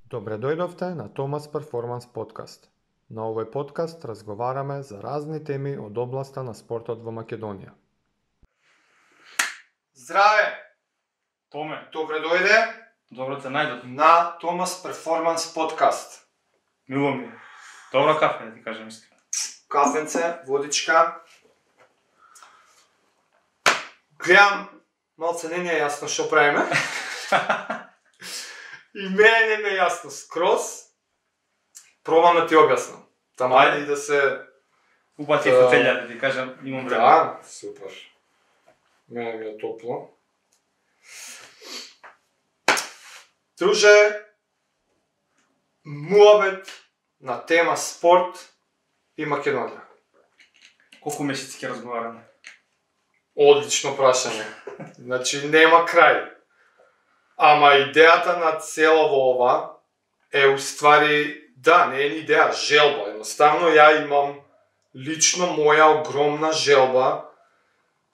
Добре дојдовте на Томас Перформанс подкаст. На овој подкаст разговараме за разни теми од областа на спортот во Македонија. Здраве! Томе, Добре дојде добро те најдов. на Томас Перформанс подкаст. Мило ми. Добро кафе, да ти кажем искрено. Кафенце, водичка. Гледам, малце не е јасно што правиме. И мене не ми е јасно скроз. Пробам да ти објаснам. Тама ајде и да се... Упати фотелја, да ти кажем, имам време. Да, супер. Мене ми е топло. Друже, муабет на тема спорт и Македонија. Колку месеци ќе разговараме? Одлично прашање. Значи, нема крај. Ама идејата на цело во ова е уствари, да, не е ни идеја, желба. Едноставно ја имам лично моја огромна желба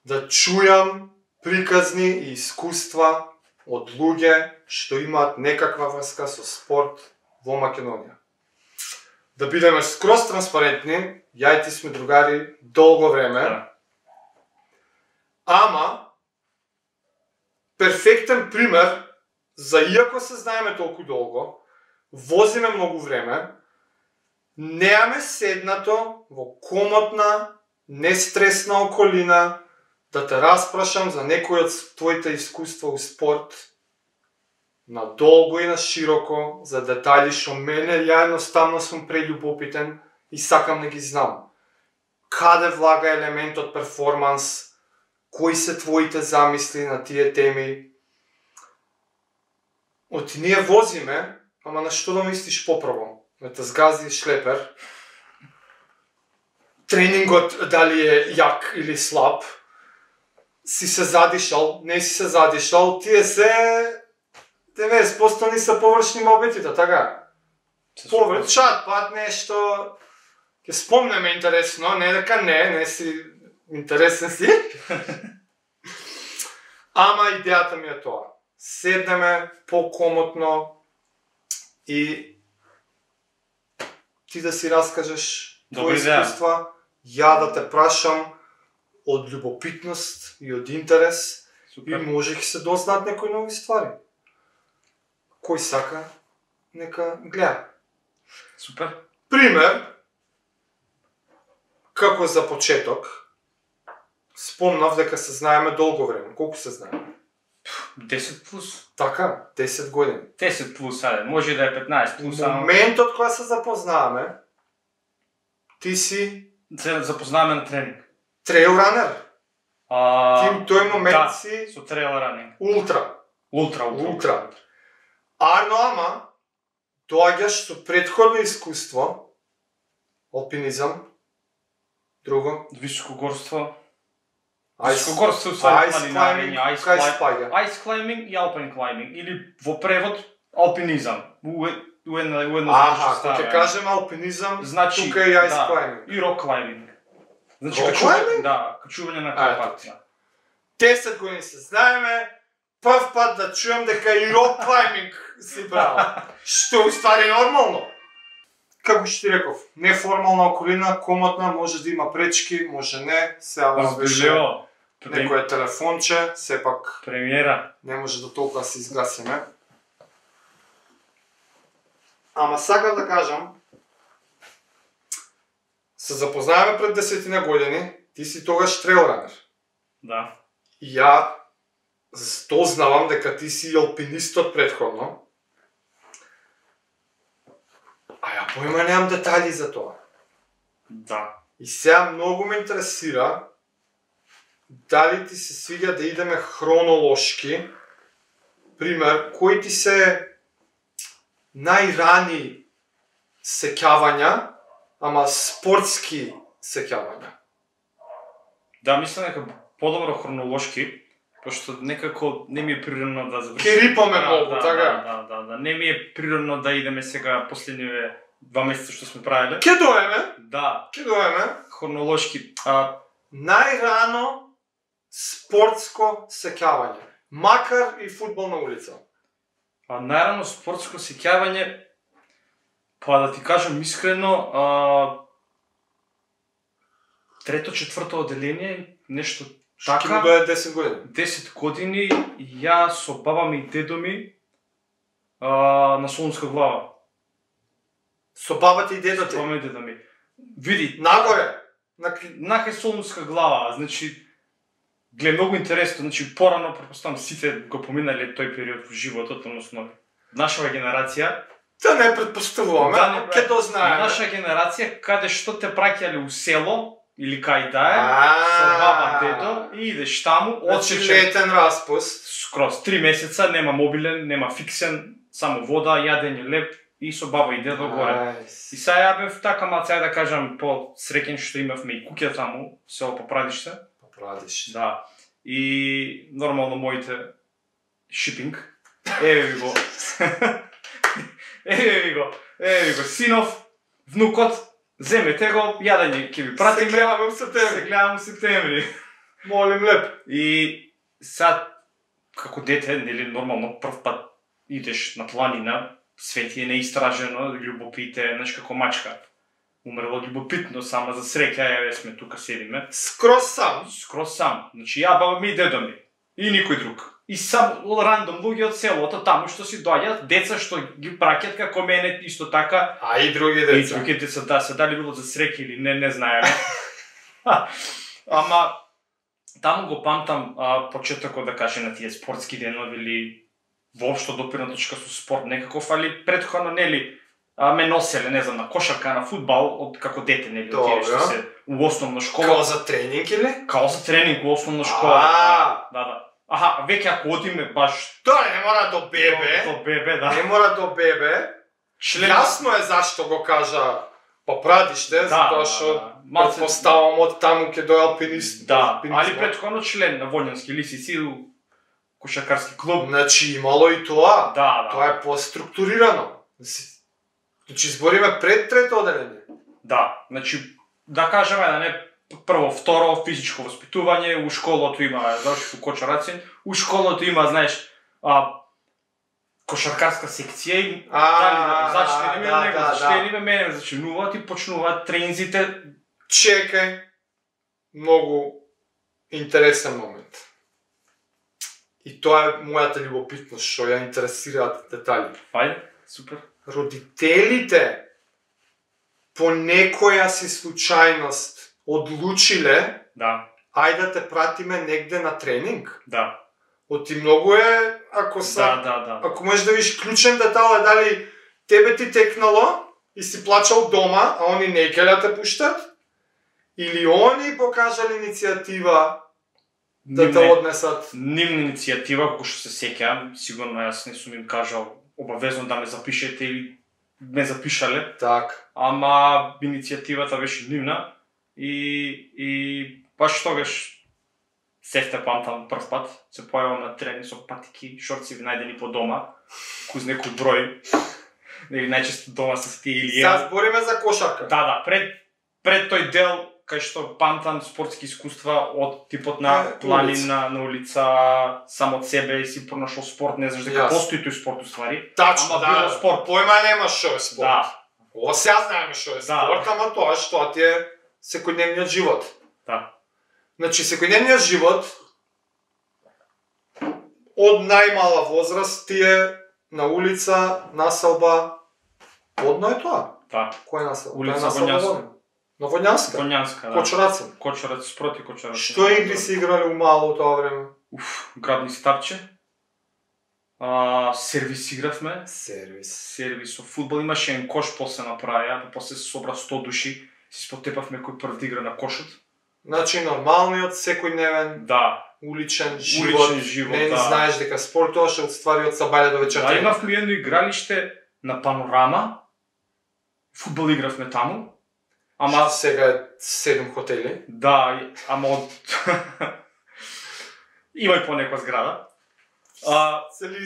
да чујам приказни и искуства од луѓе што имаат некаква врска со спорт во Македонија. Да бидеме скроз транспарентни, ја и ти сме другари долго време, Да. ама перфектен пример за иако се знаеме толку долго, возиме многу време, неаме седнато во комотна, нестресна околина да те распрашам за некои од твоите искуства у спорт, на долго и на широко, за детали што мене ја едноставно сум прељубопитен и сакам да ги знам. Каде влага елементот перформанс, кои се твоите замисли на тие теми? Оти ние возиме, ама на што да мислиш попрво? Да те згази шлепер? Тренингот дали е јак или слаб? Си се задишал, не си се задишал, тие се 90% ни се површни мобетите, така? Површат, пат нешто... Ќе спомнеме интересно, не дека не си интересен си. Ама идејата ми е тоа. Седнеме покомотно и ти да си раскажеш твои искуства, ја да те прашам од љубопитност и од интерес. Супер. И може ќе се дознаат некои нови ствари. Кој сака, нека гледа. Супер. Пример, како за почеток, спомнав дека се знаеме долго време. Колку се знаеме? 10 плюс. Така, 10 години. 10 плюс, ајде, може да е 15 плюс, ама... Моментот кога се запознаваме, ти си Се запознаваме на тренинг. трейл ранер. Ти у тој момент да, си со трейл ранинг. ултра. Ултра. Арно ама, доаѓаш со претходно искуство, алпинизам, друго, Високогорство. Ice- Високогорство, уствари, ice планинарење, climbing, кај спаѓа? Ice climbing и alpine climbing, или во превод алпинизам. Уедно Аха, кога ќе кажем алпинизам, значи, тука е и ice да, climbing. и rock climbing. Значи, Rock climbing? Да, качување на Ето Карпат. ти. 10 години се знаеме, прв пат да чуем дека и rock climbing си правил. Што уствари нормално. Како што ти реков, неформална околина, комотна, може да има пречки, може не, сега вас беше Разбело. некое телефонче, сепак Премиера. не може да толкова се изгасиме. Ама сакам да кажам, се запознаваме пред 10 години, ти си тогаш трейл ранер. Да. И ја дознавам дека ти си алпинистот претходно. А ја појма немам детали за тоа. Да. И сега многу ме интересира дали ти се свиѓа да идеме хронолошки. Пример, кои ти се најрани сеќавања, ама спортски сеќавања. Да, мислам дека подобро хронолошки, пошто некако не ми е природно да завршим. Ке рипаме многу, така? Да. Не ми е природно да идеме сега последниве 2 месеца што сме правиле. Ке доеме, Да, хронолошки. најрано спортско сеќавање, макар и фудбал на улица. А најрано спортско сеќавање, па да ти кажам искрено, трето-четврто одделение, нешто така. Шки му дојде 10 години. 10 години, ја со баба ми и дедо ми на Солунска глава. Со бабата и дедо ти? Баба ми и дедо ми. Види, Нагоре? на Солунска глава, значи, гледа многу интересно, значи порано претпоставам сите го поминале тој период во животот, односно нашава генерација. Да не предпоставуваме, ќе то знаеме. Наша генерација каде што те праќале у село или кај да е, со баба, дедо и идеш таму, Значи одсечен летен распуст. скроз 3 месеца, нема мобилен, нема фиксен, само вода, јадење, леп и со баба и дедо горе. И сега ја бев така малце, да кажам, по-среќен што имавме и куќа таму, село Попрадиште. Попрадиште. Да. И нормално моите шипинг. Еве ви го. Еве ви го, синов, внукот, земете го, јадење ќе ви пратиме. Се гледаме в септември. Се гледаме в септември. Молим леп. И сад, како дете, нели нормално прв пат идеш на планина, свет е неистражено, љубопите, знаеш како мачка. Умрело љубопитно, сама за среќа, еве сме тука седиме. Скроз сам. Скроз сам. Значи ја, баба ми и дедо ми. И никој друг. И сам рандом луѓе од селото таму што си доаѓаат, деца што ги праќаат како мене исто така. А и други деца. И други деца, да, се дали било за среќа или не знаеме. Ама таму го памтам почетокот, да кажем, на тие спортски денови или воопшто допирна точка со спорт некаков, али претходно нели ме носеле, не знам, на кошарка, на фудбал од како дете, нели, тие што се у основна школа. Као за тренинг или? Као за тренинг у основна школа. Да. Аха, веќе ако одиме баш Тоа не мора до бебе. до бебе, да. Не мора до бебе. Јасно е зашто го кажа Попрадиште, затоа што предпоставам од таму ќе дојде алпинист. Да, али претходно член на Вољански лисици у кошаркарски клуб. Значи имало и тоа. Да. Тоа е поструктурирано. Значи збориме пред трето одделение. Да, значи да кажеме да не прво, второ физичко воспитување, у школото има, завршив у Кочарацин, у школото има, знаеш, кошаркарска секција и дали да зачнеме него, зачнеме мене, зачнуваат и почнуваат тренинзите. Чекај, многу интересен момент. И тоа е мојата љубопитност, што ја интересираат детали. Ајде, супер. Родителите по некоја си случајност одлучиле ајде да те пратиме негде на тренинг. Да. Оти многу е, ако Да. Ако можеш да видиш клучен детал е дали тебе ти текнало и си плачал дома, а они не ќе да те пуштат, или они покажале иницијатива да те однесат. Нивна иницијатива, кој што се сеќавам, сигурно јас не сум им кажал обавезно да ме запишете или ме запишале. Так. Ама иницијативата беше нивна и баш тогаш сефте памтам прв пат, се појавам на тренинг со патики, шорци најдени по дома, кој некој број. Нели најчесто дома се тие или Сега збориме за кошарка. Да, пред тој дел кај што памтам спортски искуства од типот на планина, на улица, сам од себе и си пронашол спорт, не знаш дека постои тој спорт уствари. Тачно, ама било спорт. Појма нема што е спорт. Да. Ова сега знаеме што е спорт, ама тоа што ти е секојдневниот живот. Да. Значи, секојдневниот живот од најмала возраст ти е на улица, населба, одно е тоа. Да. Која е населба? Улица Воњанска. На Воњанска? Воњанска, да. Кочарацин. Кочарац, спроти Кочарац. Што игри си играли у мало тоа време? Градни старче. Сервис игравме. Сервис со фудбал. Имаше еден кош после направија, после се собра 100 души. Си спотепавме кој прв да игра на кошот. Значи нормалниот секојдневен уличен живот. Не знаеш дека спортуваш од ствари од сабајле до вечерта. Да, имавме едно игралиште на Панорама. Фудбал игравме таму. Ама сега е 7 хотели. Да, ама од има и по некоја зграда. Се ли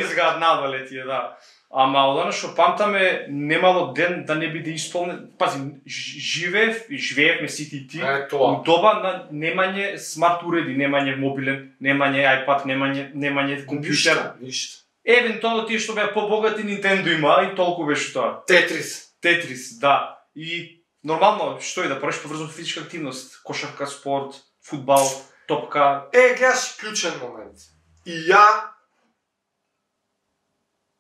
изгаат надале тие, да. Ама од она што памтаме, немало ден да не биде исполнен. Пази, живеевме сите и ти у доба на немање смарт уреди, немање мобилен, немање iPad, немање компјутер. Ништо. Евентуално тие што беа побогати Nintendo има и толку беше тоа. Тетрис, да. И нормално што и да правиш поврзано физичка активност, кошарка, спорт, фудбал, топка. Гледаш клучен момент. И ја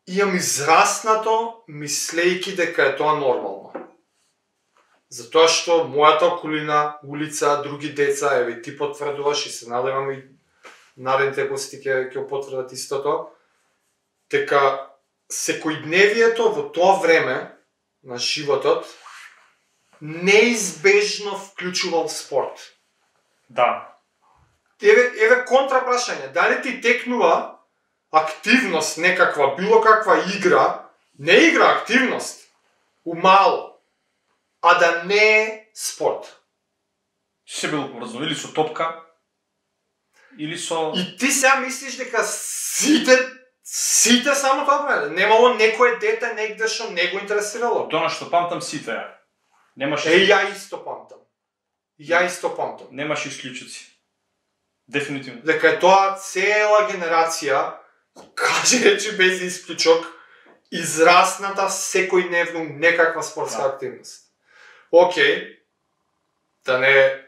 имам израснато мислејки дека е тоа нормално. Затоа што мојата околина, улица, други деца, еве ти потврдуваш и се надевам и наредните гости ќе потврдат истото, дека секојдневието во тоа време на животот неизбежно вклучувал спорт. Да. Еве контрапрашање, дали ти текнува активност некаква, било каква игра, не игра, активност, умало, а да не е спорт. Се било поврзано или со топка, или со... И ти сега мислиш дека сите само тоа правеле? Немало некое дете негде што не го интересирало? Тоа што памтам сите ја. Немаш Ја исто памтам. Немаш исклучоци. Дефинитивно. Дека е тоа цела генерација, каже речи без исклучок, израсната секојдневно некаква спортска активност. Океј, да не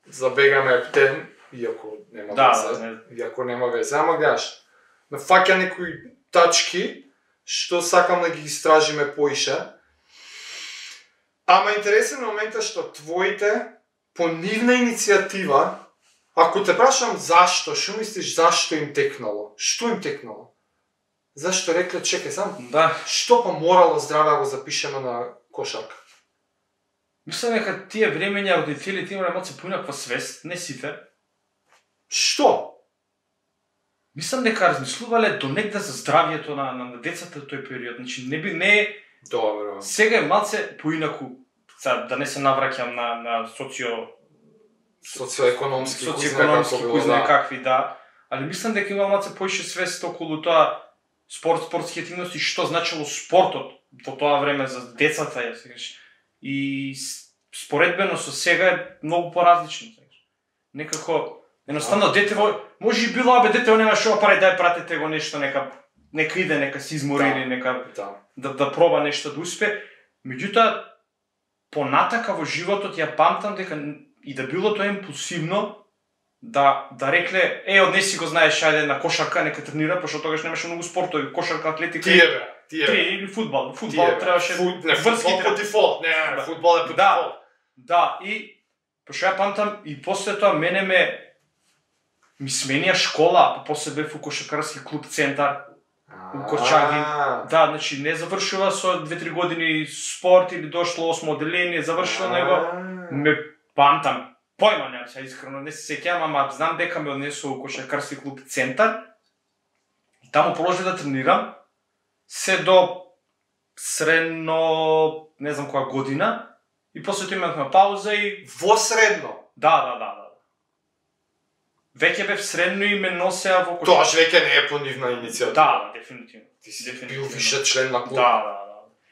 забегаме ептен, иако нема везе, ама гледаш, ме фаќа некои тачки што сакам да ги истражиме поише. Ама интересен момент е што твоите по нивна иницијатива, ако те прашам зашто, што мислиш зашто им текнало? Што им текнало? Зашто рекле чекај сам? Да. Што па морало здраве да го запишеме на кошарка? Мислам дека тие времења родителите имале малце поинаква свест, не сите. Што? Мислам дека размислувале донекде за здравието на децата во тој период. Значи не Добро. сега е малце поинаку, да не се навраќам на социоекономски кој знае какви, да. Али мислам дека има малце поише свест околу тоа спортски активности, што значило спортот во тоа време за децата, и споредбено со сега е многу поразлично. Некако едноставно дете може и било дете нема што прави, дај пратете го нешто, нека иде, нека се измори или нека да проба нешто да успе. Меѓутоа понатака во животот ја памтам дека и да било тоа импулсивно да рекле однеси го знаеш, ајде на кошарка, нека тренира, пошто тогаш немаше многу спортови, кошарка, атлетика. Тие или фудбал. Фудбал требаше врски по дефолт, фудбал е по дефолт. Да, и пошто ја памтам и после тоа мене ми сменија школа, после бев у кошаркарски клуб Центар у Корчаги. Да, значи не завршила со 2-3 години спорт или дошло 8 одделение, завршила него. Ме памтам, појма немам се, искрено не се сеќавам, ама знам дека ме однесо у кошаркарски клуб Центар. И таму продолжив да тренирам се до средно, не знам која година, и после тоа имавме пауза и... Во средно? Да. Веќе бев средно и ме носеа во кошарка. Тоа веќе не е по нивна иницијатива. Да, дефинитивно. Ти си бил више член на клуб. Да.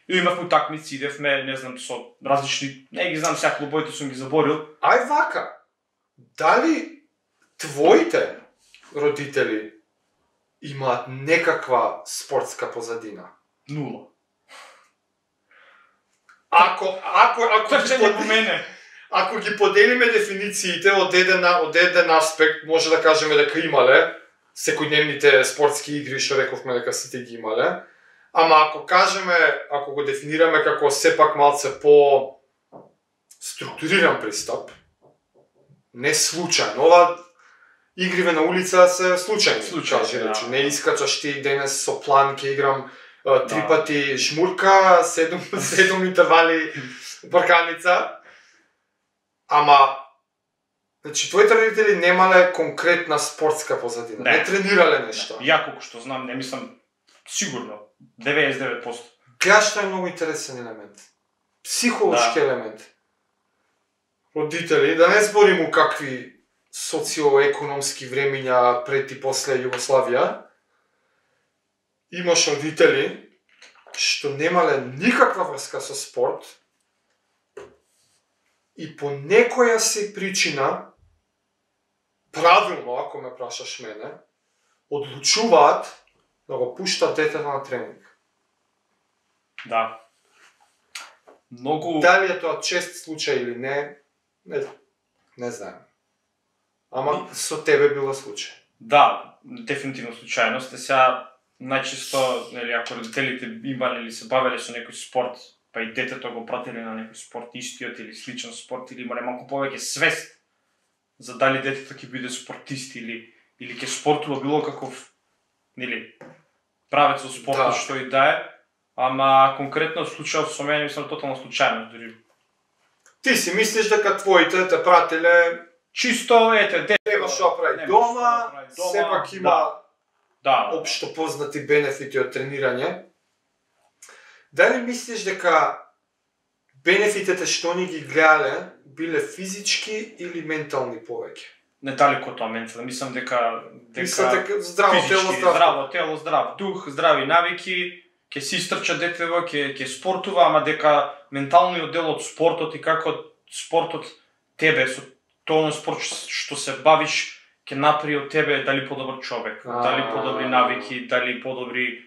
И имавме утакмици, идевме, не знам, со различни, не ги знам сега клубовите, сум ги заборил. Ај вака, дали твоите родители имаат некаква спортска позадина? Нула. Ако ги поделиме дефинициите од еден аспект, може да кажеме дека имале секојдневните спортски игри, што рековме дека сите ги имале. Ама ако го дефинираме како сепак малце по структуриран пристап, не случајно. Ова игриве на улица се случајни. Не искачаш ти денес со план ќе играм 3 пати жмурка, 7 интервали парканица. Ама, значи, твоите родители немале конкретна спортска позадина, не тренирале нешто. Ја колку што знам, не мислам, сигурно, 99%. Гледаш, што е многу интересен елемент. Психолошки елемент. Родители, да не зборим у какви социоекономски времења пред и после Југославија, имаш родители што немале никаква врска со спорт, и по некоја си причина, правилно, ако ме прашаш мене, одлучуваат да го пуштат детето на тренинг. Да. Многу... Дали е тоа чест случај или не знаем. Ама со тебе било случај. Да, дефинитивно случајност. Сега најчесто, нели, ако родителите имале или се бавеле со некој спорт, па и детето го прателе на некој спорт истиот или сличен спорт, или имале малку повеќе свест за дали детето ќе биде спортист или ќе спортува било каков, нели, правец со спортот, што и да е, ама конкретно случајот со мене мислам тотално случајно, дури. Ти си мислиш дека твоите те прателе чисто, нема што прави дома, сепак има општо познати бенефити од тренирање. Дали мислиш дека бенефитите што ни ги гледале биле физички или ментални повеќе? Не далеко тоа ментално, мислам дека здраво тело, здрав дух, здрави навики, ќе си истрча детево, ќе спортува, ама дека менталниот дел од спортот и како спортот тебе со тоа спорт што се бавиш ќе направи од тебе дали подобар човек, дали подобри навики, дали подобри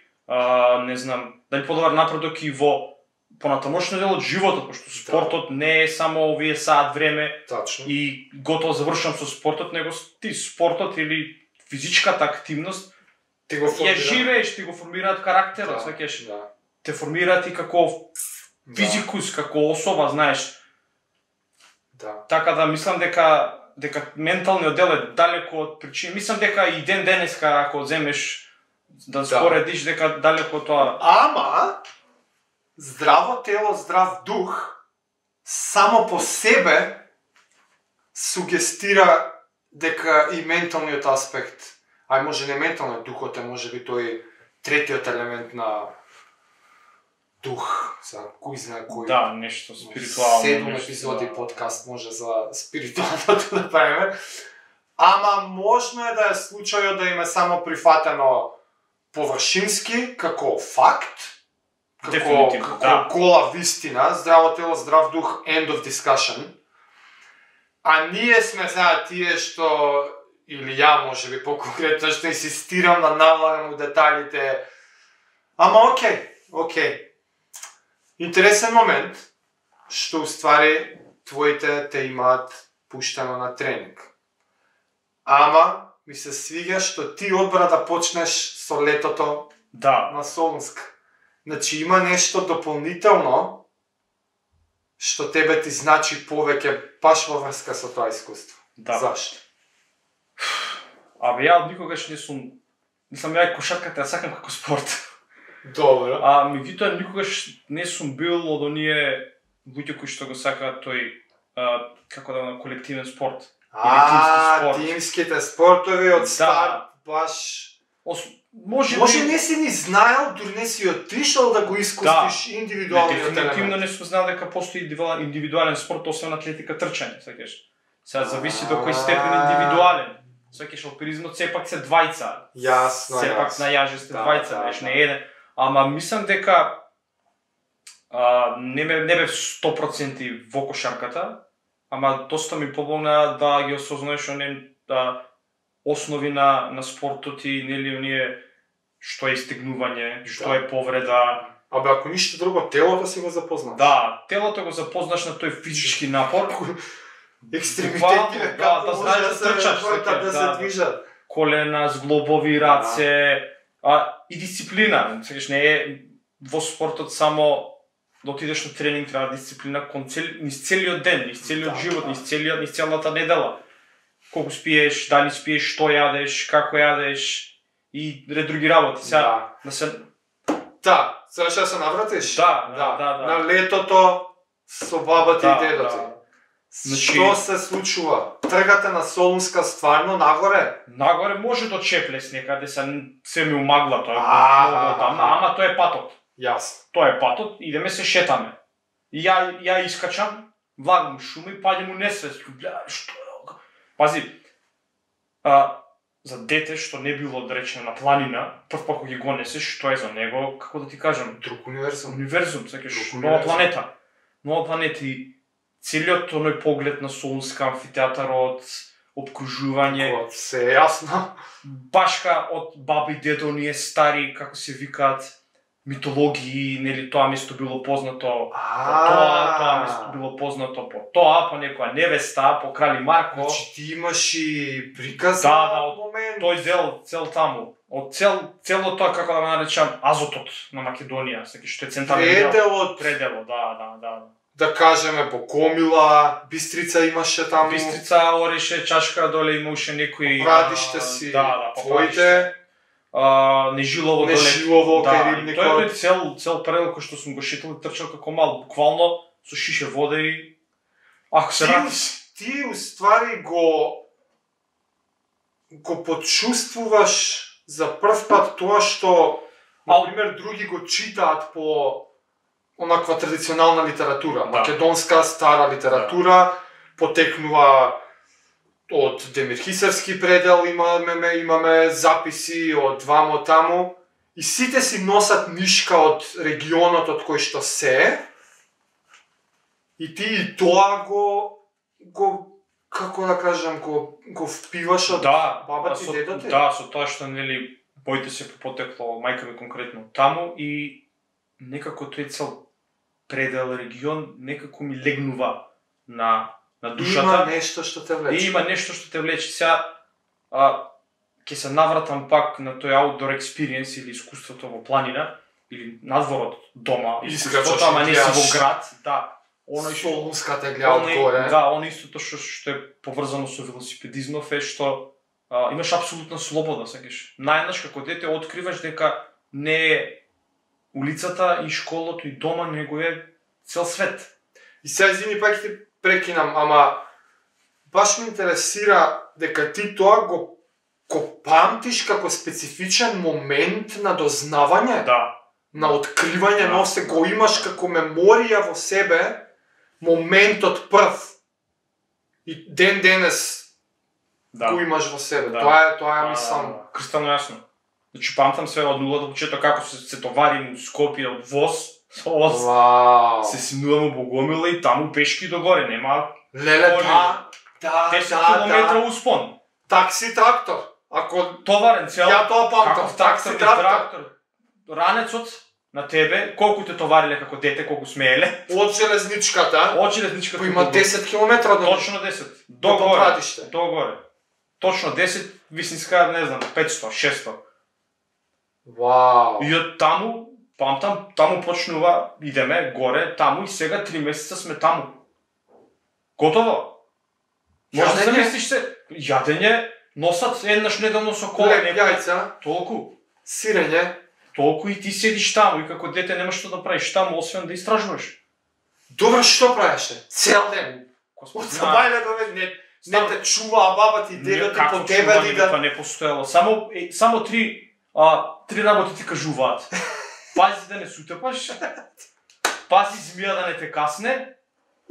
не знам, дали подобар напредок и во понатамошниот дел од животот, пошто спортот не е само овие саат време и готово завршувам со спортот, него ти спортот или физичката активност ја живееш, ти го формираат карактерот, сваќаш, те формираат и како физикус, како особа, знаеш. Така да мислам дека менталниот дел е далеко од причина. Мислам дека и ден денеска ако земеш да споредиш дека далеко тоа. Ама здраво тело, здрав дух само по себе сугестира дека и менталниот аспект, може не менталниот, духот е можеби тој третиот елемент на дух, кој знае кој. Да, нешто спиритуално. 7 епизоди подкаст може за спиритуалното да правиме. Ама можно е да е случајот да им е само прифатено површински, како факт, како гола вистина, здраво тело, здрав дух, end of discussion. А ние сме сега тие што, или ја можеби по-конкретно, што инсистирам да навлагам у деталите. Ама окей. Интересен момент, што уствари твоите те имаат пуштено на тренинг. Ама ми се свига што ти одбра да почнеш со летото на Солунска. Значи има нешто дополнително што тебе ти значи повеќе баш во врска со тоа искуство. Зашто? Ја никогаш не сум, ја кошарката ја сакам како спорт. Добро. Меѓутоа никогаш не сум бил од оние луѓе кои што го сакаат тој како да колективен спорт. Тимските спортови од старт баш може не си ни знаел, дури не си отишол да го искустиш индивидуалниот елемент. Дефинитивно не сум знаел дека постои индивидуален спорт, освен атлетика, трчање, сакаш. Сега зависи до кој степен индивидуален. Сакаш алпинизмот сепак се двајца. Јасно. Сепак на јаже сте двајца, не еден. Ама мислам дека не бев 100% во кошарката, ама доста ми помогна да ги осознаеш оние основи на спортот и нели оние што е истегнување, што е повреда. Ако ништо друго, телото си го запознаш. Да, телото го запознаш на тој физички напор. Екстремитети, да знаеш да трчаш, да се движат. Колена, зглобови, раце, и дисциплина. Сегаш не е во спортот само да отидеш на тренинг, треба дисциплина низ целиот ден, низ целиот живот, низ целата недела. Колку спиеш, дали спиеш, што јадеш, како јадеш и ред други работи. Сега сега се навратиш? Да. На летото со бабата и дедото. Што се случува? Тргате на Солунска стварно нагоре? Нагоре може до Чеплес некаде, се ми умагла тоа. Ама тоа е патот. Јасно. Тоа е патот, идеме се шетаме. Ја искачам, влагам шума и паѓам у несвест. Што е? Пази, за дете што не било да речеме на планина, прв пак кога ги го несеш, што е за него, како да ти кажам, друг универзум. Универзум, сакаш, нова планета. Нова планета и целиот тој поглед на Солунска, амфитеатарот, обкружување, Се е јасно. башка од баба и дедо ние стари, како се викаат, митологии, нели тоа место било познато по тоа место било познато по тоа, по некоја невеста, по крали Марко. Значи ти имаш и приказ Да, на момент. Тој дел цел таму, од цело тоа, како да го наречам, азотот на Македонија, што е централен дел. Пределот, да. Да кажеме Богомила, Бистрица имаше таму. Бистрица, Ореше, Чашка, доле имаше некои Попрадиште си, твоите. Нежилово доле. Нежилово, кај рибникот. Тој е цел предел кој што сум го шетал и трчал како мал, буквално со шише вода и ако се вратиш. Ти уствари го почувствуваш за прв пат тоа што, например, други го читаат по онаква традиционална литература. Македонска стара литература потекнува од Демир Хисарски предел, имаме записи од вамо таму и сите си носат нишка од регионот од кој што се и ти и тоа го како да кажам, го впиваш од бабата и дедото? Да, со тоа што нели боите се потекло мајка ми конкретно таму и некако тој цел предел регион некако ми легнува на душата. Има нешто што те влече. Има нешто што те влече. Сега ќе се навратам пак на тој outdoor experience или искуството во планина или надворот дома, искуството, ама не си во град, да. Солунската гледа одгоре. Да, оно истото што е поврзано со велосипедизмов е што имаш апсолутна слобода, сакаш. Најнаш како дете откриваш дека не е улицата и школото и дома, него е цел свет. И сега извини пак ти прекинам, ама баш ме интересира дека ти тоа го памтиш како специфичен момент на дознавање, на откривање, но се го имаш како меморија во себе, моментот прв. И ден денес го имаш во себе. Тоа е мислам. Кристално јасно. Значи памтам се од нула до почеток како се товарим у Скопје од воз, се симнувам у Богомила и таму пешки догоре, нема. Леле, да. 10 километра успон. Такси трактор. Ако товарен цел. Ја тоа памтам. Такси трактор. Ранецот на тебе, колку те товариле како дете, колку смееле. Од железничката. Кој има 10 километра до. Точно 10. Догоре. Точно 10, висинска, не знам, 500, 600. Вау. И од таму, памтам, таму почнува, идеме горе, таму и сега 3 месеца сме таму. Готово. Може да замислиш се, јадење, носат еднаш неделно со кола, јајца, толку. Сирење, толку и ти седиш таму и како дете немаш што да правиш таму, освен да истражуваш. Добро, што правеше? Цел ден. Од сабајле до не те чуваа бабата и дедото по тебе ли да... Тоа не постоело. Само три работи ти кажуваат. Пази да не сутепаш, пази змија да не те касне.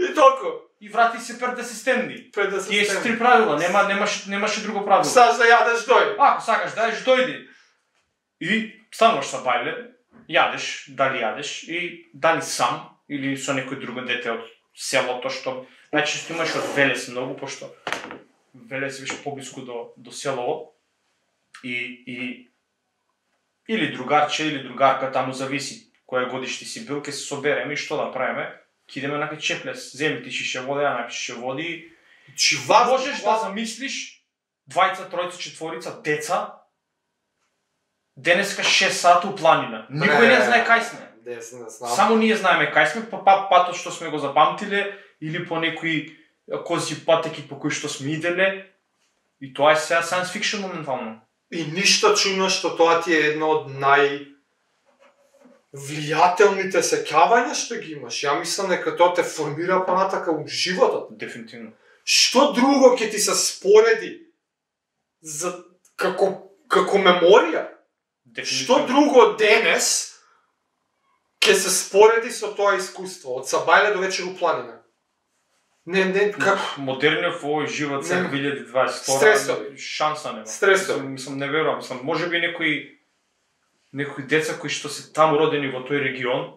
И толку. И врати се пред да се стемни. Тие се 3 правила, немаше друго правило. Сакаш да јадеш, дојди. Ако сакаш да јадеш, дојди. И стануваш са бајле, јадеш, дали јадеш и дали сам или со некој друго дете од селото што најчесто имаш од Велес многу, пошто Велес беше поблиску до селово и или другарче или другарка, таму зависи која годишти си бил, ќе се собереме и што да правиме, ќе идеме на Чеплес, земи ти шише вода, ја напиш шише води. Можеш да замислиш 2, 3, 4 деца денеска 6 сата у планина. Никој не знае кај сме. Само ние знаеме кај сме, по патот што сме го запамтиле или по некои кози патеки по кои што сме иделе. И тоа е сега science fiction моментално. И ништо чудно што тоа ти е едно од влијателните сеќавања што ги имаш. Ја мислам дека тоа те формира понатака у животот. Дефинитивно. Што друго ќе ти се спореди како меморија? Што друго денес ќе се спореди со тоа искуство од Сабајле до вечер у планина? Не, како? Модерниот во овој живот за 2022 стресови. Шанса нема. Стресови. Мислам, не верувам. Може би некои деца кои што се таму родени во тој регион,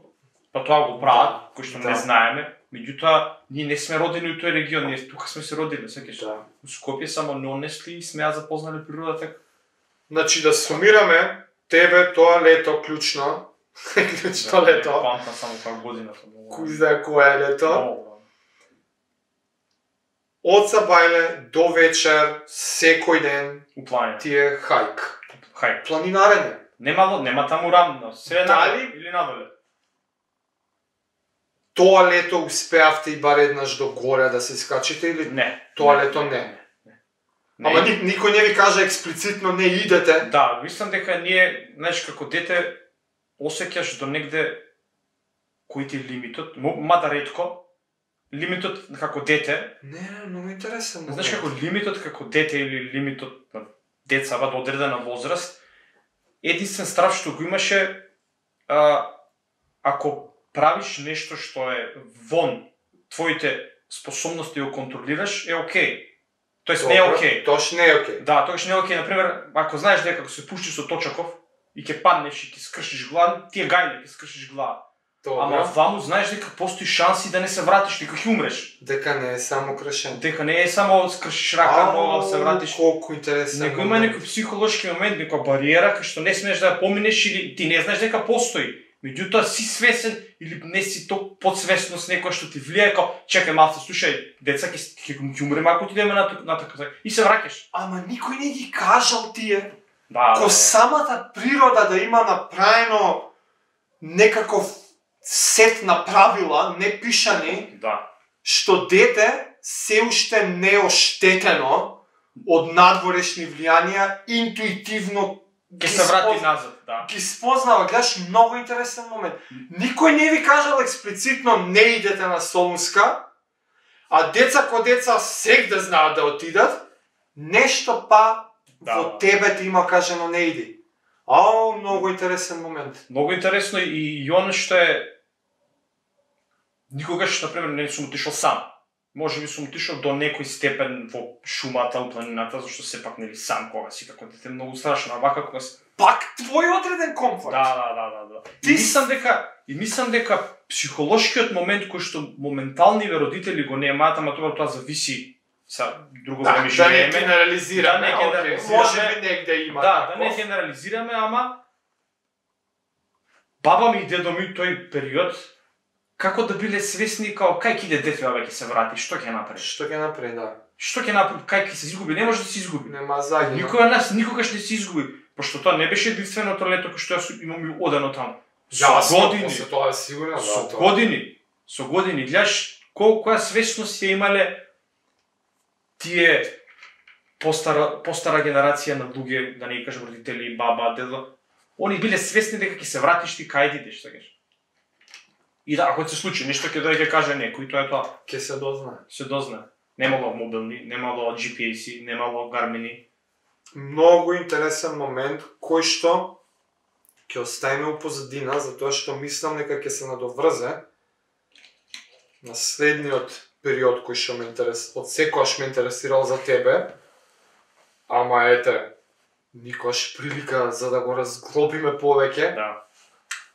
па тоа го прават, кои што не знаеме, Меѓутоа, ние не сме родени у тој регион, ние тука сме се родили, сеќаш. Да. У Скопје само нонесли и сме ја запознале природата. Значи да сумираме, тебе тоа лето клучно, клучно лето. Памтам само како годината. Кој знае кое е лето. Много. Од сабајле до вечер, секој ден У планина. ти е хајк. Хај. Планинарење. Нема таму рамно, се Дали? надоле или надоле. Тоа лето успеавте и бар еднаш до горе да се скачите или Не. тоа лето не? Ама никој не ви кажа експлицитно не идете. Да, мислам дека ние, знаеш, како дете осеќаш до негде кој ти е лимитот, мада ретко, лимитот како дете, Не, многу интересен. знаеш како лимитот како дете или лимитот на децава до одредена возраст, единствен страв што го имаше, ако правиш нешто што е вон твоите способности го контролираш, е окей. Тоест не е окей. Тош не е окей. Да, тогаш не е окей. Например, ако знаеш дека ако се пуштиш со точаков и ќе паднеш и ќе скршиш глава, ти е гајле, ќе скршиш глава. Ама ваму знаеш дека постои шанси да не се вратиш, дека ќе умреш. Дека не е само кршен. Дека не е само скршиш рака, нога, се вратиш. Колку интересен. Него има некој психолошки момент, некоја бариера кај што не смееш да ја поминеш или ти не знаеш дека постои. Меѓутоа си свесен или не си толку подсвесност некоја што ти влијае како чекај малце, слушај, деца ќе умреме ако ти идеме на така и се враќаш. Ама никој не ги кажал тие. Да. Ко самата природа да има направено некаков сет на правила, не пишани, Да. што дете се уште не е оштетено од надворешни влијанија, интуитивно Ќе се врати назад, да. ги спознава. Гледаш, многу интересен момент. Никој не ви кажал експлицитно не идете на Солунска, а деца ко деца сегде знаат да отидат, нешто па во тебе ти има кажано не иди. Многу интересен момент. Многу интересно и оно што е никогаш, например, не сум отишол сам. Може би сум отишол до некој степен во шумата, у планината, зашто сепак нели сам кога си како дете многу страшно, а вака кога си пак твој одреден комфорт. Да. Ти мислам дека психолошкиот момент кој што моменталниве родители го немаат, ама тоа зависи са друго време да не живееме. генерализираме, Да не генерализираме. може би негде има Да тако. не генерализираме, ама баба ми и дедо ми тој период како да биле свесни као кај ќе иде дете ќе се врати, што ќе направи? Што ќе направи, да. Што ќе направи? Кај ќе се изгуби? Не може да се изгуби. Нема загина. Никој од нас никогаш не се изгуби, пошто тоа не беше единственото лето кој што јас имам одено таму. Со години, тоа е сигурно, со години, гледаш која свесност ја имале тие постара генерација на луѓе, да не кажам родители, баба, дедо. Они биле свесни дека ќе се вратиш ти кај идеш, сакаш. И да, ако се случи нешто ќе дојде каже некој, тоа е тоа. Ќе се дознае. Се дознае. Немало мобилни, немало GPS-и, немало Garmin-и. Многу интересен момент кој што ќе оставиме у позадина, затоа што мислам дека ќе се надоврзе на следниот период кој што ме од секојаш ме интересирал за тебе. Ама ете, никош прилика за да го разглобиме повеќе. Да.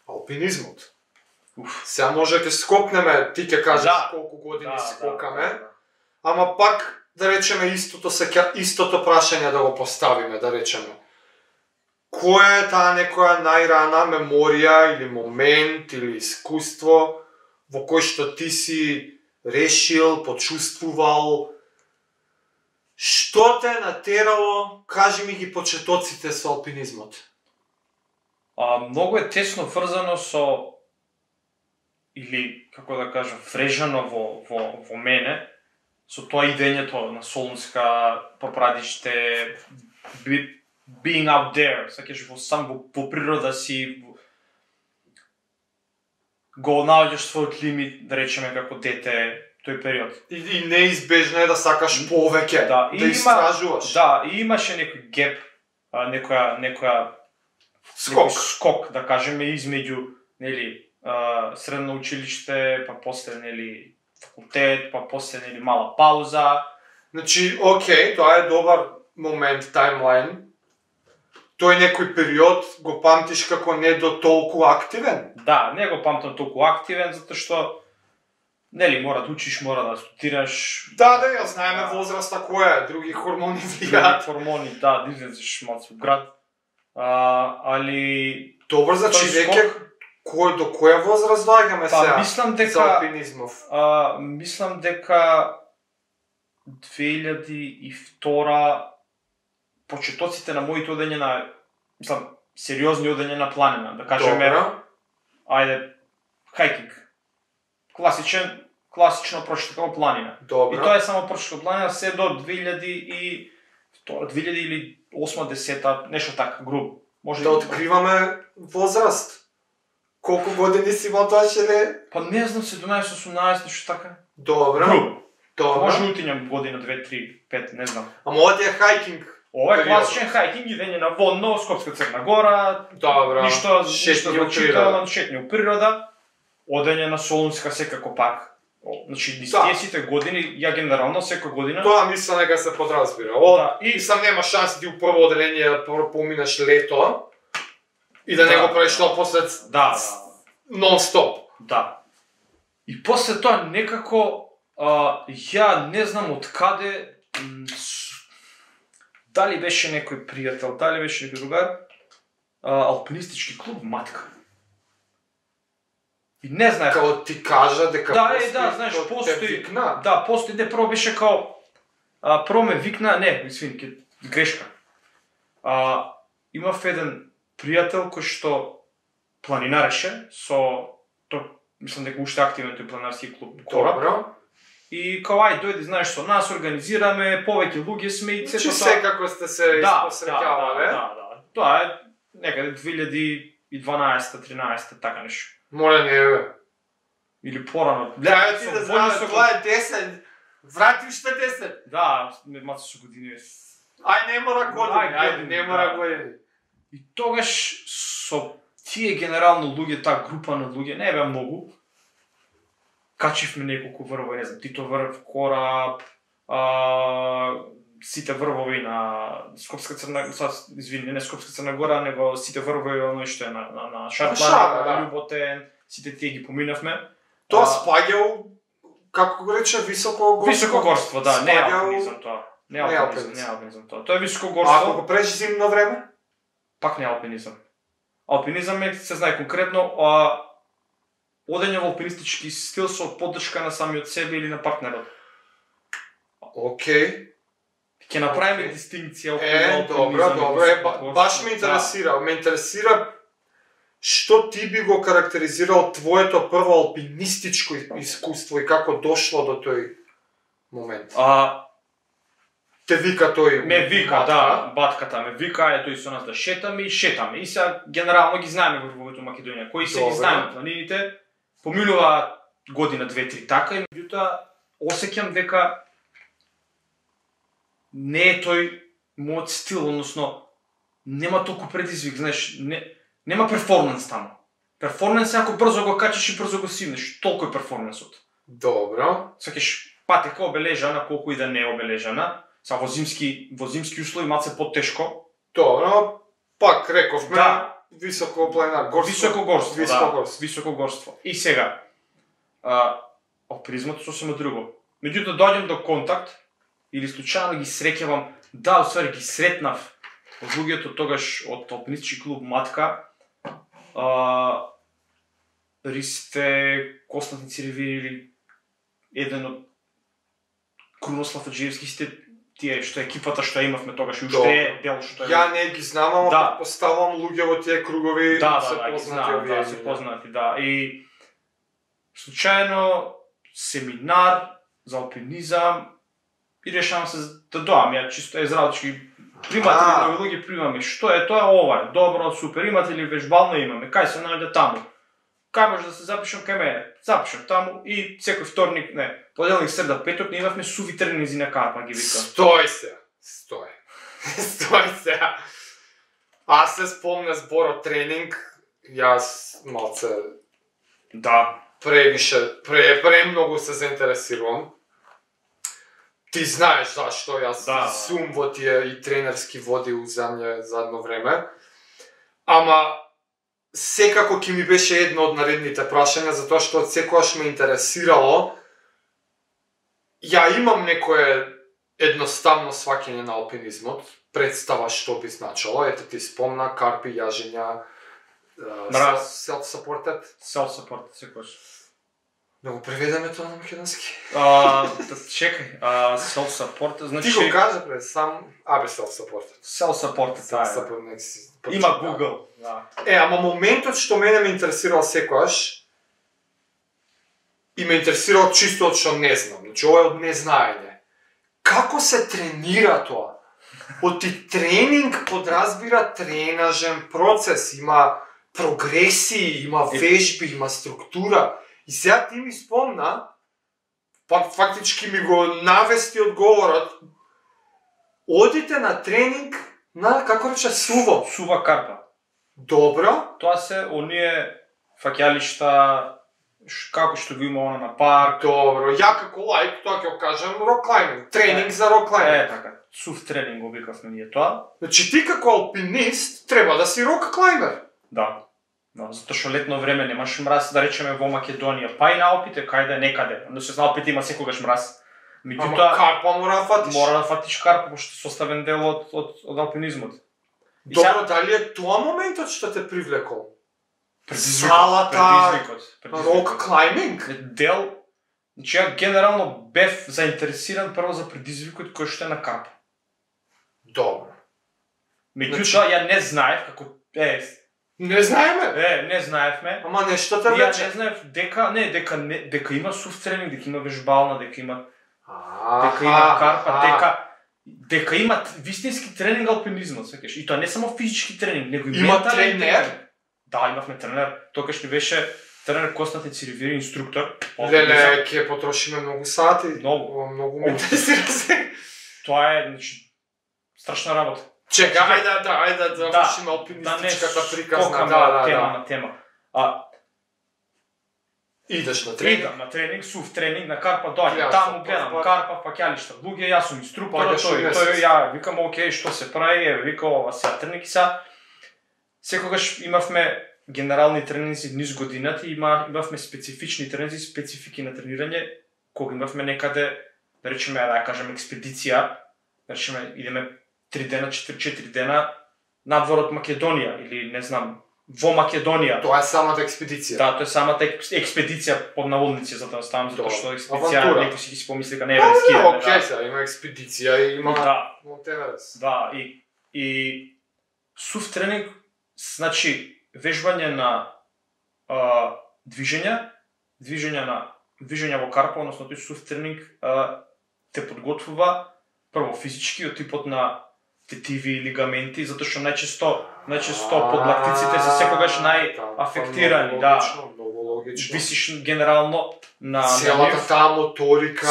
Алпинизмот. Сега може ќе скокнеме, ти ќе кажеш колку години скокаме. Ама пак, да речеме, истото прашање да го поставиме, да речеме. Која е таа некоја најрана меморија или момент или искуство во кој што ти си решил, почувствувал, што те натерало, кажи ми ги почетоците со алпинизмот? Многу е тесно врзано со или како да кажам, врежано во мене со тоа идењето на Солунска, Попрадиште, being out there, сакаш во природа си го наоѓаш својот лимит, да речеме како дете тој период. И неизбежно е да сакаш повеќе, да истражуваш. Да, и имаше некој геп, некоја скок, да кажеме, измеѓу, нели, средно училиште, па после, нели, факултет, па после, нели, мала пауза. Значи, окей, тоа е добар момент, таймлайн. Тој некој период го памтиш како не до толку активен? Да, не го памтам толку активен, затоа што нели, мора да учиш, мора да студираш. Да, ја знаеме возраста која е, други хормони влијаат. Хормони, да, излезеш малку град. Али Добро, значи веќе до која возраст доаѓаме сега? Мислам дека за алпинизмов. Мислам дека 2002 почетоците на моите одење на, мислам, сериозни одење на планина, да кажеме, ајде, хајкинг. Класично прошетка планина. Добро. И тоа е само прошетка планина се до 2008 или 2010, нешто така, грубо. Може да откриваме возраст. Колку години си имал тоа шеле? Па не знам, 17-18, нешто така. Добро. Грубо. Добро. Може утињам година, 2, 3, 5, не знам. Ама ова ти е хајкинг. Ова е класичен хајкинг, идење на водно, Скопска Црна Гора. Добро. Ништо значително, шетње у природа. Одење на Солунска секако пак. Значи, десетите години, ја генерално секоја година. Тоа мислам дека се подразбира. И сам нема шанс ти у прво одделение поминеш лето и да не го правиш тоа после нон-стоп. Да. И после тоа некако ја не знам од каде, дали беше некој пријател, дали беше некој другар, алпинистички клуб Матка. И не знаех. Као ти кажа дека знаеш, постои. Да, постои, не, прво беше као прво ме викна, не, извини, грешка. Имав еден пријател кој што планинареше со мислам дека уште активен тој планинарски клуб Кораб. Добро. И као ај дојди, знаеш, со нас организираме, повеќе луѓе сме и сето тоа. Секако сте се испосреќавале. Да. Тоа е некаде 2012-13 така нешто. Моля не бе. Или порано. Крајот ти да знаме, тоа е 10. Врати уште 10. Да, маци со години. Ај, не мора години, не мора години. И тогаш со тие генерално луѓе, таа група на луѓе, не беа многу. Качивме неколку врвови, не знам, Тито врв, Кораб, сите врвови на Скопска Црна, извини, не Скопска Црна Гора, него сите врвови оној што е на Шарплана, на Љуботен, сите тие ги поминавме. Тоа спаѓа, како го рече, високогорство? Високогорство, да, не е алпинизам тоа. Не е алпинизам тоа. Тоа е високогорство. Ако го преш зимно време? Пак не е алпинизам. Алпинизам е, се знае конкретно, одење во алпинистички стил со поддршка на самиот себе или на партнерот. Океј. Ќе направиме дистинкција околу добро, баш ме интересира. Ме интересира што ти би го карактеризирал твоето прво алпинистичко искуство и како дошло до тој момент? Те вика тој? Ме вика, да, батката ме вика, тој со нас да шетаме и шетаме. И сега генерално ги знаеме врвовите во Македонија, кои се ги знаеме планините. Поминува година, 2-3 така и меѓутоа осеќам дека не е тој мојот стил, односно нема толку предизвик, знаеш, нема перформанс таму. Перформанс е ако брзо го качиш и брзо го симнеш, толку е перформансот. Добро. Сакаш патека обележана, колку и да не е обележана, са во зимски услови малце потешко. Добро, пак рековме, високо планинар, високогорство. И сега, алпинизмот сосема друго. Меѓутоа доаѓам до контакт или случајно ги среќавам, усвари ги сретнав од луѓето тогаш од алпинистички клуб Матка, Ристе, Константин Циревир или еден од Крунослав Аџиевски, сите тие што екипата што имавме тогаш и уште е дел што е. Ја не ги знам, ама предпоставам луѓе во тие кругови се познати, да. И случајно семинар за алпинизам и решавам се да доам, ја чисто израелчки примате ли нови луѓе, примаме, што е тоа, ова, добро, супер, имате ли вежбално, имаме, кај се наоѓа таму, кај може да се запишам кај мене, запишам таму и секој вторник, поделник, среда, петок, не имавме суви тренинзи на Карпа, ги вика. Стој се. Аз се спомням зборо тренинг, јас малце премногу се заинтересирувам. Ти знаеш зашто јас сум во тие и тренерски води у задно време. Ама секако ќе ми беше едно од наредните прашања, затоа што секогаш ме интересирало ја имам некое едноставно сваќање на алпинизмот, представа што би значило, ете ти спомна, карпи, јажења, self-supported. Self-supported, секојаш. Да го преведеме тоа на македонски? Чекај, self-supported, значи... Ти го кажа пред сам, self-supported. Self-supported, има Google, да. Ама моментот што мене ме интересирал секојаш, и ме интересирал чисто од што не знам, значи ова е од незнаење. Како се тренира тоа? Оти тренинг подразбира тренажен процес, има прогресии, има вежби, има структура. И сега ти ми спомна, фактички ми го навести одговорот, одите на тренинг на, како рече, суво. Сува карпа. Добро. Тоа се оние фаќалишта, како што го има она на парк. Добро, ја како лаик, тоа ќе го кажам, рок клайминг, тренинг за рок клайминг. Така, сув тренинг го викавме ние тоа. Значи ти како алпинист треба да си рок клаймер. Да. Да, затоа што летно време немаш мраз, да речеме во Македонија, па и на Алпите, кајде некаде. Но се на Алпите има секогаш мраз. Ама карпа мора да фатиш. Мора да фатиш карпа, пошто е составен дел од алпинизмот. Добро, дали е тоа моментот што те привлекол? Предизвикот. Рок клайминг? Дел, значи ја генерално бев заинтересиран прво за предизвикот кој што е на карпа. Добро. Меѓутоа, ја не знаев како не знаеме. Не знаевме. Ама нештата Ја вече. не знаев дека има сув тренинг, дека има вежбална, дека има карпа, дека има вистински тренинг алпинизмот, сеќаш. И тоа не само физички тренинг, него и има тренер. Да, имавме тренер. Токаш ни беше тренер Константин Циревири, инструктор. Леле, ќе потрошиме многу сати. Многу ме интересира се. Тоа е, значи, страшна работа. Чека, ајде да вршиме алпинистичката приказна. Тема. Идеш на тренинг? Идам на тренинг, сув тренинг, на карпа доаѓам, таму гледам, карпа, фаќалишта, луѓе, јас сум инструктор, тој ја викам, окей, што се прави, вика ова сега тренинг са. Секогаш имавме генерални тренинзи низ годината и имавме специфични тренинзи, специфики на тренирање, кога имавме некаде, да речеме, да кажем, експедиција, да речеме, идеме 3 дена, 4 дена надвор од Македонија или не знам, во Македонија. Тоа е самата експедиција. Да, тоа е самата експедиција под наводници, за да ставам, затоа што експедиција некој си ги помисли дека не е ски. Окей, сега има експедиција и има Монт Еверест. Да, и сув тренинг, значи вежбање на движења во карпа, односно тој сув тренинг те подготвува прво физички од типот на тетиви и лигаменти, затоа што најчесто подлактиците се секогаш најафектирани, да. Многу логично. Висиш генерално на целата таа моторика,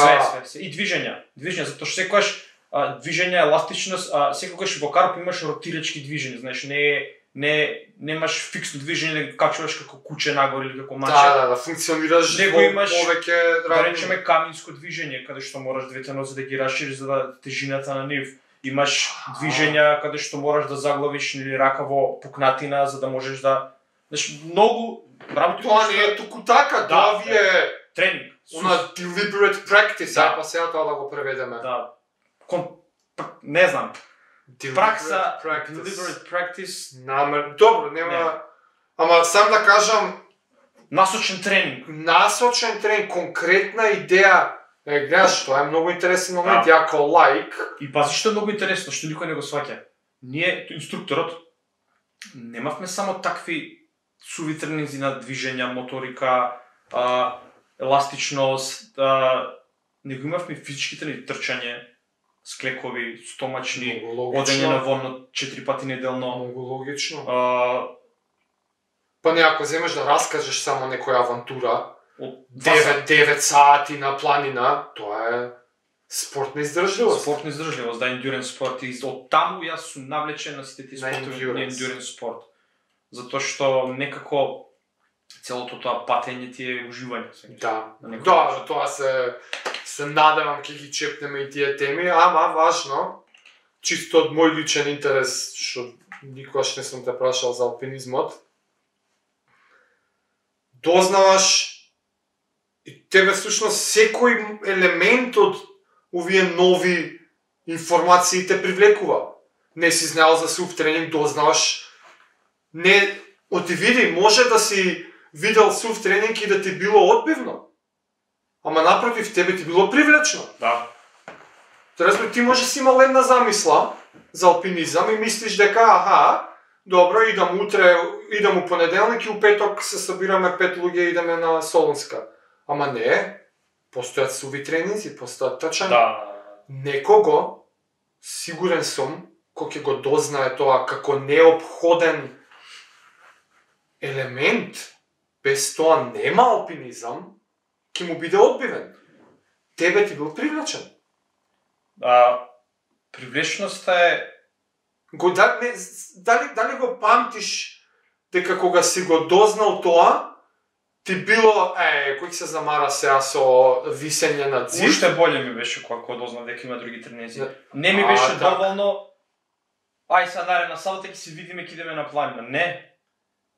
све и движења, затоа што секогаш движење, еластичност, секогаш во карп имаш ротирачки движења, знаеш, немаш фиксно движење, качуваш како куче нагоре или како маче. Да, функционираш него имаш повеќе да речеме каминско движење, каде што мораш двете нозе да ги расшириш за да тежината на нив. Имаш движења каде што мораш да заглавиш или рака во пукнатина за да можеш да, знаеш, многу работи. Тоа не е туку така, тоа ви е тренинг. Она deliberate practice, па сега тоа да го преведеме. Да. Не знам. Пракса, deliberate practice. Добро, нема. Ама сам да кажам, насочен тренинг, конкретна идеја. Гледаш, тоа е многу интересен момент, ја као лаик. И пази што е многу интересно, што никој не го сваќа. Ние, инструкторот, немавме само такви суви тренинзи на движења, моторика, еластичност, него имавме физички тренинзи, трчање, склекови, стомачни, одење на вонно 4 пати неделно. Многу логично. Па не, ако земеш да раскажеш само некоја авантура, 9 сати на планина, тоа е спортна издржливост. Да, endurance спорт. И од таму јас сум навлечен на сите тие спортови на endurance спорт. Затоа што некако целото тоа патење ти е уживање. Да, тоа се надевам ќе ги чепнеме и тие теми, ама важно, чисто од мој личен интерес, што никогаш не сум те прашал за алпинизмот, дознаваш, и тебе всушност секој елемент од овие нови информации те привлекува. Не си знаел за сув тренинг, дознаваш. Не, оти види, може да си видел сув тренинг и да ти било одбивно. Ама напротив, тебе ти било привлечно. Да. Разбира, ти може си имал една замисла за алпинизам и мислиш дека, добро, идам утре, идам у понеделник и у петок се собираме 5 луѓе и идеме на Солунска. Ама не, постојат суви тренинзи, постојат тачања. Да. Некого, сигурен сум, кој ќе го дознае тоа како неопходен елемент, без тоа нема алпинизам, ќе му биде одбивен. Тебе ти бил привлечен. Привлечноста е... Дали го памтиш дека кога си го дознал тоа, ти било, кој се замара сега со висење на зид? Уште боле ми беше кога дознав дека има други тренинзи. Не ми беше доволно, сега наредна сабота ќе се видиме, ќе идеме на планина. Не.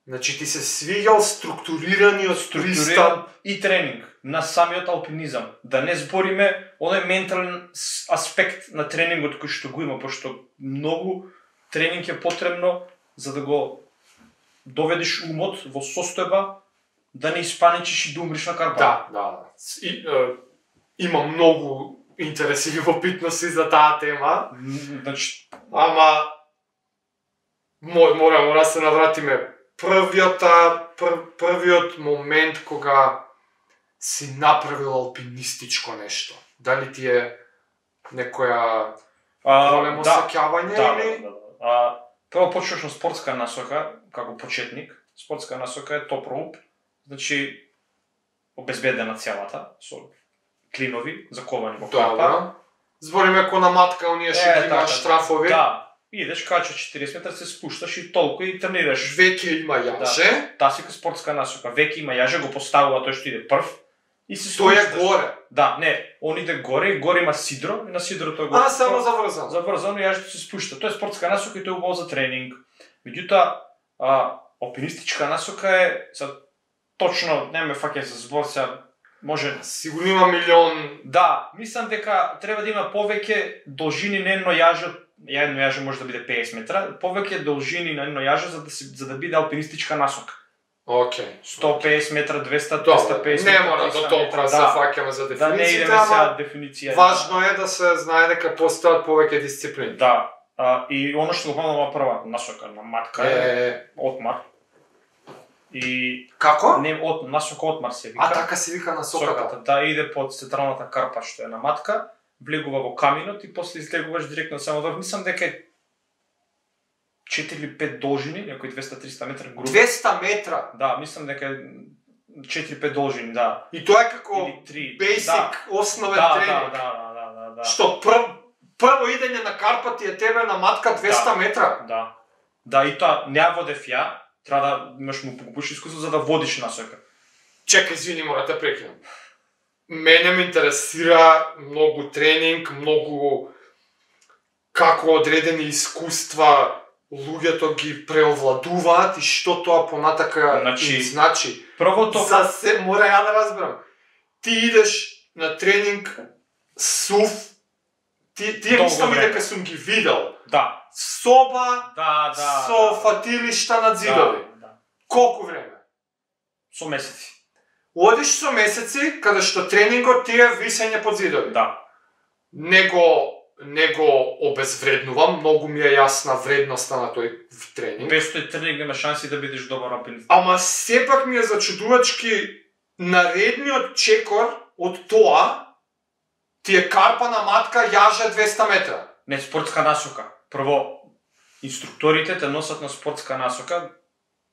Значи ти се свиѓал структурираниот пристап и тренинг на самиот алпинизам. Да не збориме оној ментален аспект на тренингот кој што го има, пошто многу тренинг е потребно за да го доведеш умот во состојба да не испаничиш и да умриш на карпа. Да. Има многу интереси и любопитности за таа тема. Значи, ама мора се навратиме. Првиот момент кога си направил алпинистичко нешто. Дали ти е некоја големо саќавање или? Прво почнеш на спортска насока, како почетник. Спортска насока е топ роуп, значи обезбедена целата, со клинови, заковани во карпа. Збориме ко на матка, оние што има штрафови. Да. Идеш, качаш 40 метра, се спушташ и толку и тренираш. Веќе има јаже. Таа си спортска насока. Веќе има јаже, го поставува тој што иде прв. И се спушташ. Тој е горе. Да, не, он иде горе, и горе има сидро, и на сидрото е горе. Само заврзано. Заврзано, јажето се спушта. Тоа е спортска насока и тоа е убаво за тренинг. Меѓутоа, алпинистичка насока е, точно, не ме фаќа за збор сега, може... Сигурно има милион... Да, мислам дека треба да има повеќе должини на едно јаже, едно јаже може да биде 50 метра, повеќе должини на едно јаже за да биде алпинистичка насока. Океј. 150 метра, 200, 250 метра. Не мора до толкова се фаќаме за дефиницијата, да не идеме сега дефиниција. Важно е да се знае дека постојат повеќе дисциплини. Да, и оно што го помнам прва насока на матка е отмар. И како? Не, насока отмар се вика. Така се вика насоката. Да, иде под централната карпа што е на матка, влегува во каминот и после излегуваш директно само долу. Мислам дека е 4 или 5 должини, некои 200-300 метра грубо. 200 метра? Да, мислам дека е 4-5 должини, да. И тоа е како basic, основен тренинг. Да. Што прво идење на карпа ти е тебе на матка 200 метра? Да. Да, и тоа не водев ја, треба да имаш му погубиш искуство за да водиш насока. Чекај, извини, мора да прекинам. Мене ме интересира многу тренинг, многу како одредени искуства луѓето ги преовладуваат и што тоа понатака значи. Првото мора ја да разберам. Ти идеш на тренинг сув, тие мислам дека сум ги видел. Да. Соба со фатилишта на зидови. Колку време? Со месеци. Одиш со месеци, каде што тренингот ти е висење под зидови. Да. Не го обезвреднувам, многу ми е јасна вредноста на тој тренинг. Без тој тренинг нема шанси да бидеш добар алпинист. Ама сепак ми е зачудувачки наредниот чекор од тоа ти е карпа на матка јаже 200 метра. Не, спортска насока. Прво, инструкторите те носат на спортска насока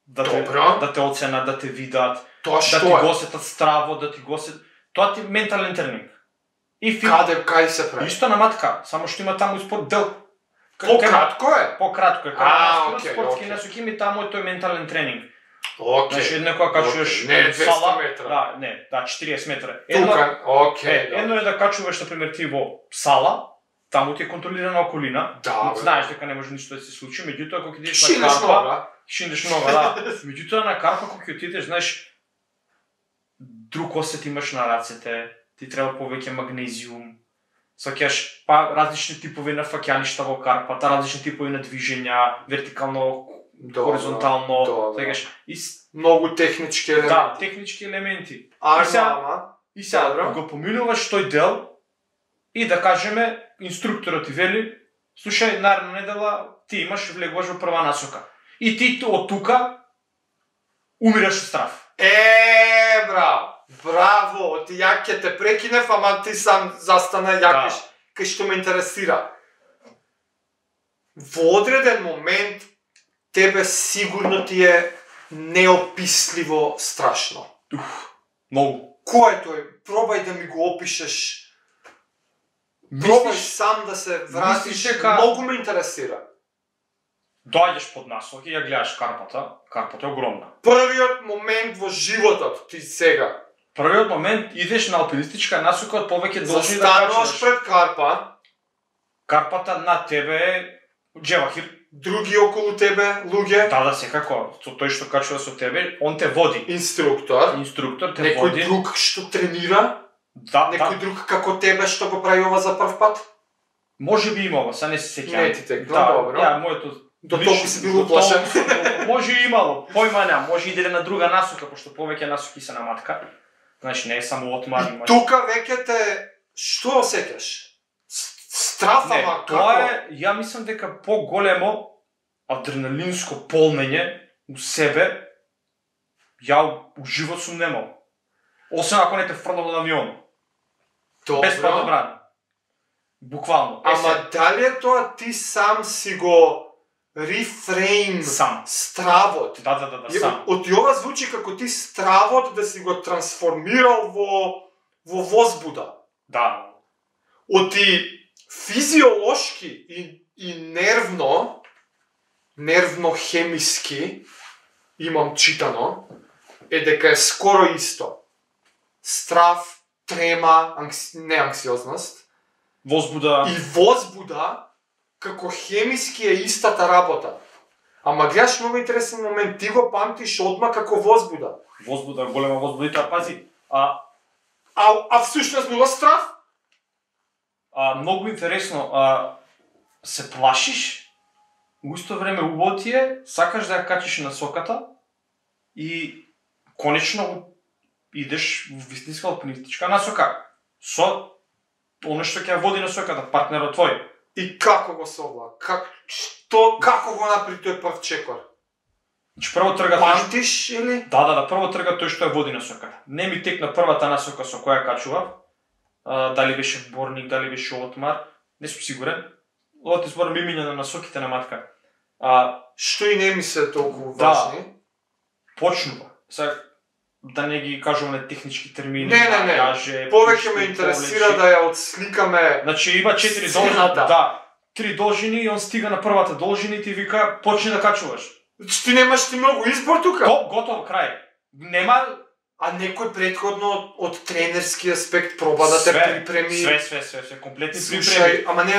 да те оценат, да те видат, да ти го осетат здраво, да ти го осетат... Тоа ти е ментален тренинг. Каде се прави? Исто на матка, само што има таму спорт дел. Пократко е? Пократко е. Каде спортски насоки ми таму е тој ментален тренинг. Значи, некоја качуваш сала... 200 метра. Да, 40 метра. Едно е да качуваш, например, ти во сала, таму ти е контролирана околина, знаеш дека не може ништо да се случи, меѓутоа кога идеш на карпа, шиндеш нога, да. Меѓутоа на карпа кога ќе отидеш, знаеш, друг осет имаш на рацете, ти треба повеќе магнезиум, сваќаш па различни типови на фаќалишта во карпата, различни типови на движења, вертикално, хоризонтално, сваќаш и многу технички елементи. да, технички елементи. И сега го поминуваш тој дел и да кажеме инструкторот ти вели, слушај, наредна недела ти имаш влегуваш во прва насока. И ти од тука умираш од страв. Браво, ти ја ќе те прекинев, ама ти сам застана ја кај што ме интересира. Во одреден момент тебе сигурно ти е неописливо страшно. Многу. Кој е тој? Пробај да ми го опишеш. Пробај сам да се вратиш, многу ме интересира. Доаѓаш под насоки, ја гледаш карпата е огромна. Првиот момент во животот ти сега. Првиот момент идеш на алпинистичка насока од повеќе должни да застануваш пред карпа. Карпата на тебе е джевахир. Други околу тебе, луѓе. Да, секако. Тој што качува со тебе, он те води. Инструктор те некој води. Некој друг што тренира. Некој друг како тебе што го прави ова за прв пат. Може би имало, са не се сеќавам. Не ти текно, добро. Моето до толку си бил уплашен. Може и имало, појма нема, може и иде на друга насока, пошто повеќе насоки се на матка. Значи не е само отмар. И тука веќе те што осеќаш? Страв, ама како? Тоа е, ја мислам дека поголемо адреналинско полнење у себе ја у живот сум немал. Освен ако не те фрлам од авион. Без падобран. Буквално. Ама дали е тоа ти сам си го рефрейм стравот? Да, сам. Од ова звучи како ти стравот да си го трансформирал во возбуда. Да. Од ти физиолошки и нервно-хемиски, имам читано, е дека е скоро исто. Страв, трема, не анксиозност, возбуда и возбуда како хемиски е истата работа. Ама гледаш многу интересен момент, ти го памтиш одма како возбуда. Возбуда, голема возбудител, пази. А всушност било страв? Многу интересно, се плашиш, у исто време убаво ти е, сакаш да ја качиш на соката и конечно идеш во вистинска алпинистичка насока со оно што ќе води насоката, партнерот твој. И како го собла? Како го направи тој прв чекор? Значи прво трга памтиш или? Да, прво трга тој што ја води насоката. Не ми текна првата насока со која качував. Дали беше борник, дали беше отмар, не сум сигурен. Ова ти зборам имиња на насоките на матка. Што и не ми се толку важни? Почнува. Сега да не ги кажуваме технички термини. Не. Повеќе ме интересира да ја отсликаме. Значи има 4 должини. Да. 3 должини и он стига на првата должина и ти вика почни да качуваш. Ти немаш ти многу избор тука. Готово крај. Нема. А некој предходно од тренерски аспект проба да те припреми. Све, комплетни припреми. Слушај, ама не,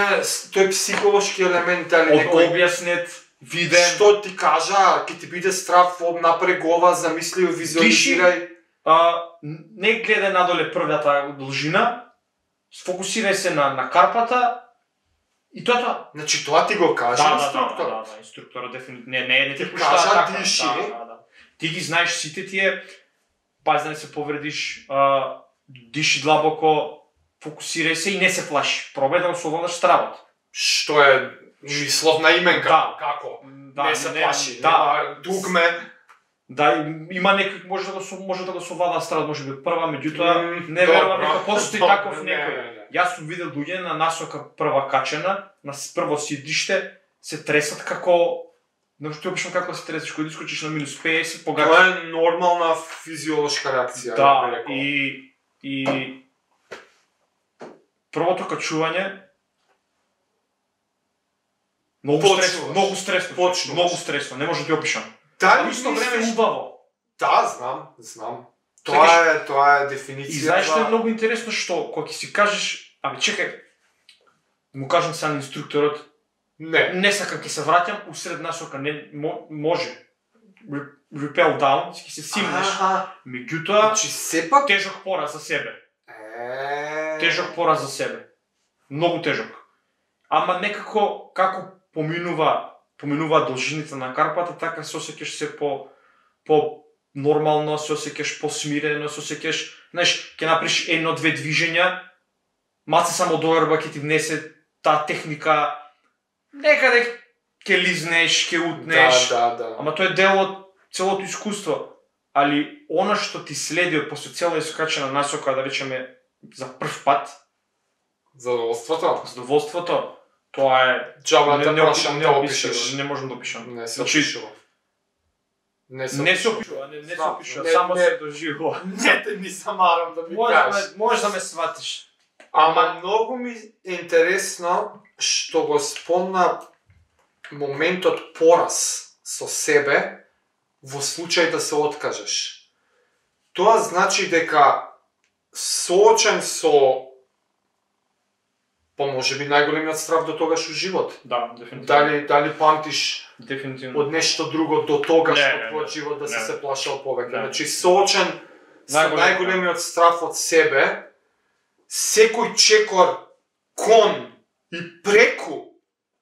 тој психолошки елемент, али некој објаснет, виден. Што ти кажа, ќе ти биде страв, направи гова, замисли, визуализирај. Не гледај надоле првата должина, сфокусирај се на карпата и тоа. Значи тоа ти го кажа инструкторот. Да, инструкторот дефинитивно не ти пушта така. Диши. Ти ги знаеш сите тие. Пази да не се повредиш, диши длабоко, фокусирај се и не се плаши. Пробај да го совладаш стравот. Што е мисловна именка? Да. Како? Да, не се плаши. Да. Дугме. Да, има некој може да го совлада стравот, може би прва, меѓутоа не верувам дека постои таков некој. Јас сум видел луѓе на насока прва качена, на прво сидиште, се тресат како ти обично како се тресеш, кога искочиш на минус 50, погача. Тоа е нормална физиолошка реакција. Да, и првото качување многу стресно, не можам да ти опишам. Да, исто време убаво. Да, знам. Тоа е дефиниција. И знаеш што е многу интересно, што кога ќе си кажеш, чекај, му кажам сега на инструкторот, не сакам, ќе се враќам усред насока, не може. repel down, ќе се симнеш. Меѓутоа, Значи сепак тежок пораз за себе. Тежок пораз за себе. Многу тежок. Ама некако како поминува должините на Карпата, така се осеќаш се по нормално, се осеќаш посмирено, се осеќаш, знаеш, ќе направиш едно-две движења, маце само доерба ќе ти внесе таа техника, некаде ќе лизнеш, ќе утнеш. Да. Ама тоа е дел од целото искуство. Али она што ти следи од после цела искачена насока, да речеме за прв пат, задоволството, тоа е Джаба да прашам да неопишливо, опишеш. не можам да опишам. Не се Значи, опишува. Не се опишува, не се опишува, Не, само не. се доживува. Не те ми замарам да ми кажеш. Може да ме сватиш. Ама многу ми е интересно што го спомна моментот пораз со себе во случај да се откажеш. Тоа значи дека соочен со можеби најголемиот страв до тогаш у живот. Да, дефинитивно. Дали памтиш Дефинитивно. од нешто друго до тогаш Не, во не, твојот живот да си не. се плашал повеќе. Не. Значи соочен со најголемиот страв од себе, секој чекор кон и преку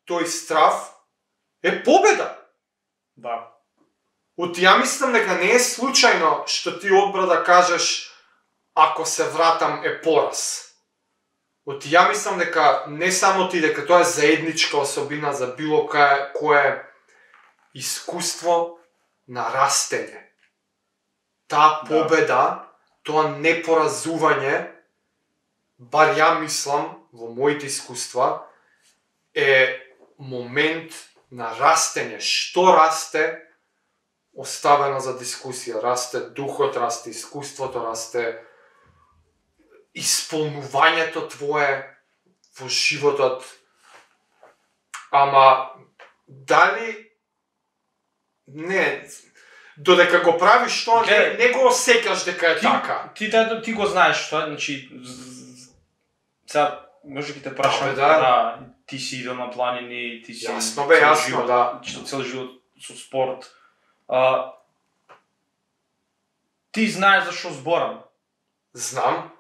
тој страв е победа. Да. Ја мислам дека не е случајно што ти одбра да кажеш ако се вратам е пораз. Ја мислам дека не само ти, дека тоа е заедничка особина за било кое искуство на растење. Таа победа, тоа непоразување, бар ја мислам, во моите искуства, е момент на растење. Што расте, оставено за дискусија. Расте духот, расте искуството, расте исполнувањето твое во животот. Ама дали не додека го правиш тоа, не го осеќаш дека е така. Ти го знаеш тоа, значи сега може ќе те прашам, да. Ти си идел на планини, ти си Јасно бе, јасно, да. Цел живот со спорт. Ти знаеш за што зборам. Знам.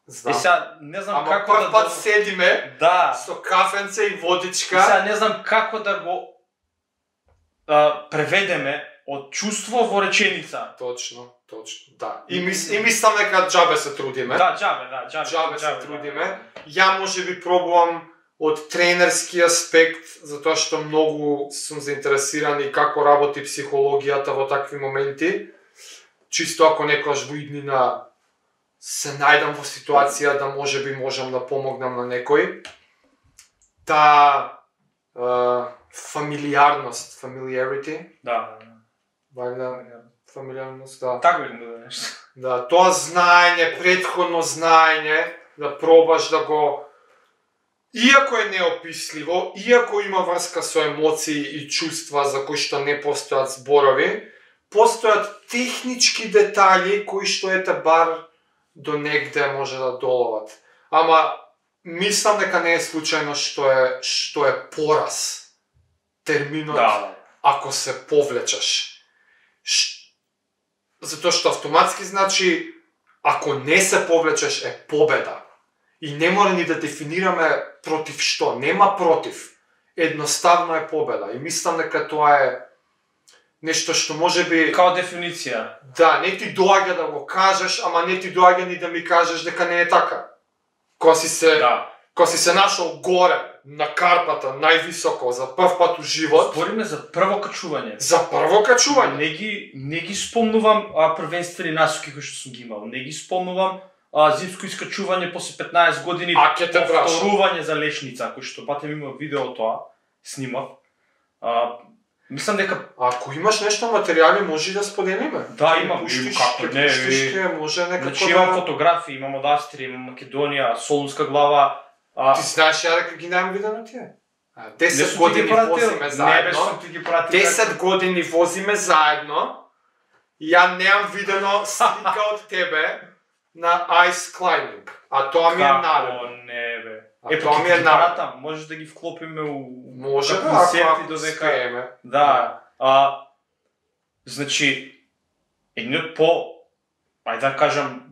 Сега не знам Ама како прв пат седиме со кафенце и водичка. Сега не знам како да го преведеме од чувство во реченица. Точно, да. И мислам дека џабе се трудиме. Да, џабе се трудиме. Ја можеби пробувам од тренерски аспект, затоа што многу сум заинтересиран и како работи психологијата во такви моменти. Чисто ако некојаш во иднина се најдам во ситуација да можеби можам да помогнам на некој. Фамилиарност, familiarity. Да. Фамилиарност, да. Така би да нешто. Да, тоа знаење, претходно знаење, да пробаш да го... Иако е неописливо, иако има врска со емоции и чувства за кои што не постојат зборови, постојат технички детали кои што ете бар до негде може да доловат. Ама мислам дека не е случајно што е пораз терминот ако се повлечаш. Затоа што автоматски значи ако не се повлечеш е победа. И не мора ни да дефинираме против што, нема против. Едноставно е победа. И мислам дека тоа е нешто што можеби... Као дефиниција. Да, не ти доаѓа да го кажеш, ама не ти доаѓа ни да ми кажеш дека не е така. Кога си се нашол горе, на Карпата, највисоко, за прв пат у живот... Збориме за прво качување. За прво качување. Не ги спомнувам првенствени насоки кои што сум ги имал. Не ги спомнувам зимско искачување после 15 години, повторување за лешница, кој што патем има видео тоа, снимав. Мислам дека... Ако имаш нешто материјали, може да споделиме. Да, имам. Како не, може некако значи, имам фотографии, имам од Австрија, имам Македонија, Солунска глава. Ти знаеш ја дека ги немам видено тие? 10 години возиме заедно. 10 години возиме заедно. Ја немам видено слика од тебе на ice climbing. А тоа ми е наредно. Како не бе. Тоа ми е наредно. Може да ги вклопиме у концерти додека. успееме. Да. Значи, едниот ајде да кажам,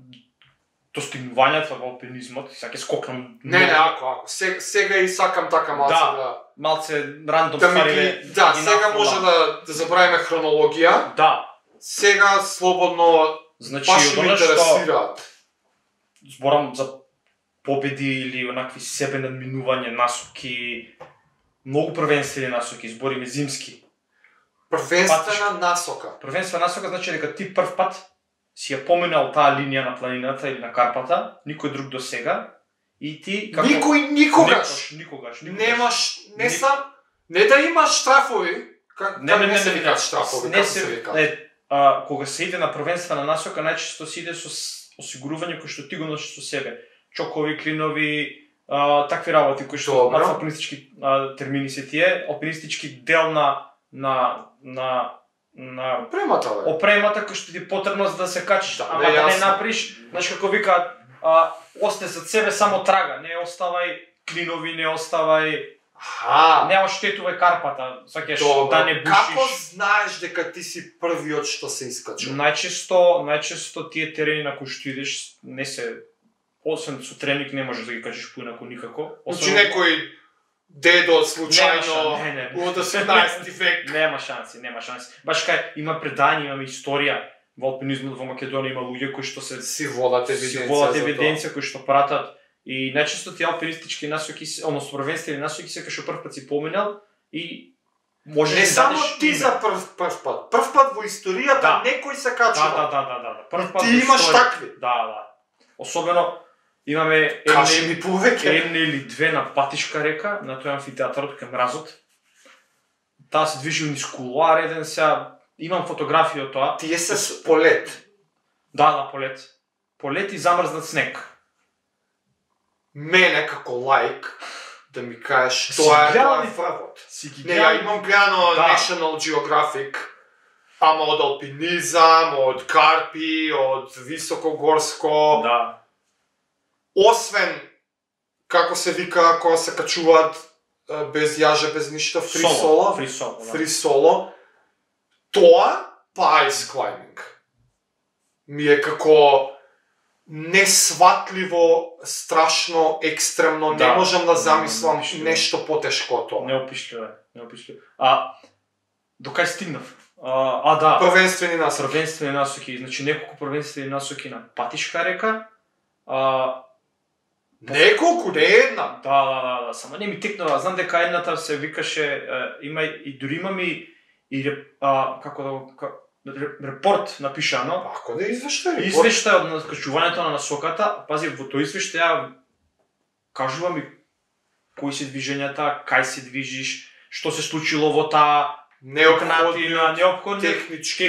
достигнувањата во алпинизмот, сега ќе скокнам... Не, ако. Сега и сакам така малце рандом ствари. Да, сега може да забравиме хронологија. Да. Сега слободно, значи, баш ме интересираат. Зборам за победи или онакви себе надминување, насоки, многу првенствени насоки, збориме зимски. Првенствена насока. Првенствена насока значи дека ти прв пат си ја поминал таа линија на планината или на Карпата, никој друг до сега, и ти како... Никогаш. Немаш, не да имаш штрафови, не се викаат штрафови, како се викаат. Кога се иде на првенствена насока, најчесто се иде со осигурување кој што ти го носиш со себе. Чокови, клинови, такви работи кои што на алпинистички термини се тие, алпинистички дел на опремата кој што ти потребно за да се качиш, ама да не направиш, знаеш како викаат, осте зад себе само трага, не оставај клинови, не оставај не оштетувај Карпата, сакаш да не бушиш. Како знаеш дека ти си првиот што се искачува? Најчесто тие терени на кои што идеш не се, освен со треник не можеш да ги кажеш поинаку никако. Значи некој дедо случајно од 18 век. Нема шанси. Баш кај има предање, имаме историја во алпинизмот во Македонија, има луѓе кои што си водат евиденција, кои што пратат. И најчесто тие алпинистички насоки, односно првенствени насоки се кај прв пат си поминал и можеш да не само ти за прв пат. Прв пат во историјата некој се качува. Да. Прв пат ти имаш такви. Да. Особено имаме една или две на Патишка река, на тој амфитеатарот кај мразот. Таа се движи низ кулоар еден, сега имам фотографија од тоа. Тие се полет. Да, полет. Полет и замрзнат снег. Мене како лаик да ми кажеш тоа е фрвот. Не, ја имам гледано National Geographic, ама од алпинизам, од карпи, од високогорско. Да. Освен како се вика кога се качуваат без јаже, без ништо, free solo. Тоа ice climbing. Ми е како несватливо, страшно, екстремно, не можам да замислам нешто потешко од тоа. Неопишливо. До кај стигнав? Да. Првенствени насоки. Значи неколку првенствени насоки на Патишка река. Неколку, не една. Да, само не ми текнува. Знам дека едната се викаше, има и дури имам и репорт напишано. Како да извештај? Извештај од качувањето на насоката. Пази, во тој извештај кажува ми кои се движењата, кај се движиш, што се случило во таа неопходни технички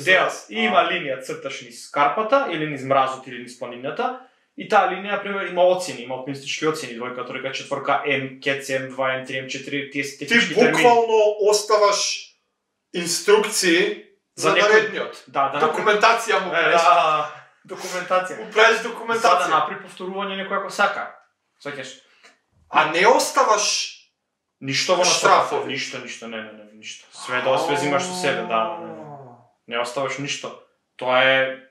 дел. Има линија црташ низ Карпата или низ мразот или низ планината. И таа линија, например, има оцени, има алпинистички оцени, двојка, тројка, четворка, М, КЦ, М2, М3, М4, тие се технички термини. Ти буквално оставаш инструкции за наредниот. Документација му правиш. Документација. Му правиш документација. За да напри повторување некој ако сака. Сакаш. А не оставаш ништо во штрафови. Ништо, ништо. Све да све со себе, да. Не оставаш ништо. Тоа е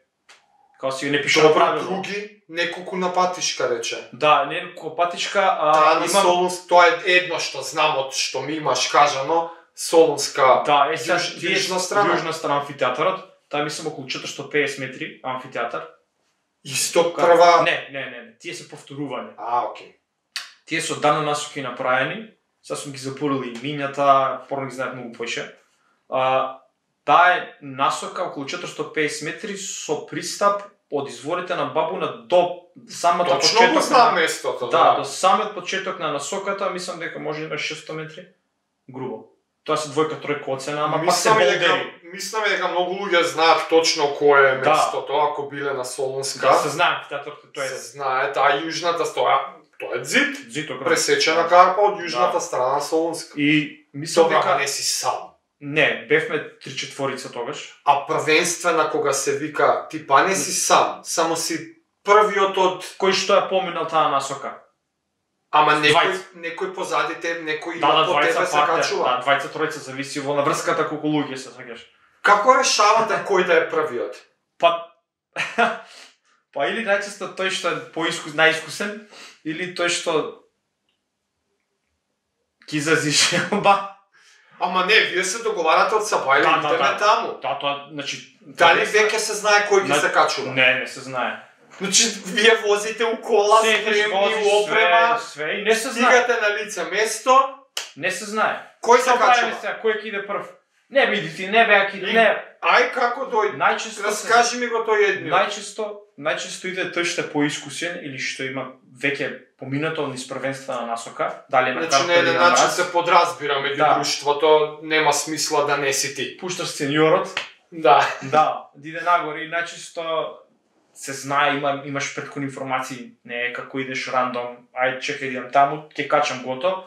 како си не пишува правилно. Други, неколку на Патишка рече. Да, неколку Патишка, на Солунска, тоа е едно што знам од што ми имаш кажано, Солунска. Да, јужна страна амфитеатарот, таа мислам околу 450 метри амфитеатар. Исто прва. Не, тие се повторување. Окей. Тие се оддавна насоки направени, сега сум ги запорил и имињата, порано ги знаат многу поише. Таа е насока околу 450 метри со пристап од изворите на Бабуна до самата почеток. Точно го знам местото, да. До самиот почеток на насоката, мислам дека може да има 600 метри. Грубо. Тоа се двојка, тројка оцена, ама пак се болдери. Мислам дека многу луѓе знаат точно кое е местото, ако биле на Солунска. Да, се знае, амфитеатарот тоа е. Се знае, таа јужната тоа е ѕид. Ѕид, пресечена карпа од јужната страна на Солунска. И мислам дека не си сам. Не, бевме 3/4 тогаш. А првенствена кога се вика, ти па не си сам, само си првиот од кој што ја поминал таа насока. Ама некој позади тебе, некој има по тебе се качува. Да, 20-тројца зависи во наврската колку луѓе се сакаш. Како решавате кој да е првиот? Па или најчесто тој што е најискусен, или тој што ќе изрази желба. Ама не, вие се договарате од саба или идеме таму. Да, тоа, значи... Дали веќе се знае кој ги се качува? Не се знае. Значи, вие возите у кола, спремни, опрема, све, и не се знае. стигате на лице место, Не се знае. кој се качува? Кој ќе иде прв? Не биди ти, не бе, ќе иде, не. Ај како дојде? Најчесто Раскажи ми го тој едниот. Најчесто иде тој што е поискусен или што има веќе поминато низ првенствена насока, дали на Значи, карта на или еден на начин мраз. се подразбира меѓу Да. друштвото, нема смисла да не си ти. Пушташ сениорот, Да. да, иде нагоре и најчесто се знае, имаш предходни информации, не е како идеш рандом, ај чекај идам таму, ќе качам гото.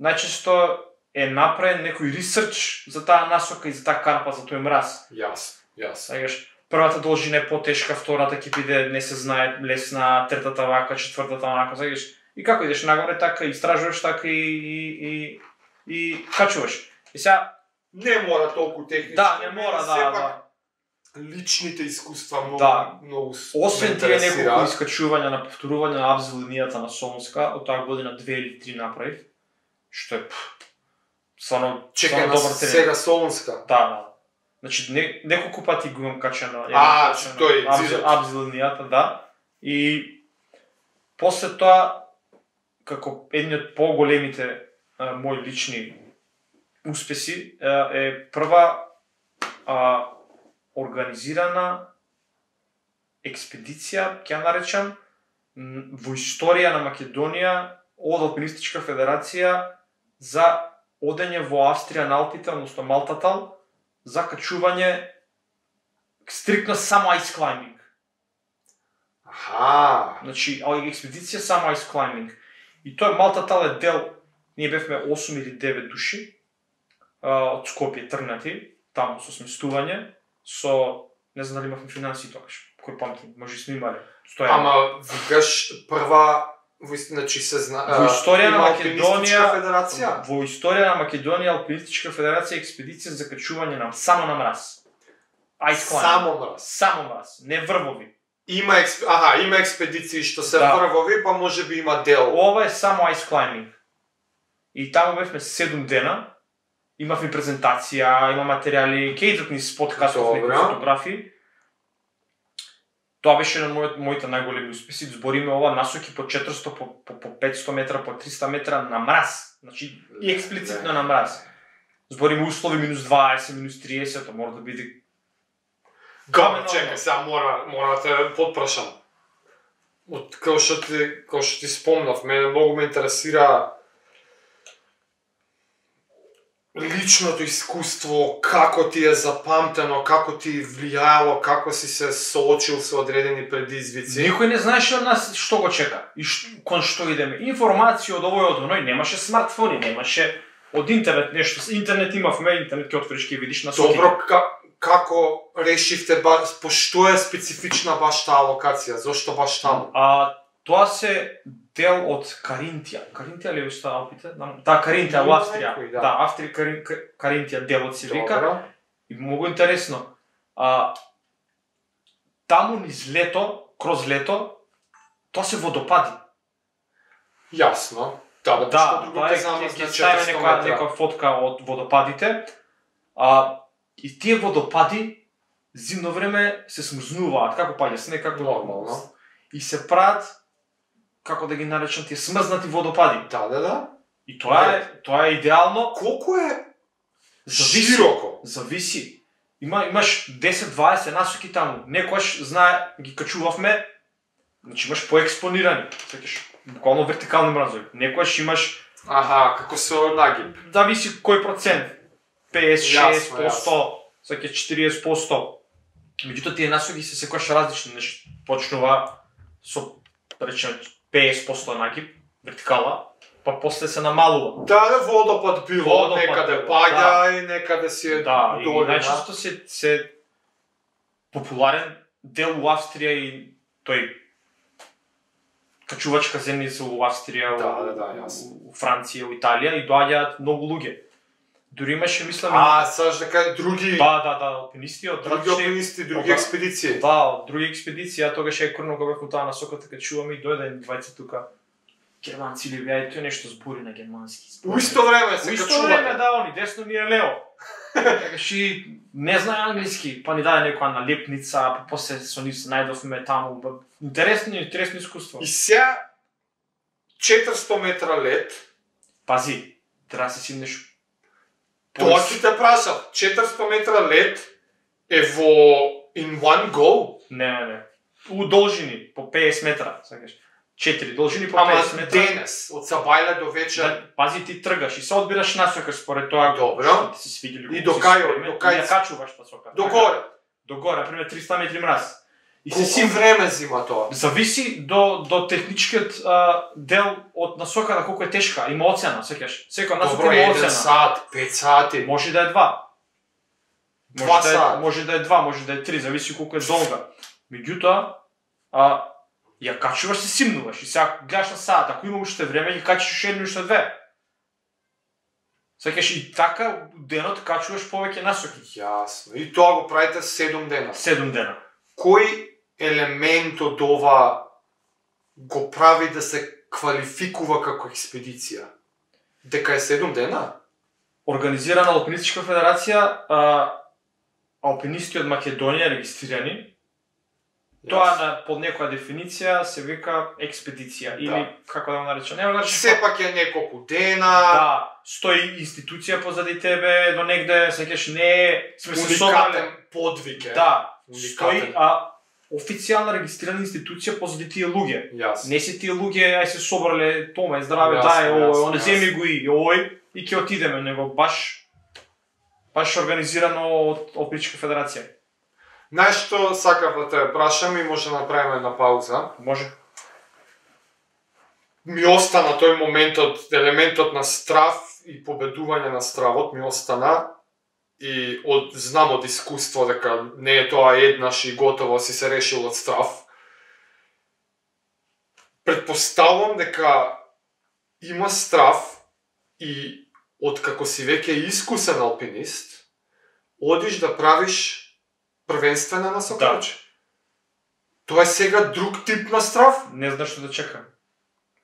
Најчесто е направен некој ресерч за таа насока и за таа карпа, за тој мраз. Јасно. Сагаш, првата должина е потешка, втората ќе биде не се знае лесна, третата вака, четвртата вака, сагаш. И како идеш нагоре така, истражуваш така и качуваш. И сега Не мора толку технички. да, не мора, да. Личните искуства многу Освен тие неколку искачувања на повторување на абз линијата на Солунска, од таа година 2 или 3 направив, што е стварно Чекај на добар терен. сега Солунска. Да. Значи неколку пати го имам качено. тој зидот. абз линијата, да. И после тоа како едни од поголемите мои лични успеси е прва организирана експедиција, ќе ја наречам, во историја на Македонија од Алпинистичка федерација за одење во Австрија на Алпите, односно Малтатал, за качување стриктно само ice climbing. Аха. Значи, експедиција само ice climbing. И тој Малтатал е дел, ние бевме 8 или 9 души од Скопје тргнати, таму со сместување, со, не знам дали имавме финансии тогаш, кој памтим, може и сме имале. Ама викаш прва значи се во историја на Македонија федерација. Во историја на Македонија Алпинистичка федерација експедиција за качување само на мраз. Ice climbing. Само мраз, не врвови. Има експедиции што се Да. врвови, па може би има дел. Ова е само ice climbing. И таму бевме 7 дена. Имавме презентација, има материјали, ќе идат низ подкастов, некои фотографии. Тоа беше на моите најголеми успеси. Збориме ова насоки по 400, по 500 метра, по 300 метра на мраз. Значи и експлицитно на мраз. Збориме услови минус 20, минус 30, тоа мора да биде Гамо, чекај, сега мора да те потпрашам. Од како што ти спомнав, мене многу ме интересира личното искуство, како ти е запамтено, како ти влијаело, како си се соочил со одредени предизвици. Никој не знаеше од нас што го чека и кон што идеме. Информација од овој од оној, немаше смартфони, немаше од интернет нешто. Интернет имавме, интернет ќе отвориш ќе видиш насоките. Добро, како решивте, што е специфична баш таа локација, зошто баш таму? Тоа се дел од Каринтија. Каринтија ли е Алпите? Да, Каринтија во Австрија. Да, Австрија Каринтија делот се вика. И многу интересно. Таму низ лето, кроз лето, тоа се водопади. Јасно. Да, тоа ќе ставиме некоја фотка од водопадите. И тие водопади зимно време се смрзнуваат, како паѓа снег, како нормално. И се прават, како да ги наречам, тие смрзнати водопади. Да. И тоа е идеално. Колку е широко? Зависи. Имаш 10-20 насоки таму. Некојаш знае, ги качувавме, значи имаш поекспонирани, сеќаш, буквално вертикални мразови. Некојаш имаш како се нагиб. Зависи кој процент. 56%, сеќаш 40%. Меѓутоа тие насоки се секојаш различни, значи почнува со речеме 50% нагиб, вертикала, па после се намалува. Да, водопад било, некаде паѓа и некаде си е долина. Да, и најчесто се популарен дел у Австрија и тој качувачка земјица у Австрија, у Франција, у Италија и доаѓаат многу луѓе. Дури имаше, мислам, саш дека други алпинисти од други алпинисти, други експедиции. Да, од други експедиции, а тогаш е курно кога бев таа насока, така чуваме и дојде двајца тука. Германци или вие, тој нешто збори на германски. У исто време се качувате. У качувате. исто време, да, они десно ми е лево. Кажи, не знае англиски, па ни даде некоја налепница, па после со нив се најдовме таму. Интересно искуство. И сега 400 метра лед. Пази, треба да се симнеш. Тоа ќе те прашав, 400 метра лед е во in one go? Не. У должини, по 50 метра, сакаш. 4 должини по 50 метра. Ама денес, од сабајле до вечер. Да, пази, ти тргаш и се одбираш насока според тоа Добро. ти се свиѓа или и до кај, ја качуваш насока. До горе, например 300 метри мраз. И се време зима тоа? Зависи до техничкиот дел од насоката колку е тешка, има оцена, сеќаш. Секоја насока има оцена. 1 сат, 5 сати. Може да е 2. 2 сати. Може да е 2, може да е 3, зависи колку е долга. Меѓутоа, ја качуваш, се симнуваш и сега гледаш на саат, ако има уште време, ќе качиш уште едно, уште две. Сакаш и така денот качуваш повеќе насоки. Јасно. И тоа го правите 7 дена. 7 дена. Кој елемент од ова го прави да се квалификува како експедиција? Дека е 7 дена? Организирана Алпинистичка федерација, алпинисти од Македонија регистрирани. Тоа под некоја дефиниција се вика експедиција или како да го наречам, нема да сепак е неколку дена. Да, стои институција позади тебе, до негде сеќаш не е уникатен подвиг е. Да, стои официјална регистрирана институција позади тие луѓе. Не се тие луѓе ај се собрале тома здраве дај ој, он земи го и ој и ќе отидеме, него баш организирано од Алпинистичка федерација. Знаеш што сакав да те прашам и може да направиме една пауза? Може. Ми остана тој моментот, елементот на страв и победување на стравот ми остана и знам од искуство дека не е тоа еднаш и готово си се решил од страв. Предпоставувам дека има страв и откако си веќе искусен алпинист, одиш да правиш првенствена насокача. Тоа е сега друг тип на страв. Не знаеш што да чекам.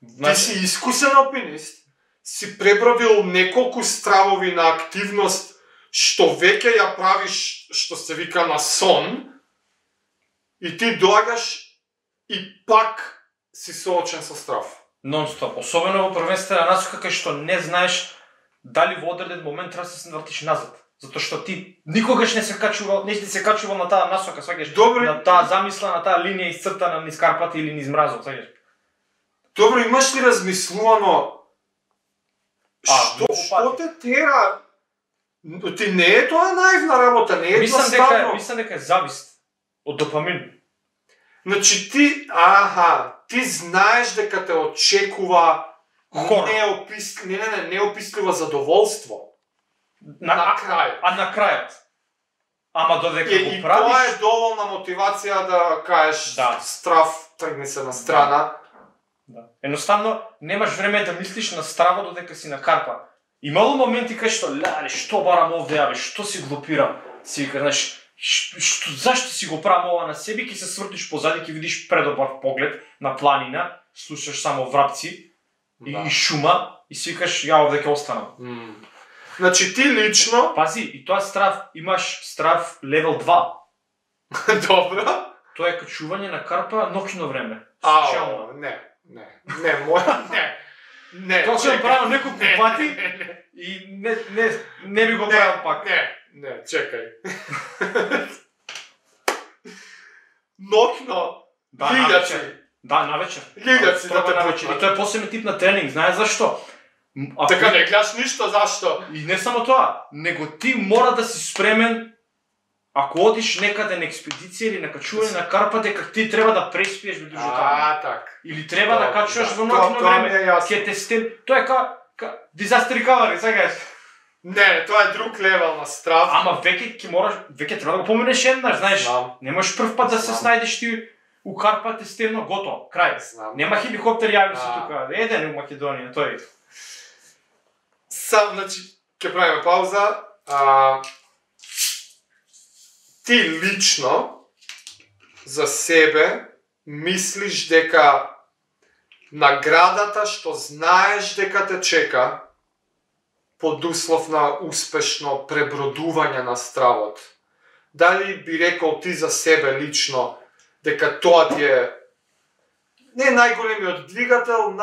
Ти си искусен алпинист, си пребродил неколку стравови на активност што веќе ја правиш, што се вика на сон, и ти доаѓаш и пак си соочен со страв. Нон-стоп, особено во првенствена насока кај што не знаеш дали во одреден момент треба да се вртиш назад. Затоа што ти никогаш не се качувал на таа насока, сваќаш, на таа замисла, на таа линија исцртана низ Карпати или низ мразот, сваќаш. Добро, имаш ли размислувано што те тера? Ти не е тоа наивна работа, не е едноставно. Мислам дека е завист од допамин. Значи ти знаеш дека те очекува неописливо задоволство. На крајот. На крајот. Ама додека го правиш... И тоа е доволна мотивација да кажеш страв, тргни се на страна. Да. Едноставно, немаш време да мислиш на страва додека си на Карпа. Имало моменти кај што барам овде, што си глупирам. Си вика, знаеш, зашто си го правам ова на себе, ќе се свртиш позади, ќе видиш предобар поглед на планина, слушаш само врапци и шума и си викаш, ја овде ќе останам. Значи ти лично... Пази, и тоа страв, имаш страв левел 2. Добро. Тоа е качување на Карпа ноќно време. Не. Тоа ќе правам неколку пати и не би го правил пак. Не, чекај. Ноќно. Лиѓаци. Да, навечер. Лиѓаци да те почнат. И тоа е посебен тип на тренинг, знаеш зашто? Така не гледаш ништо, зашто? И не само тоа, него ти мора да си спремен, ако одиш некаде на експедиција или на качување на Карпа, дека ти треба да преспиеш во дужо таму. Так. Или треба да качуваш во ноќно време. Ќе те стен... Тоа е disaster recovery, сакаш? Не, тоа е друг левел на страв. Ама веќе треба да го поминеш еднаш, знаеш. Не можеш прв пат да се снајдеш ти у Карпа, те стено, готово, крај. Нема хеликоптер јави се тука, еден у Македонија, тој. Значи, Ќе правиме пауза. Ти лично за себе мислиш дека наградата што знаеш дека те чека под услов на успешно пребродување на стравот, дали би рекол ти за себе лично дека тоа ти е не најголемиот двигател,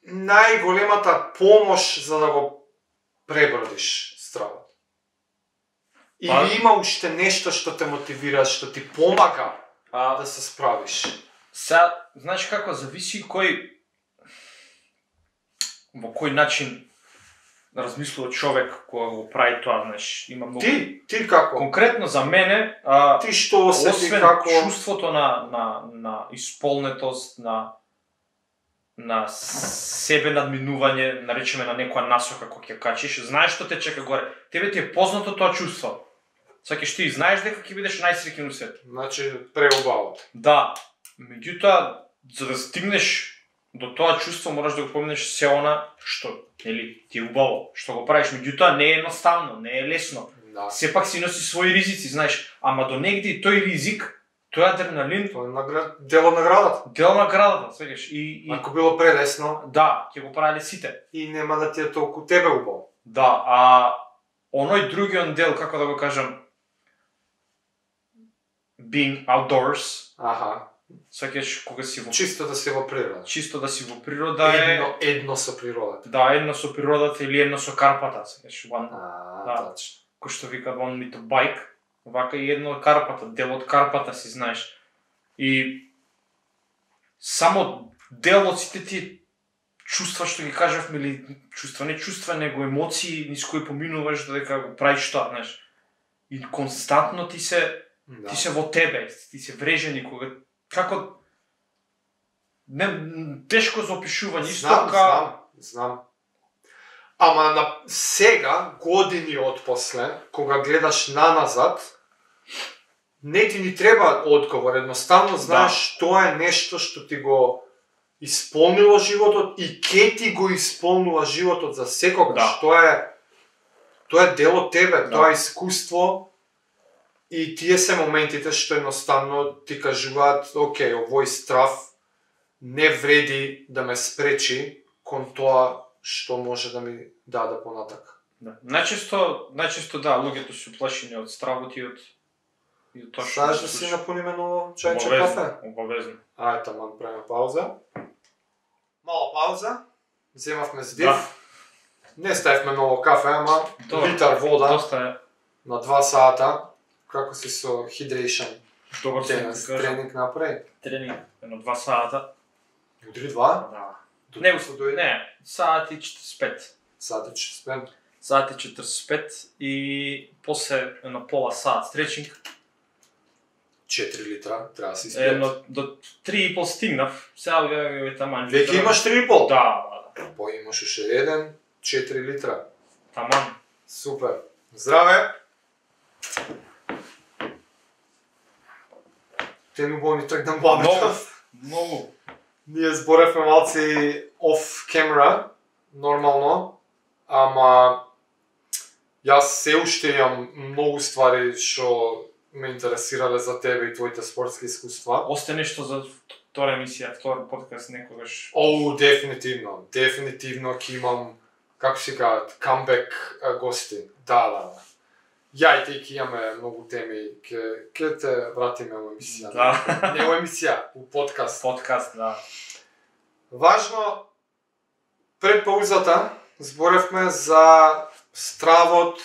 најголемата помош за да го пребродиш стравот? Или има уште нешто што те мотивира, што ти помага да се справиш? Сега, знаеш како, зависи во кој начин размислува човек кога го прави тоа, знаеш, има многу. Ти како? Конкретно за мене, ти што осети освен како чувството на исполнетост, на себе надминување, наречеме на некоја насока која ќе качиш, знаеш што те чека горе. Тебе ти е познато тоа чувство. Сакаш ти знаеш дека ќе бидеш најсреќен во светот. Значи преубаво. Да. Меѓутоа, за да стигнеш до тоа чувство, мораш да го помнеш се она што, нели, ти е убаво, што го правиш. Меѓутоа не е едноставно, не е лесно. Да. Сепак си носи своји ризици, знаеш, ама до негде тој ризик, тој адреналин, Тоа е дел од наградата. дел на наградата, свегаш. И Ако било прелесно да, ќе го правеле сите. и нема да ти е толку тебе убаво. Да, а оној другиот дел, како да го кажам, being outdoors, Аха. свегаш кога си во Чисто да си во природа. чисто да си во природа е Едно со природата. да, едно со природата или едно со карпата, свегаш, да. Точно. Кој што викаат one with a bike, вака и едно од карпата, дел од карпата си знаеш. И само дел од сите тие чувства што ги кажавме, или не чувства, него емоции низ кои поминуваш додека го правиш тоа, знаеш. И константно ти се во тебе, ти се врежени кога како тешко за опишување, исто Знам. Ама на сега, години отпосле, кога гледаш наназад, не ти ни треба одговор, едноставно знаеш тоа е нешто што ти го исполнило животот и ке ти го исполнува животот за секогаш. Тоа е дел од тебе, тоа е искуство и тие се моментите што едноставно ти кажуваат, окей, овој страв не вреди да ме спречи кон тоа што може да ми даде понатак. Да. Најчесто да, луѓето се уплашени од стравот и од тоа што Сакаш да си напуниме ново чајче кафе? Обавезно. Ајде, таман правиме пауза. Мала пауза. Земавме здив. Да. Не ставивме ново кафе, ама литар вода Доста е на 2 сата. Како си со hydration? добар Денес тренинг направи. тренинг, едно 2 сата. Утре 2? Да. Не го се дојде. Не, сати 45. Сати 45. Сати 45 и после едно пола сат стречинг. 4 литра, треба да си испијат. Едно до 3,5 стигнав. Сега е таман. Веќе имаш 3,5? Да. По имаш уште еден, 4 литра. Таман. Супер. Здраве! Те ми болни тргнам бабата. Многу. Ние зборевме малци off camera, нормално, ама јас се уште имам многу ствари што ме интересирале за тебе и твоите спортски искуства. Осте нешто за втора емисија, втор подкаст некогаш. Дефинитивно. Дефинитивно ќе имам, како се кажат, камбек гости. Да. Ја и ти ќе имаме многу теми, ќе те вратиме во емисија. Да. Не во емисија, у подкаст. Подкаст, да. Важно, пред паузата зборевме за стравот,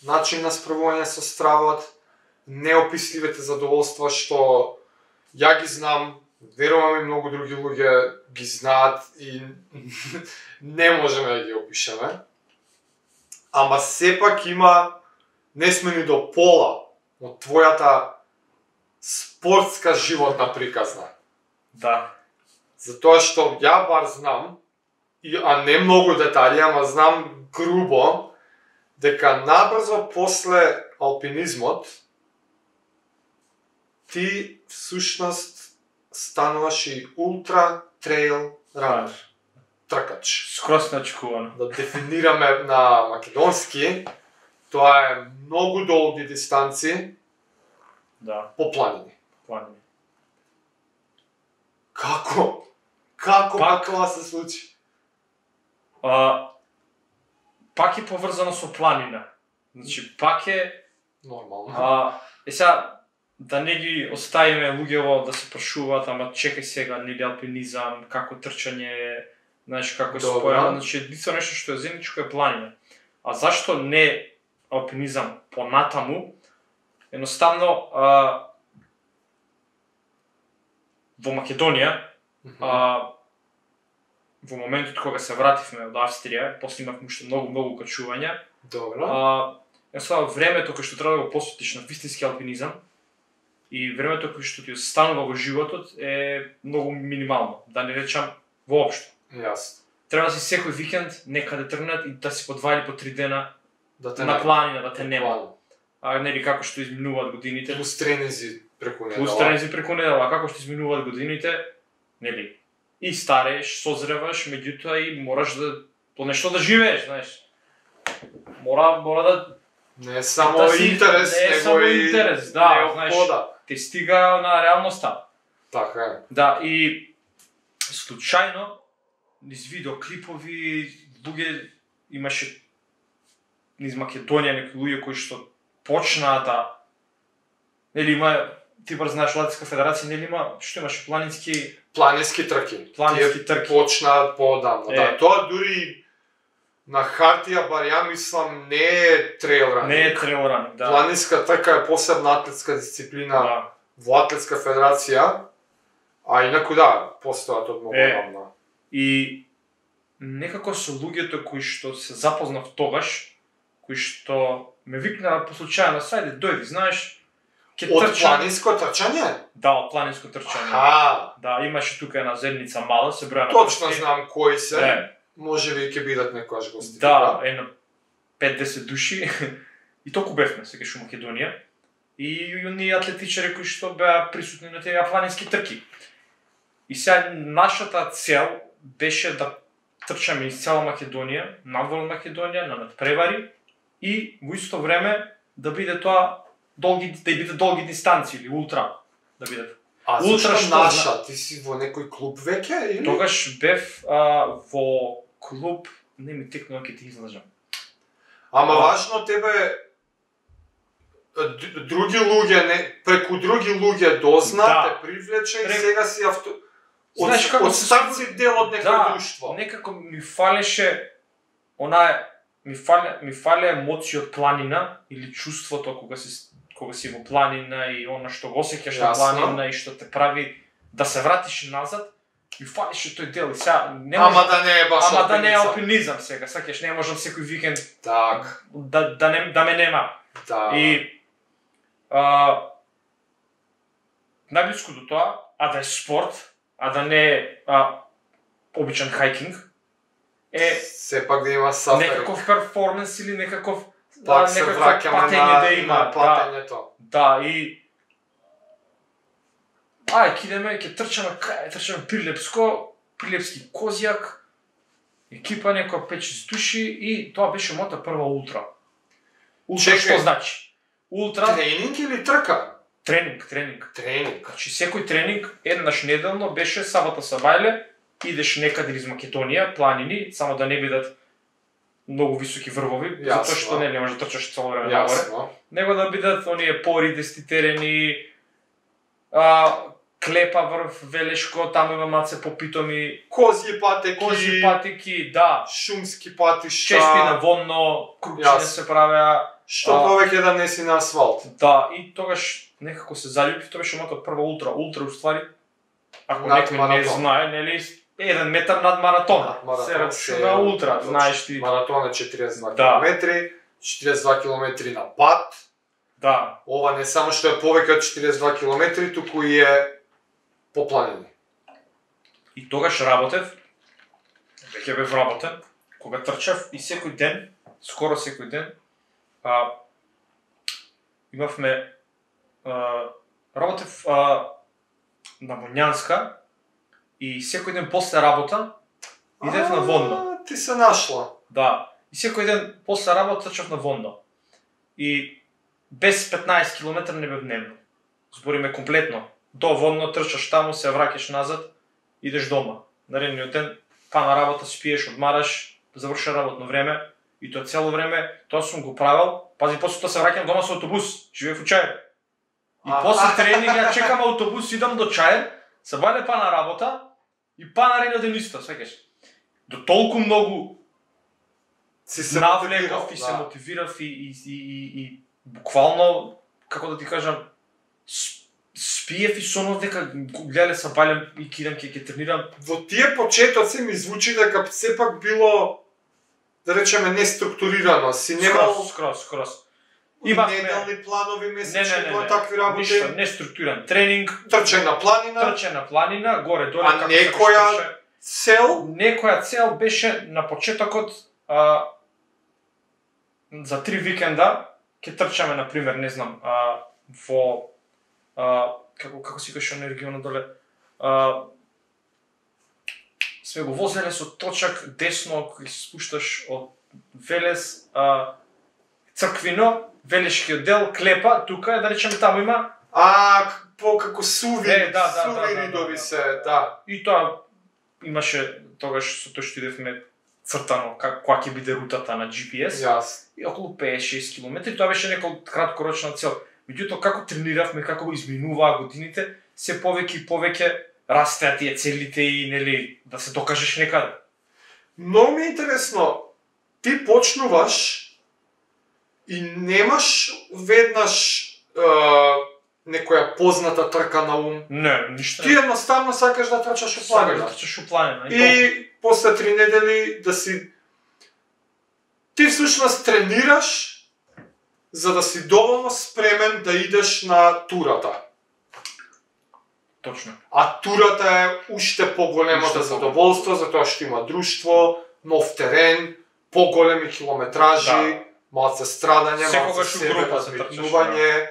начин на справување со стравот, неописливите задоволства што ја ги знам, верувам и многу други луѓе ги знаат и не можеме да ги опишеме. Ама сепак има, не сме ни до пола од твојата спортска животна приказна. Да. Затоа што ја бар знам, а не многу детали, ама знам грубо, дека набрзо после алпинизмот ти всушност стануваш и ултра трейл ранер. тркач. Скрос начекувано. Да дефинираме на македонски, тоа е многу долги дистанци Да, по планини. планини. Како? Како Пак- тоа се случи? Пак е поврзано со планина. Значи, пак е... Нормално. Сега, да не ги оставиме луѓево да се прашуваат, ама чекај сега, нели алпинизам, како трчање, знаеш како е Добро. спојано, значи единствено нешто што е заедничко е планина. А зашто не алпинизам понатаму? Едноставно, во Македонија, во моментот кога се вративме од Австрија, после имавме уште многу качувања, Добро. едноставно времето кој што треба да го посветиш на вистински алпинизам и времето кој што ти останува во животот е многу минимално, да не речам воопшто. Јасно. Треба да си секој викенд некаде тргнат и да си по 2 или по 3 дена Да те на нема. планина, да те нема. Буквално. Нели како што изминуваат годините, Плюс тренинзи преку недела. плюс тренинзи преку недела, како што изминуваат годините, нели, и старееш, созреваш, меѓутоа и мораш да по нешто да живееш, знаеш. Мора да Не е само да си- интерес, не е него само и интерес, да, знаеш. неопхода. те стига на реалноста. Така е. Да, и случајно низ видеоклипови луѓе имаше низ Македонија некои луѓе кои што почнаа да нели има ти бар знаеш Латинска федерација нели има што имаше планински Планински трки. Планински Тие трки. почнаат поодамна. Е. Да, тоа дури на хартија бар ја мислам не е трейл ранинг. не е трейл ранинг, да. Планинска трка е посебна атлетска дисциплина Да. во Атлетска федерација, а инаку да, постојат од многу Е. одамна. И некако со луѓето кои што се запознав тогаш, кои што ме викнаа по случај на сајде, дојди, знаеш, ќе Од трчам. планинско трчање? Да, од планинско трчање. Аха, Да, имаше тука една зедница мала, се броја на точно прсти. знам кои се. Е, Може би ќе бидат некојаш гости. да, на 5-10 души. И толку бевме, сегаш у Македонија. И оние атлетичари кои што беа присутни на тие планински трки. И сега нашата цел беше да трчаме из цела Македонија, надвор Македонија, на надпревари и во исто време да биде тоа долги, да биде долги дистанции или ултра да бидат. А Ултра зашто што наша? Ти си во некој клуб веќе или? Тогаш бев во клуб, не ми текнува ќе ти излажам. Ама важно тебе други луѓе преку други луѓе дозна, Да. те привлече и Прек- сега си Знаеш како од се старт си дел од некој Да, друштво. некако ми фалеше ми фале емоција од планина или чувството кога си во планина и она што го осеќаш на Јасно. планина и што те прави да се вратиш назад. Ми фалеше тој дел и сега не можам, Ама да не е баш ама да не е алпинизам. алпинизам сега, сакаш не можам секој викенд Так, да ме нема. да. И најблиску до тоа, а да е спорт, а да не е обичен хайкинг, е Сепак да има сафари. некаков перформанс или некаков Пак се некакво враќаме патење да има. на патењето. Да, и ќе идеме, ќе трчаме Прилепски Козјак, екипа некоја 5-6 души и тоа беше мојата прва ултра. Ултра Чекај. што значи? Ултра Тренинг или трка? тренинг. Тренинг. Значи секој тренинг еднаш неделно беше сабота сабајле, идеш некаде из Македонија, планини, само да не бидат многу високи врвови, Јасно. затоа што не можеш да трчаш цело време нагоре. Јасно. Него да бидат оние пори, десетитерени, клепа врв, Велешко, таму има маце попитоми, Козји патеки, козји патики, да, шумски патишта. чеспи на вонно, крупчине Јасно. се правеа, Што повеќе да не си на асфалт. да, и тогаш некако се заљубив, тоа беше мојата прва ултра. Ултра уствари, ако Над некој не маратон. знае, нели, 1 метар над маратон. Над маратон Се рачуна ултра, знаеш ти. Маратон е 42 Да. километри, 42 километри на пат. Да, Ова не само што е повеќе од 42 километри, туку и е по планини. и тогаш работев, веќе бев работен, кога трчав и секој ден, скоро секој ден, имавме, работев на Моњанска и секој ден после работа, Идев на Вондо. Ти се нашла. Да. И секој ден после работа трчав на Вондо. И без 15 км не бев дневно. Збориме комплетно. До Вондо трчаш таму, се враќаш назад, идеш дома. Наредниот ден, па на работа си пиеш, одмараш, заврши работно време, и тоа цело време, тоа сум го правил. Пази, после тоа се враќам дома со автобус, живеев у Чаир. И после тренинг ја чекам автобус, идам до Чаир, се бајде па на работа, и па наредниот ден исто, свекаш. До толку многу се навлеков и се мотивирав и буквално, како да ти кажам, спиев и сонов дека гледале се бајлем и кидам ќе тренирам. Во тие почетоци ми звучи дека сепак било, да речеме, неструктурирано. Си немал Скрос. неделни планови, месечни, такви работи. Ништо, неструктуриран тренинг. Трчање на планина. Горе доле како некоја цел? Некоја цел беше на почетокот за 3 викенда ќе трчаме, на пример, не знам, во како си кажеш на регионот доле, сме го возеле со точак десно, кој се спушташ од Велес, Црквино, Велешкиот дел, Клепа, тука, да речеме, таму има како суви ридови се, да. И тоа имаше тогаш со тоа што идевме цртано која ќе биде рутата на GPS. И околу 5-6 км, тоа беше некоја краткорочна цел. Меѓутоа, како трениравме, како изминуваа годините, се повеќе и повеќе растеа тие целите и, нели, да се докажеш некаде. Многу ми е интересно, ти почнуваш и немаш веднаш некоја позната трка на ум. Не, ништо. Ти едноставно сакаш да трчаш у планина. Сакаш да трчаш у планина. И после 3 недели да си... Ти всушност тренираш за да си доволно спремен да идеш на турата. Точно. А турата е уште поголемото задоволство, затоа што има друштво, нов терен, поголеми километражи, малце страдање, малце себе надминување.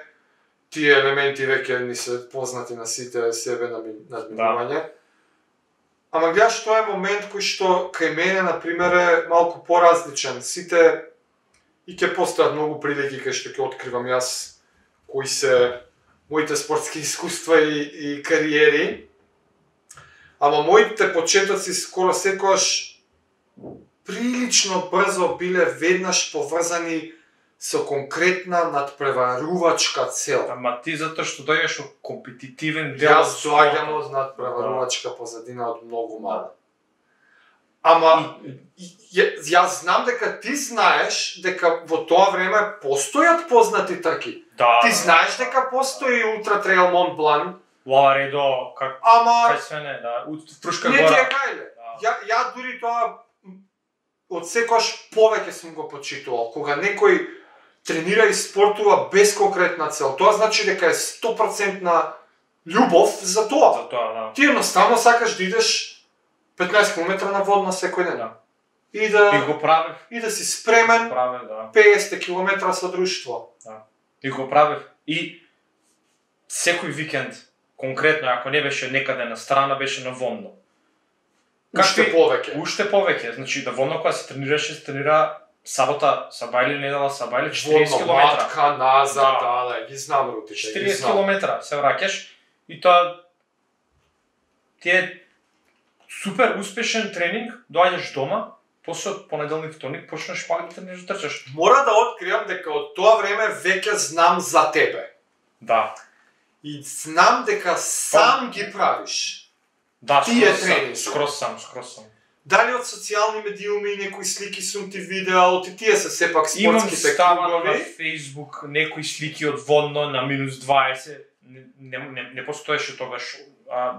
Тие елементи веќе ни се познати на сите, себе надминување. Ама гледаш, тоа е момент кој што кај мене, например, е малку поразличен. Сите и ќе постојат многу прилики кај што ќе откривам јас кои се моите спортски искуства и кариери. Ама моите почетоци скоро секогаш прилично брзо биле веднаш поврзани со конкретна надпреварувачка цел. Ама ти затоа што доаѓаш од компетитивен дел. Јас доаѓам од надпреварувачка позадина од многу мало. Ама јас знам дека ти знаеш дека во тоа време постојат познати трки. Ти знаеш дека постои Ултра Трейл Монт Блан. Лаваредо, кај све не, да, Фрушка гора. Не ти е гајле. Ја дури тоа од секојаш повеќе сум го почитувал. Кога некој тренира и спортува без конкретна цел, тоа значи дека е 100% љубов за тоа. За тоа, да. Ти едноставно сакаш да идеш 15 км на водна секој ден. Да. И да го правев. И да си спремен. Да. 50 км со друштво. Да. И го правев. И секој викенд, конкретно, ако не беше некаде на страна, беше на Вондо. Уште повеќе. Уште повеќе. Значи, да Вондо кога се тренираше, се тренира сабота, сабајле, недела, сабајле, 40 км. Матка, назад, да, ги знам рутите. 40 км се враќаш и тоа ти е супер успешен тренинг, доаѓаш дома, после од понеделник, вторник почнеш пак да тренираш да трчаш. Мора да откриам дека од тоа време веќе знам за тебе. Да. И знам дека сам ги правиш. Да, тие тренинги. Скрос сам. Дали од социјални медиуми некои слики сум ти видел, тие се сепак спортските клубови. Имам ставано на Facebook некои слики од Вондо на -20. Не постоеше тогаш.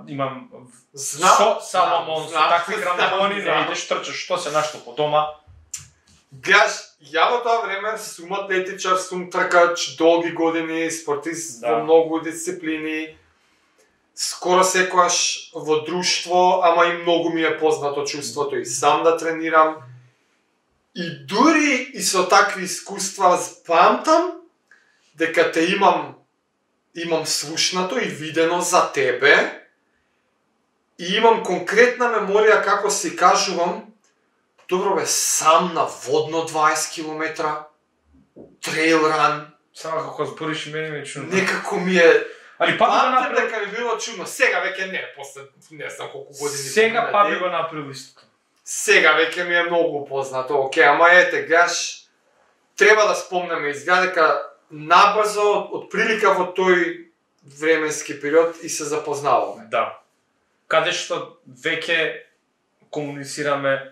Имам со Саломон, со такви грамони, не идеш трчаш, што се нашто по дома. Гледаш, ја во тоа време сум атлетичар, сум тркач, долги години, спортист во многу дисциплини. Скоро секојаш во друштво, ама и многу ми е познато чувството и сам да тренирам. И дури и со такви искуства памтам дека те имам слушнато и видено за тебе И имам конкретна меморија како си кажувам, добро бе, сам на водно 20 км, трейл ран. Само како збориш мене ми е чудно. Некако ми е... Али па би го Памтам направил. дека ми било чудно. Сега веќе не, после не знам колку години. Сега па би го направил истото. Сега веќе ми е многу познато. Океј, ама ете, гледаш, треба да спомнеме, изгледа дека набрзо, од прилика во тој временски период и се запознаваме. Да. Каде што веќе комуницираме.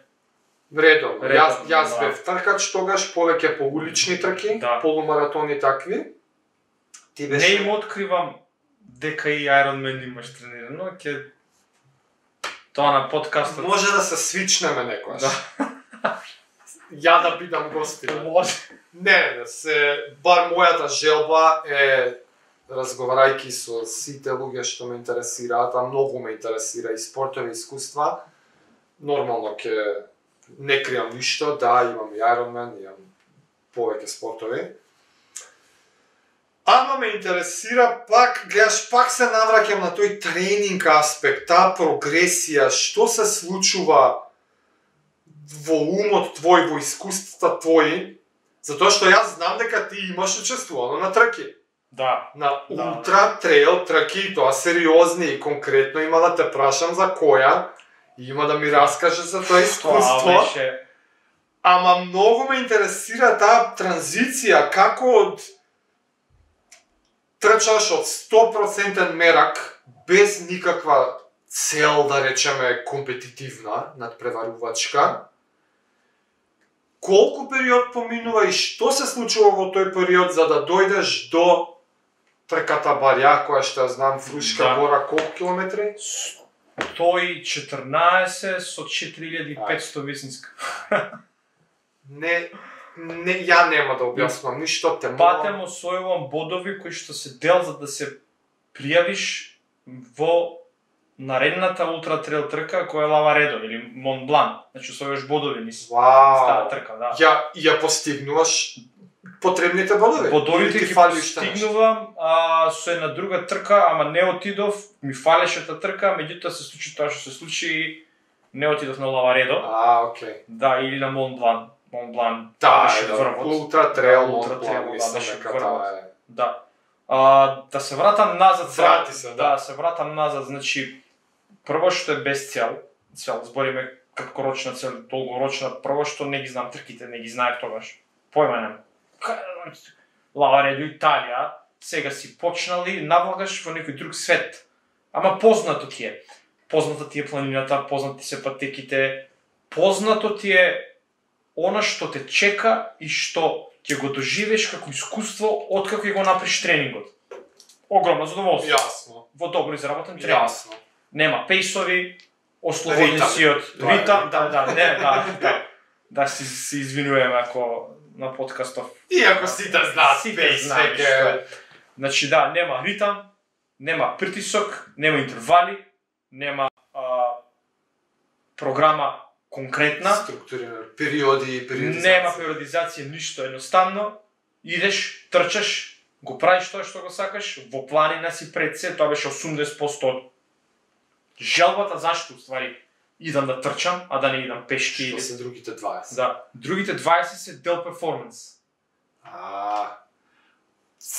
Редовно. Јас да. бев тркач тогаш, повеќе по улични трки, Да. полумаратони такви. Ти Не беше... им откривам дека и Ironman имаш тренирано, ќе тоа на подкастот. Може да се свичнеме некојаш. Да. Ја да бидам гостина. Може. Не, бар мојата желба е, разговарајќи со сите луѓе што ме интересираат, а многу ме интересира и спортови искуства, нормално ќе не кријам ништо, да, имам и Ironman, имам повеќе спортови. Ама ме интересира пак, гледаш, пак се навраќам на тој тренинг аспект, таа прогресија, што се случува во умот твој, во искуствата твои, затоа што јас знам дека ти имаш учествувано на трки. Да. На Да. ултра трейл трки, тоа сериозни и конкретно има да те прашам за која, и има да ми раскажеш за тоа искуство. Тоа беше Ама многу ме интересира таа транзиција, како од трчаш од 100% мерак, без никаква цел, да речеме, компетитивна, надпреварувачка. Колку период поминува и што се случува во тој период за да дојдеш до трката Барја, која што ја знам, Фрушка Да. гора, колку километри? 114 со 4500 висинска. Не, ја нема да објаснувам ништо, те Патем освојувам бодови кои што се дел за да се пријавиш во наредната ултра трейл трка која е Лаваредо или Мон Блан. Значи освојуваш бодови низ таа Вау! трка, да. Ја постигнуваш потребните бодови? Бодовите Или ги ти фали уште нешто? постигнувам, со една друга трка, ама не отидов, ми фалеше та трка, меѓутоа се случи тоа што се случи и не отидов на Лаваредо. Окей. Да, или на Мон Блан. Мон Блан Да, беше да, врвот. ултра трейл, Да, ултра ултра трейл, трейл, да, мислам беше дека врвот. тоа е. Да. Да се вратам назад. Врати се, да. Да, се вратам назад, значи прво што е без цел, збориме краткорочна цел, долгорочна, прво што не ги знам трките, не ги знаев тогаш. Појма немам. Лаваредо, Италија, сега си почнали, навлагаш во некој друг свет. Ама познато ти е. Позната ти е планината, познати се патеките, познато ти е она што те чека и што ќе го доживееш како искуство откако ќе го направиш тренингот. Огромно задоволство. Јасно. Во добро изработен тренинг. Јасно. Нема пејсови, ослободни си од Тоа е ритам, ритам. да се извинуваме ако на подкастов. Иако сите знаат, Сите пейс знаат што веќе... е. Значи да, нема ритам, нема притисок, нема интервали, нема програма конкретна, Структурирано, периоди, периодизација. нема периодизација, ништо, едноставно идеш, трчаш, го правиш тоа што го сакаш, во планина си пред се, тоа беше 80% од желбата, зашто уствари идам да трчам, а да не идам пешки Што или... се другите 20? Да, другите 20 се дел перформанс.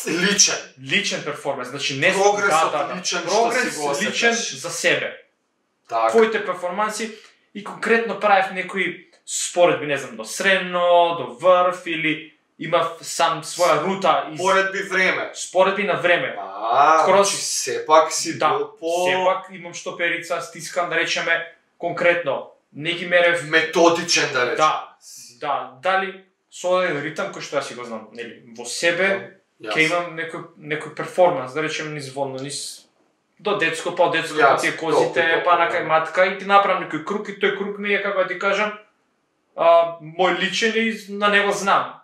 Личен. Личен перформанс, значи не Прогресот личен, што прогрес си го осеташ. личен за себе. Така. Твоите перформанси и конкретно правев некои споредби, не знам, до средно, до врв или имав сам своја рута из Поредби време. споредби на време. Значи сепак си Да, бил по... сепак имам штоперица, стискам да речеме конкретно. Не ги мерев, методичен, да речем. да, дали со еден ритам кој што јас си го знам, нели, во себе ќе имам некој перформанс, да речем низ водно, низ до детско, па од детско, па тие козите, толку, па на кај матка и ти направам некој круг и тој круг ми е, како да ти кажам, мој личен и на него знам.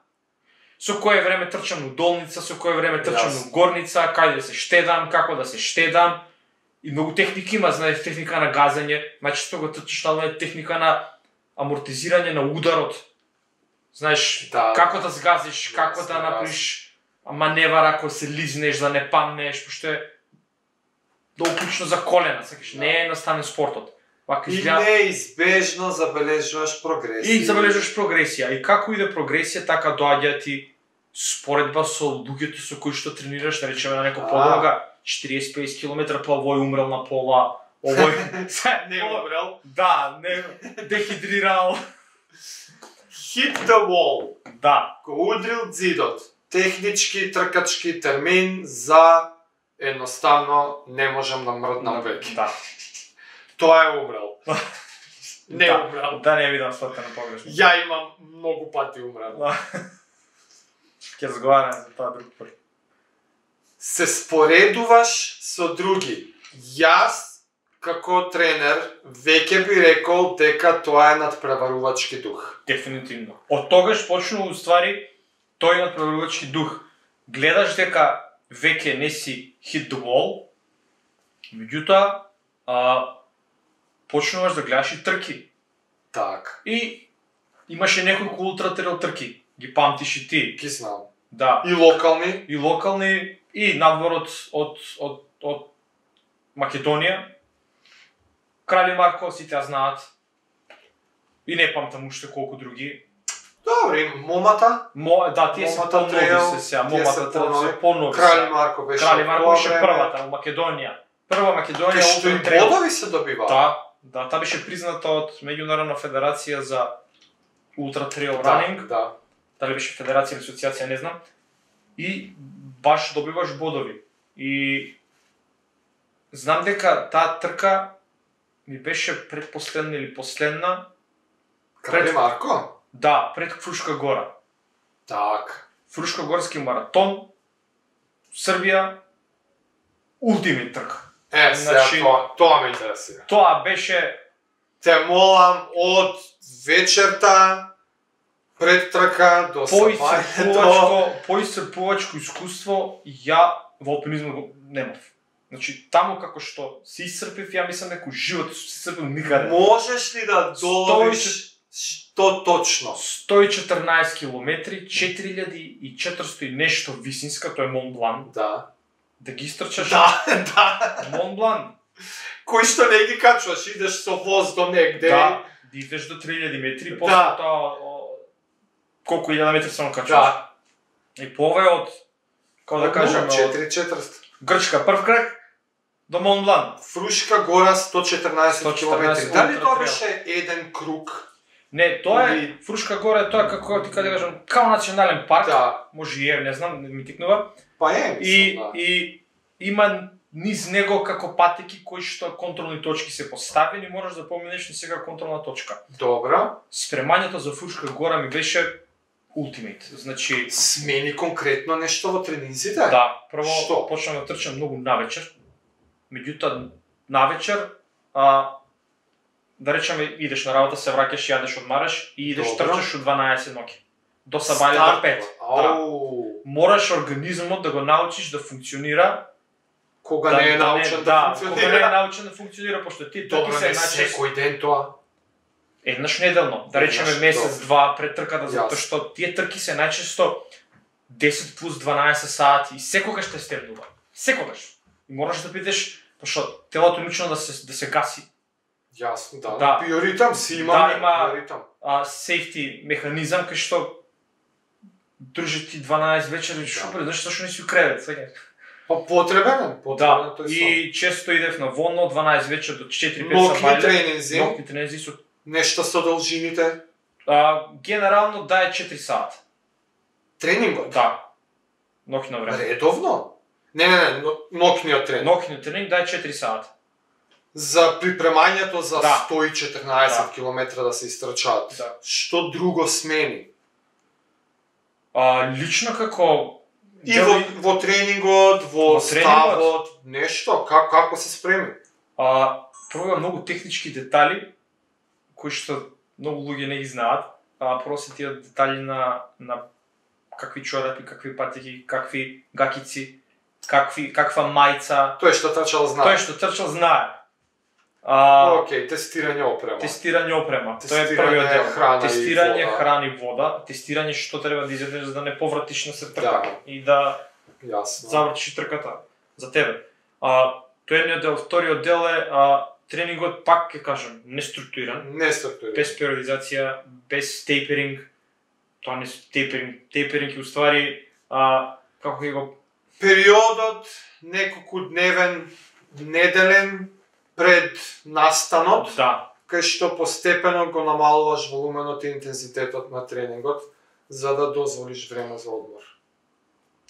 Со кое време трчам на долница, со кое време трчам на горница, каде да се штедам, како да се штедам. И многу техники има, знаеш, техника на газење, значи што го трчаш на техника на амортизирање на ударот. Знаеш, како да згазиш, како да направиш маневар ако се лизнеш, да не памнеш, пошто долу клучно за колена, сакаш, не е едноставен спортот. Вака И изгледа неизбежно забележуваш прогресија. и забележуваш прогресија. И како иде прогресија, така доаѓа ти споредба со луѓето со кои што тренираш, да речеме на некој подолга 40-50 км, па овој умрел на пола, овој Не умрел. Да, не дехидрирал. Hit the wall. Да, Го удрил зидот. Технички тркачки термин за едноставно не можам да мрднам веќе. да. Тоа е умрел. Не Да. умрел. Да не видам сватено погрешно. Ја имам многу пати умрел. Да. Ќе разговараме за тоа друг пат. Се споредуваш со други. Јас, како тренер, веќе би рекол дека тоа е надпреварувачки дух. Дефинитивно. Од тогаш почнува уствари тој надпреварувачки дух. Гледаш дека веќе не си hit the wall, меѓутоа почнуваш да гледаш и трки. Так, И имаше неколку ултратрейл трки. Ги памтиш и ти. ги знам. Да. И локални, И локални, и надвор од Македонија. Крали Марко, сите ја знаат. И не памтам уште колку други. добри, момата, Да, тие се Момата по-нови трейл, се сега. тие се Момата по-нови. се по-нови. Крали се. Марко беше. Крали Марко тоа беше време. првата во Македонија. Прва Македонија Кај што и ултра трейл. бодови се добива. Да, таа беше призната од Меѓународна федерација за ултра трейл Да, ранинг. да. Дали беше федерација или асоциација, не знам. И баш добиваш бодови. И знам дека таа трка ми беше предпоследна или последна, Крали Марко? да, пред Фрушка гора. Так. Фрушкогорски маратон, Србија, ултимит трка. Сега Значи- тоа ме интересира. Тоа беше Те молам од вечерта пред трка до сабањето. поисцрпувачко искуство ја во алпинизмот го немав. Значи, таму како што се исцрпив, ја мислам дека животот се исцрпил никаде. Можеш ли да доловиш што точно? 114 километри, 4400 и нешто висинска, тоа е Мон Блан. Да. Да ги истрчаш Да. Мон Блан. Кој што не ги качваш, идеш со воз до негде. Да, да идеш до 3000 метри, Да. после тоа колку 1000 метри само качуваш. Да. И пове од, како да кажеме, од 4400. Грчка прв крак до Мон Блан. Фрушка гора 114 114 км. Дали тоа ултра беше еден круг? Не, тоа е Или- Фрушка гора е тоа како ти кажа кажам, као национален парк. Да. Може и е, не знам, не ми тикнува. Па е, И, мислам, да. и има низ него како патеки кои што контролни точки се поставени, можеш да поминеш на сега контролна точка. Добра. Спремањето за Фрушка гора ми беше ултимейт. Значи, Смени конкретно нешто во тренинзите? да, прво Што? почнам да трчам многу навечер. Меѓутоа навечер да речеме идеш на работа, се враќаш, јадеш, одмараш и идеш Добро. трчаш од 12 ноќи. До сабања до 5. Да. Ау. Мораш организмот да го научиш да функционира. Кога не е научен да кога не е функционира. научен да функционира, пошто ти трки Добро, се не најчесто секој ден тоа. еднаш неделно, да речеме Еднаш, месец, два пред трката, Јасно. затоа што тие трки се најчесто 10 плюс 12 сати и секогаш те стемнува. Секогаш. И мораш да бидеш, пошто телото е научено да се гаси. Јасно, да. Да. Биоритам си имаме, Да, има- биоритам. Safety механизам кај што држи ти 12 вечер и шо пред, зашто не си у кревет, сега. Па потребен е, потребен Да, е тој сон. и често идев на водно од 12 вечер до 4-5 Нокни сабајле. тренинзи, Нокни тренинзи со нешто со должините. генерално да е 4 сата. Тренингот? Да. Нокно време. Редовно? Не, нокниот тренинг. Нокниот тренинг да е 4 сата. За припремањето за Да. 114 Да. километра да се истрчаат. Да. Што друго смени? Лично како И во тренингот, во Во тренингот? ставот, нешто, како се спреми? прво има многу технички детали кои што многу луѓе не ги знаат. Прво се тие детали на какви чорапи, какви патеки, какви гакици, каква мајца. Тој што трчал знае. Тој што трчал знае. Океј, тестирање опрема. Тестирање опрема. Тоа е Тестирање првиот дел. храна и Тестирање вода. храна и вода, тестирање што треба да изедеш за да не повратиш на се трка Да. и да Јасно. завртиш трката за тебе. Тоа е едниот дел, вториот дел е тренингот, пак ќе кажам, неструктуриран, без периодизација, без тейперинг. Тоа не тейперинг е уствари како ќе го периодот неколку дневен, неделен пред настанот, кај што постепено го намалуваш волуменот и интензитетот на тренингот, за да дозволиш време за одмор.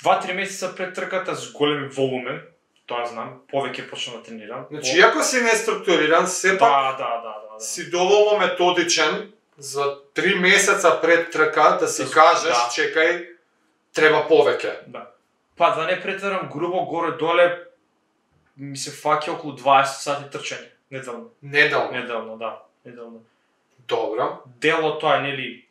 2-3 месеца пред трката с голем волумен, тоа знам, повеќе почнам да тренирам. Значи, иако си неструктуриран, сепак си доволно методичен за 3 месеца пред трка да си кажеш, чекај, треба повеќе. Па да не претерам грубо горе-доле, ми се фаќа околу 20 сати трчање, неделно. Неделно. Добро. Дело тоа е, нели,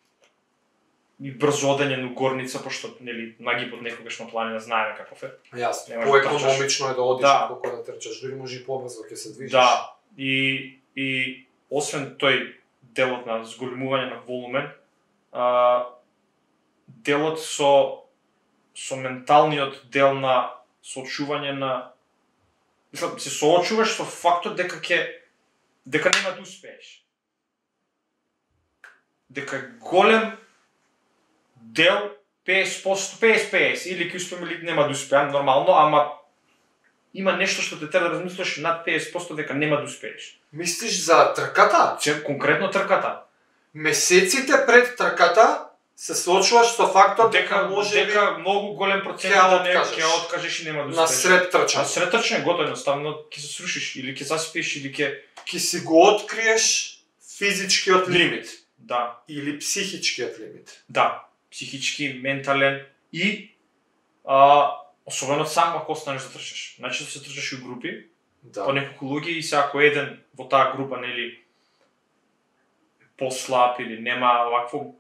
и брзо одење на горница, пошто, нели, нагибот некогаш на планина знаеме каков е. Јасно, поекономично е да одиш колку да трчаш, дури може и побрзо ќе се движиш. Да, и освен тој делот на зголемување на волумен, делот со менталниот дел на соочување на... Мислам, се соочуваш со фактот дека нема да успееш. Дека голем дел 50% или ќе успеам или нема да успеам, нормално, ама има нешто што те треба да размислиш над 50% дека нема да успееш. Мислиш за трката? Конкретно трката. Месеците пред трката се соочуваш со фактот дека многу голем процент ќе откажеш и нема да успееш. На сред трчање. На сред трчање готово, едноставно ќе се срушиш или ќе заспиеш или ќе си го откриеш физичкиот лимит. Да. Или психичкиот лимит. Да. Психички, ментален и особено сам ако останеш да трчаш. Значи да се трчаш и у групи, по неколку луѓе и ако еден во таа група, нели, послаб или нема вакво,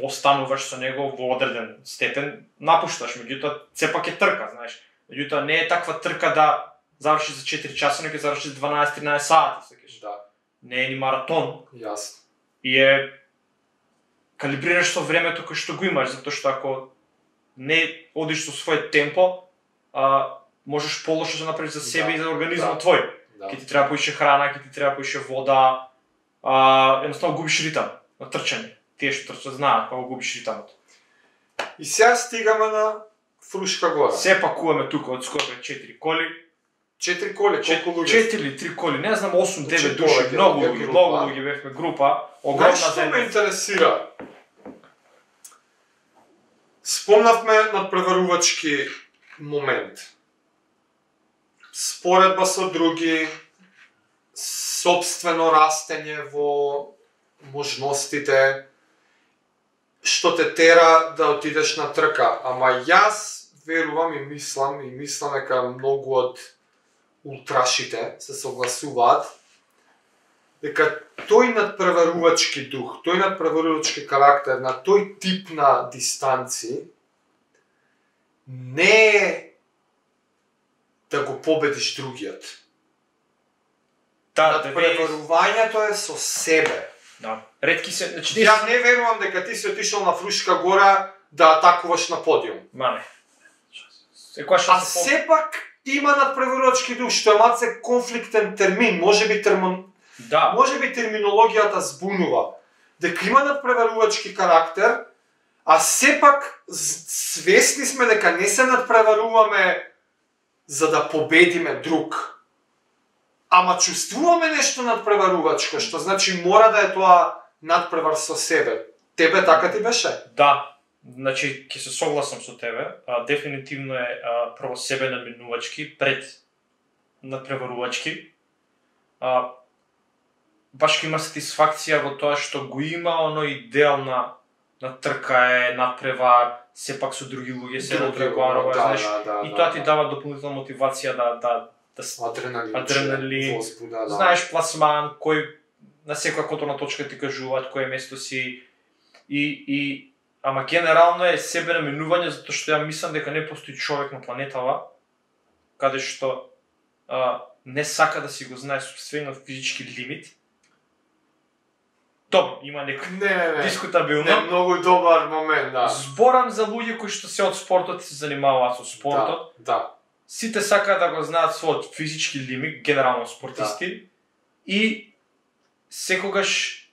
остануваш со него во одреден степен, напушташ, меѓутоа сепак е трка, знаеш. Меѓутоа не е таква трка да завршиш за 4 часа, но ќе завршиш 12-13 сати, сакаш. Да. Не е ни маратон. Јасно. И е калибрираш со времето кој што го имаш, затоа што ако не одиш со својот темпо, можеш полошо да направиш за себе и за организмот твој. Ќе ти треба поише храна, ќе ти треба поише вода, едноставно губиш ритам на трчање. Тие што трчат знаат кога губиш ритамот. И сега стигаме на Фрушка гора. Се пакуваме тука од скоро 4 коли. 4 коли, колку луѓе? 4 или 3 коли, не знам, 8-9 души, многу луѓе бевме група, огромна заедница. Што ме заедница. интересира? Спомнавме надпреварувачки момент. Споредба со други, сопствено растење во можностите, што те тера да отидеш на трка. Ама јас верувам и мислам дека многу од ултрашите се согласуваат дека тој надпреварувачки дух, тој надпреварувачки карактер на тој тип на дистанци не е да го победиш другиот. Надпреварувањето е со себе. Да. Ретки се, значи Ја не верувам дека ти си отишол на Фрушка гора да атакуваш на подиум. Мане. Сепак има надпреварувачки дух, што е малце конфликтен термин, можеби терминологијата збунува. Дека има надпреварувачки карактер, а сепак свесни сме дека не се надпреваруваме за да победиме друг. Ама чувствуваме нешто надпреварувачко, што значи мора да е тоа надпревар со себе. Тебе така ти беше? Да. Значи, ќе се согласам со тебе. Дефинитивно е прво себе наменувачки пред надпреварувачки. Баш има сатисфакција во тоа што го има оној дел на трка е надпревар, сепак со други луѓе се надпреварува, знаеш. И тоа ти дава дополнителна мотивација да адреналин, возбуда, знаеш, пласман, кој на секоја контролна точка ти кажуваат кој е место си и ама генерално е себе наменување, затоа што ја мислам дека не постои човек на планетава каде што не сака да си го знае собствениот физички лимит. Добро, има некој дискутабилно. Не, многу добар момент, да. Зборам за луѓе кои што се од спортот и се занимаваат со спортот. Да. сите сакаат да го знаат својот физички лимит, генерално спортисти, и секогаш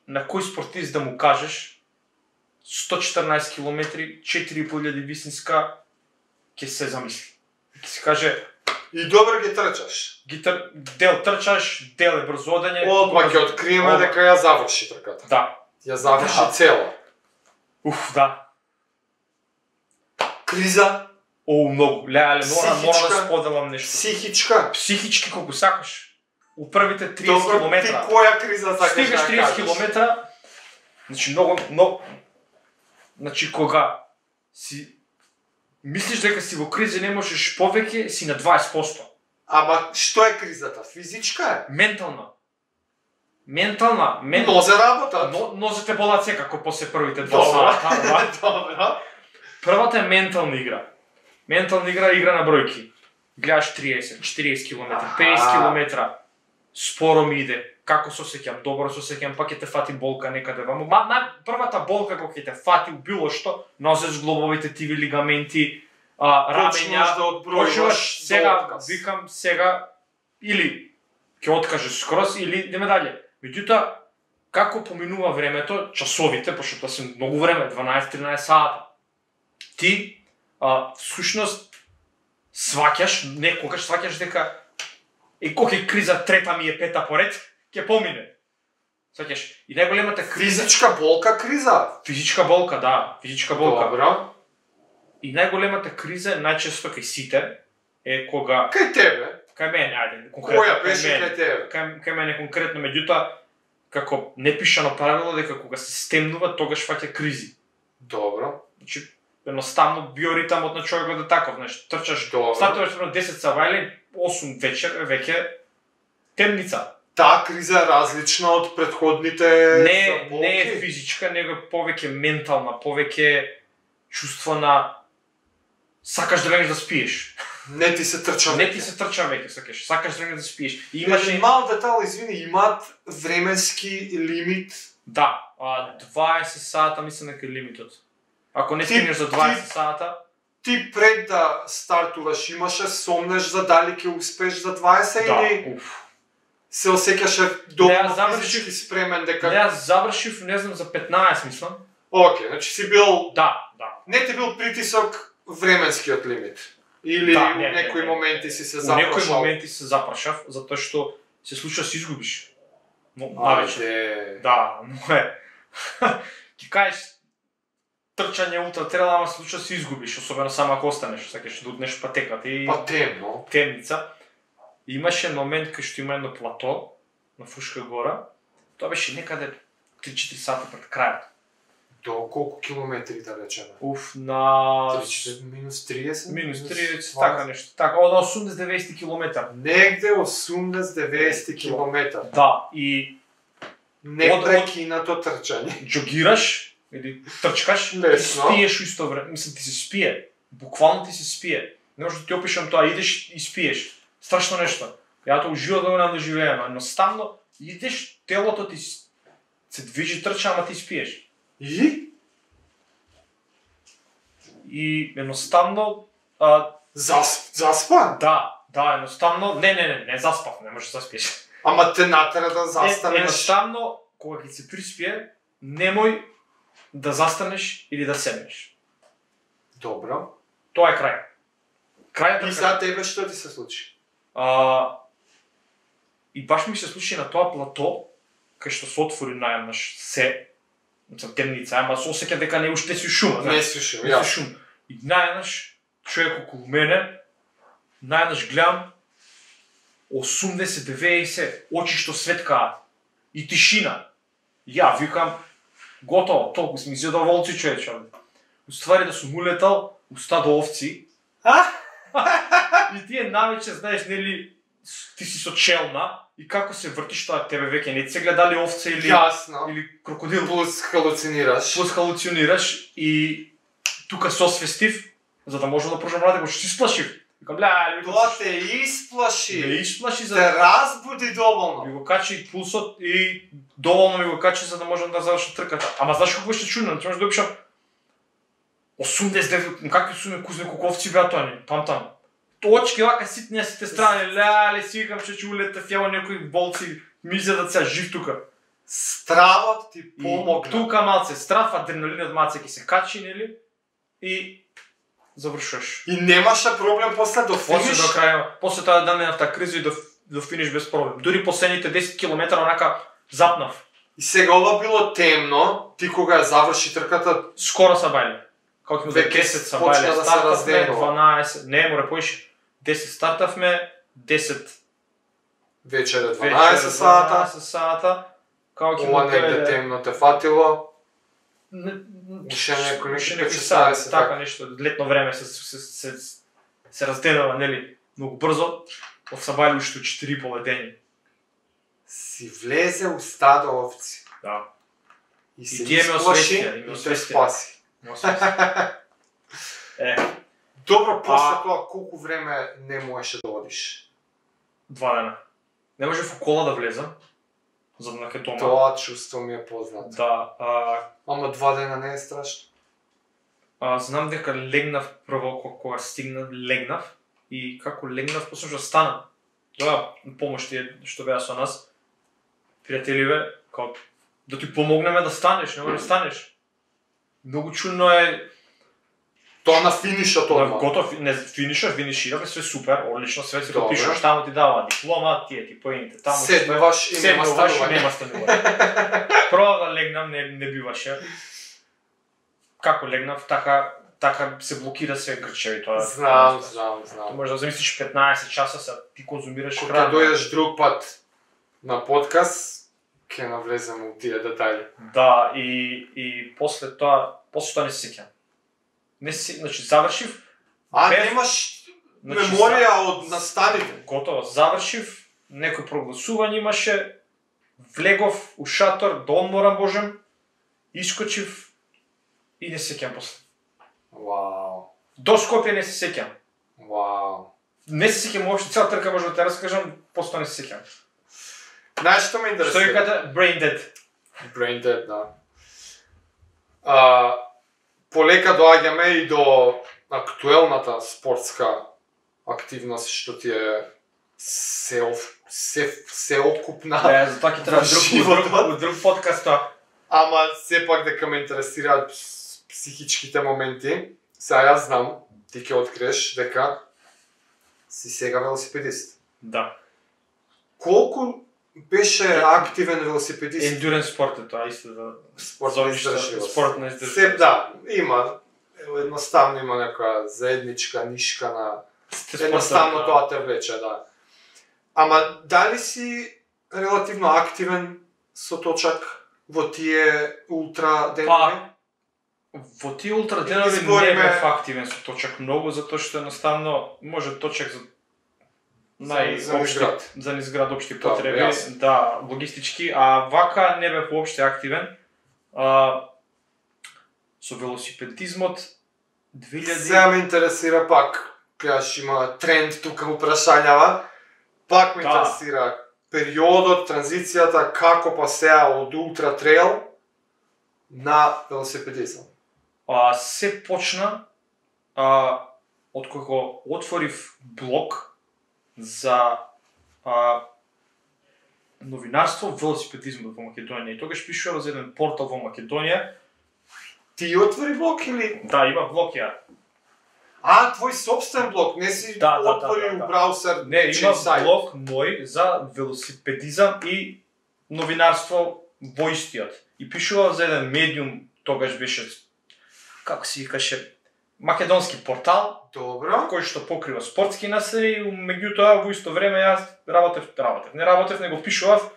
на кој спортист да му кажеш 114 км, 4500 висинска, ќе се замисли. Ќе се каже И добро ги трчаш. Дел трчаш, дел е брзо одење. Одма ќе откриеме дека ја заврши трката. Да. Ја заврши цела. Да. Криза, Многу. Леле, мора да споделам нешто. психичка. Психички колку сакаш. У првите 30 Добро, километра. ти која криза сакаш да Стигаш 30 кажеш? километра, значи многу, значи кога си мислиш дека си во криза не можеш повеќе, си на 20%. Ама што е кризата? Физичка е? Ментална. Нозе работат. Нозете болат секако после првите 2 Добро. сата. Добро. Првата е ментална игра. Ментална игра е игра на бројки. Гледаш 30, 40 км, 50 км, споро ми иде. Како се осеќам? Добро се осеќам, па ќе те фати болка некаде ваму. Првата болка кога ќе те фати у било што, носиш глобовите тиви лигаменти, рамења, Почнеш да одбројуваш сега, до отказ. викам сега, или ќе откажеш скроз, или идеме дале. Меѓутоа, како поминува времето, часовите, пошто тоа се многу време, 12-13 сата, ти, всушност, некогаш сваќаш дека кога е криза, трета ми е, пета поред, ќе помине. Сваќаш? И најголемата криза... Физичка болка, криза. Физичка болка, да, физичка болка. Добро. И најголемата криза, најчесто кај сите, е кога... Кај тебе? Кај мене, ајде, конкретно. Која беше кај тебе? Кај мене конкретно, меѓутоа, како непишано правило дека кога се стемнува, тогаш фаќа кризи. Добро. Значи, едноставно биоритамот на човекот е таков, знаеш, трчаш, Добро. стартуваш прво 10 сава или 8 вечер, веќе темница. Таа криза е различна од претходните болки. Не е физичка, него е повеќе ментална, повеќе чувствона, сакаш да легнеш да спиеш. Не ти се трча веќе. Не ти се трча веќе, сакаш да легнеш да спиеш. И Имаше мал детал, извини, имаат временски лимит. Да, 20 сата мислам дека е лимитот. Ако не стигнеш за 20 сата, Ти пред да стартуваш имаше сомнеш за дали ќе успеш за 20 или се осеќаше доволно физички спремен дека... Не, аз завршив, не знам, за 15 мислам. Океј, значи си бил... Да. Не ти бил притисок временскиот лимит? Или Да, у некои моменти си се У запрашал? некои моменти се запрашав, затоа што се случува се изгубиш. Ајде... Да, но е. Ки кажеш трчање ултра трел, ама се случува се изгубиш, особено само ако останеш, сакаш да утнеш патеката и Па темно. темница. Имаше момент кај што има едно плато на Фушка гора. Тоа беше некаде 3-4 сата пред крајот. До колку километри да речеме? На Минус 30? минус 30, така нешто. Така, на 80-90 километар. Негде 80-90 километар. Да, и Непрекинато трчање. джогираш или трчкаш, и Лесно. спиеш исто време. Мислам, ти се спие. Буквално ти се спие. Не може да ти опишам тоа, идеш и спиеш. Страшно нешто. Ја тоа уживам да го нам доживеам, едноставно идеш, телото ти се движи, трча, ама ти спиеш. И едноставно Заспан? да, едноставно, не заспав, не можеш да заспиеш. Ама те натера да застанеш. Едноставно, кога ќе се приспие, немој да застанеш или да седнеш. Добро. Тоа е крај. Крајот И е за крај. тебе што ти се случи? И баш ми се случи на тоа плато, кај што се отвори наједнаш се, темница, ама се осеќа дека не уште си шума, Не слушам, не си шум. И наједнаш човек околу мене, наједнаш гледам 80-90 очи што светкаат и тишина. Ја викам готово, толку сме изјадо волци човече. Уствари да сум улетал у стадо овци. И тие навече, знаеш, нели, ти си со челна и како се вртиш тоа, тебе веќе не се гледали овце Јасно. или крокодил. Плюс халуцинираш. Плюс халуцинираш и тука се освестив, за да можам да продолжам да го си сплашив. Викам, Тоа те исплаши. ме исплаши за Те разбуди доволно. ми го качи пулсот и доволно ми го качи за да можам да завршам трката. Ама знаеш како беше чудно, ти можеш да опишам 89, какви су ме кузне колку овци беа тоа, не памтам. точки вака ситни сите страни, леле си викам че улетав ево некои болци ми изедат сега жив тука. Стравот ти И помогна. тука малце страв, адреналинот малце ќе се качи, нели? И завршуваш. И немаше проблем после до После финиш. до крај, после таа данената криза и до финиш без проблем. Дури последните 10 км онака запнав. И сега ова било темно, ти кога ја заврши трката, Скоро са бајле. Како ќе му Веќе 10 са почна бајле, да се стартавме, разденува. 12, не, море поише. 10 стартавме, 10 вечере вечер, 12 сата, 12 сата. Како ќе ова му негде дојде... темно те фатило. Не- Уште некој уште некој некои 16, сати, така. така нешто, летно време се разденува, нели, многу брзо. Се бајле уште 4 поведени. Си влезе у стадо овци. Да. И се тие ме исплаши освестија, и ме и те освестија. спаси. Добро, после тоа колку време не можеше да одиш? 2 дена. Не може в кола да влезам, за да наке дома. Тоа чувство ми е познато. Да, Ама 2 дена не е страшно. знам дека легнав прво кога стигнав, легнав и како легнав почнав да станам. Тоа помош тие што беа со нас. Пријателиве, како да ти помогнеме да станеш, не може да станеш. Многу чудно е. Тоа на финишот Да, одма. готов, не финишираме, све супер, одлично, све си Добро. подпишуваш, таму ти дава диплома, тие ти поените, таму Седнуваш и нема седнуваш и станување. нема станување. Прво да легнам, не биваше. Како легнав, така се блокира се грчеви тоа. Знам. Може да замислиш 15 часа се ти конзумираш Кога храна. дојдеш друг пат на подкаст, ќе навлеземе у тие детали. Да, и после тоа не се сеќам. Не се, значи завршив, без- Немаш значи, меморија од настаните? готово, завршив, некој прогласување имаше, влегов у шатор, да одморам божем, искочив и не се сеќам после. Вау. До Скопје не се сеќам. Вау. Не се сеќам уопште, цела трка може да те раскажам, после не се сеќам. Знаеш што ме Што интересира? ви кажа, brain dead. Brain dead, да. Полека доаѓаме и до актуелната спортска активност што ти е сеокупна. За тоа ќе треба друг подкаст тоа. Ама сепак дека ме интересираат психичките моменти. Сега јас знам, ти ќе откриеш дека си сега велосипедист. Да. Колку беше активен велосипедист? Endurance спорт е тоа, исто да... Спортна издржливост. Спортна издржливост. Се, да, има. Едноставно има некоја заедничка нишка на... Едноставно тоа те влече, да. Ама дали си релативно активен со точак во тие ултра денови? Во тие ултра денови не бев активен со точак многу, затоа што едноставно може точак за За изград. за изград општи Да, потреби, јасно. да, логистички, а вака не бев уопште активен. Со велосипедизмот 2000 Сега ме интересира пак, кажеш има тренд тука упрашањава, пак ме Да. интересира периодот, транзицијата, како па сега од ултра трейл на велосипедизам. се почна од кога отворив блог за новинарство велосипедизмот во Македонија и тогаш пишував за еден портал во Македонија. Ти отвори блог или? Да, има блог ја. Твој собствен блог, не си Да, да, отвори да, да. у браузер, Не, чиј има сајт. блог мој за велосипедизам и новинарство во истиот. И пишував за еден медиум, тогаш беше, како се викаше, македонски портал, Добро. кој што покрива спортски наследи, меѓутоа во исто време јас работев, него пишував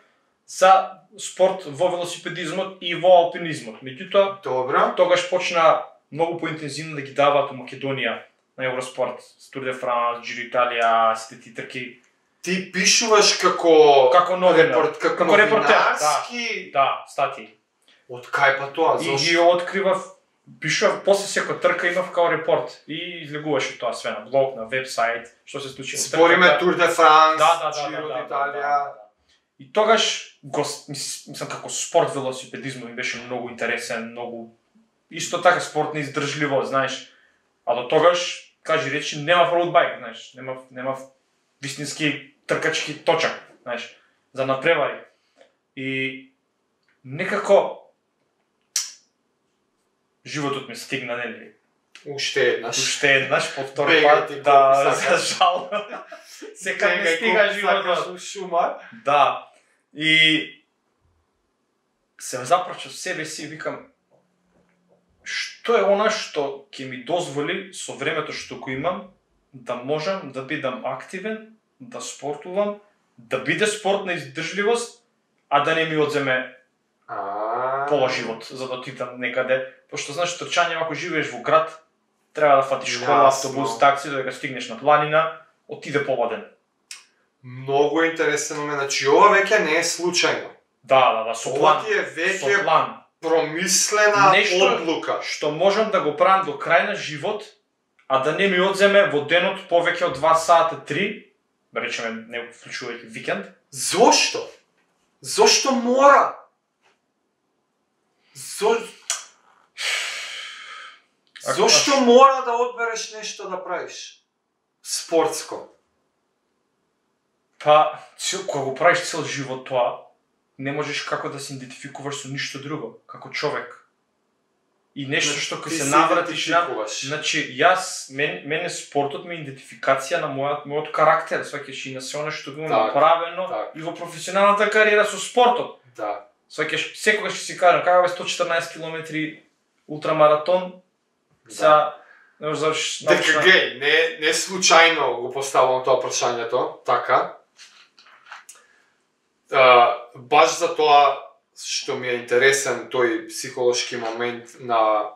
за спорт во велосипедизмот и во алпинизмот. Меѓутоа, Добро. тогаш почна многу поинтензивно да ги даваат у Македонија на Евроспорт, Тур де Франс, Giro Italia, сите тие трки. Ти пишуваш како новинар. како Како репортер, новинарски. Да, статии. Од кај па тоа? И Зошто? ги откривав, пишував после секоја трка имав као репорт и излегуваше тоа све на блог, на вебсайт, што се случи. Спориме Тур де Франс, Да. Giro d'Italia. И тогаш мислам како спорт велосипедизмот ми беше многу интересен, многу исто така спортна издржливост, знаеш. А до тогаш кажи речи, нема road bike, знаеш, нема вистински тркачки точак, знаеш, за надпревари. И некако животот ми стигна, нели? Уште еднаш, по втор пат, да, за жал. Секад не стига животот. Шума. Да. И се запрачав себе си и викам, што е она што ќе ми дозволи со времето што го имам да можам да бидам активен, да спортувам, да биде спортна издржливост, а да не ми одземе пола живот за да отидам некаде. Пошто знаеш, трчање, ако живееш во град, треба да фатиш школа, автобус, такси, додека стигнеш на планина, отиде пободен. Многу интересен момент, значи ова веќе не е случајно. Да, со план. Ова ти е веќе со план. Промислена одлука. Што можам да го правам до крај на живот, а да не ми одземе во денот повеќе од 2 сата 3, да речеме, не вклучувајќи викенд. Зошто? Зошто мора? Зошто мора да одбереш нешто да правиш? Спортско. Па, кога го правиш цел живот тоа, не можеш како да се идентификуваш со ништо друго, како човек. И нешто што ќе се навратиш на... Значи, мене спортот ми е идентификација на мојот карактер, сваќаш и на се оно што го имам направено и во професионалната кариера со спортот. Да. Сваќаш, секогаш ќе си кажам, како бе 114 километри ултрамаратон, сега не можеш завршиш научна... Дека не случајно го поставам тоа прашањето, така. Баш за тоа што ми е интересен тој психолошки момент на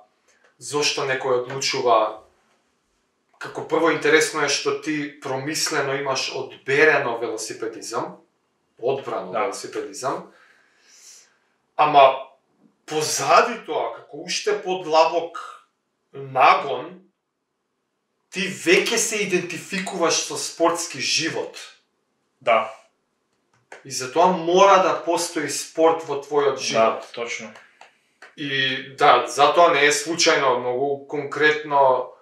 зошто некој одлучува. Како прво интересно е што ти промислено имаш одберено велосипедизам, одбрано велосипедизам, ама позади тоа, како уште подлабок нагон, ти веќе се идентификуваш со спортски живот. Да. И затоа мора да постои спорт во твојот живот. Да, точно. И да, затоа не е случајно, многу конкретно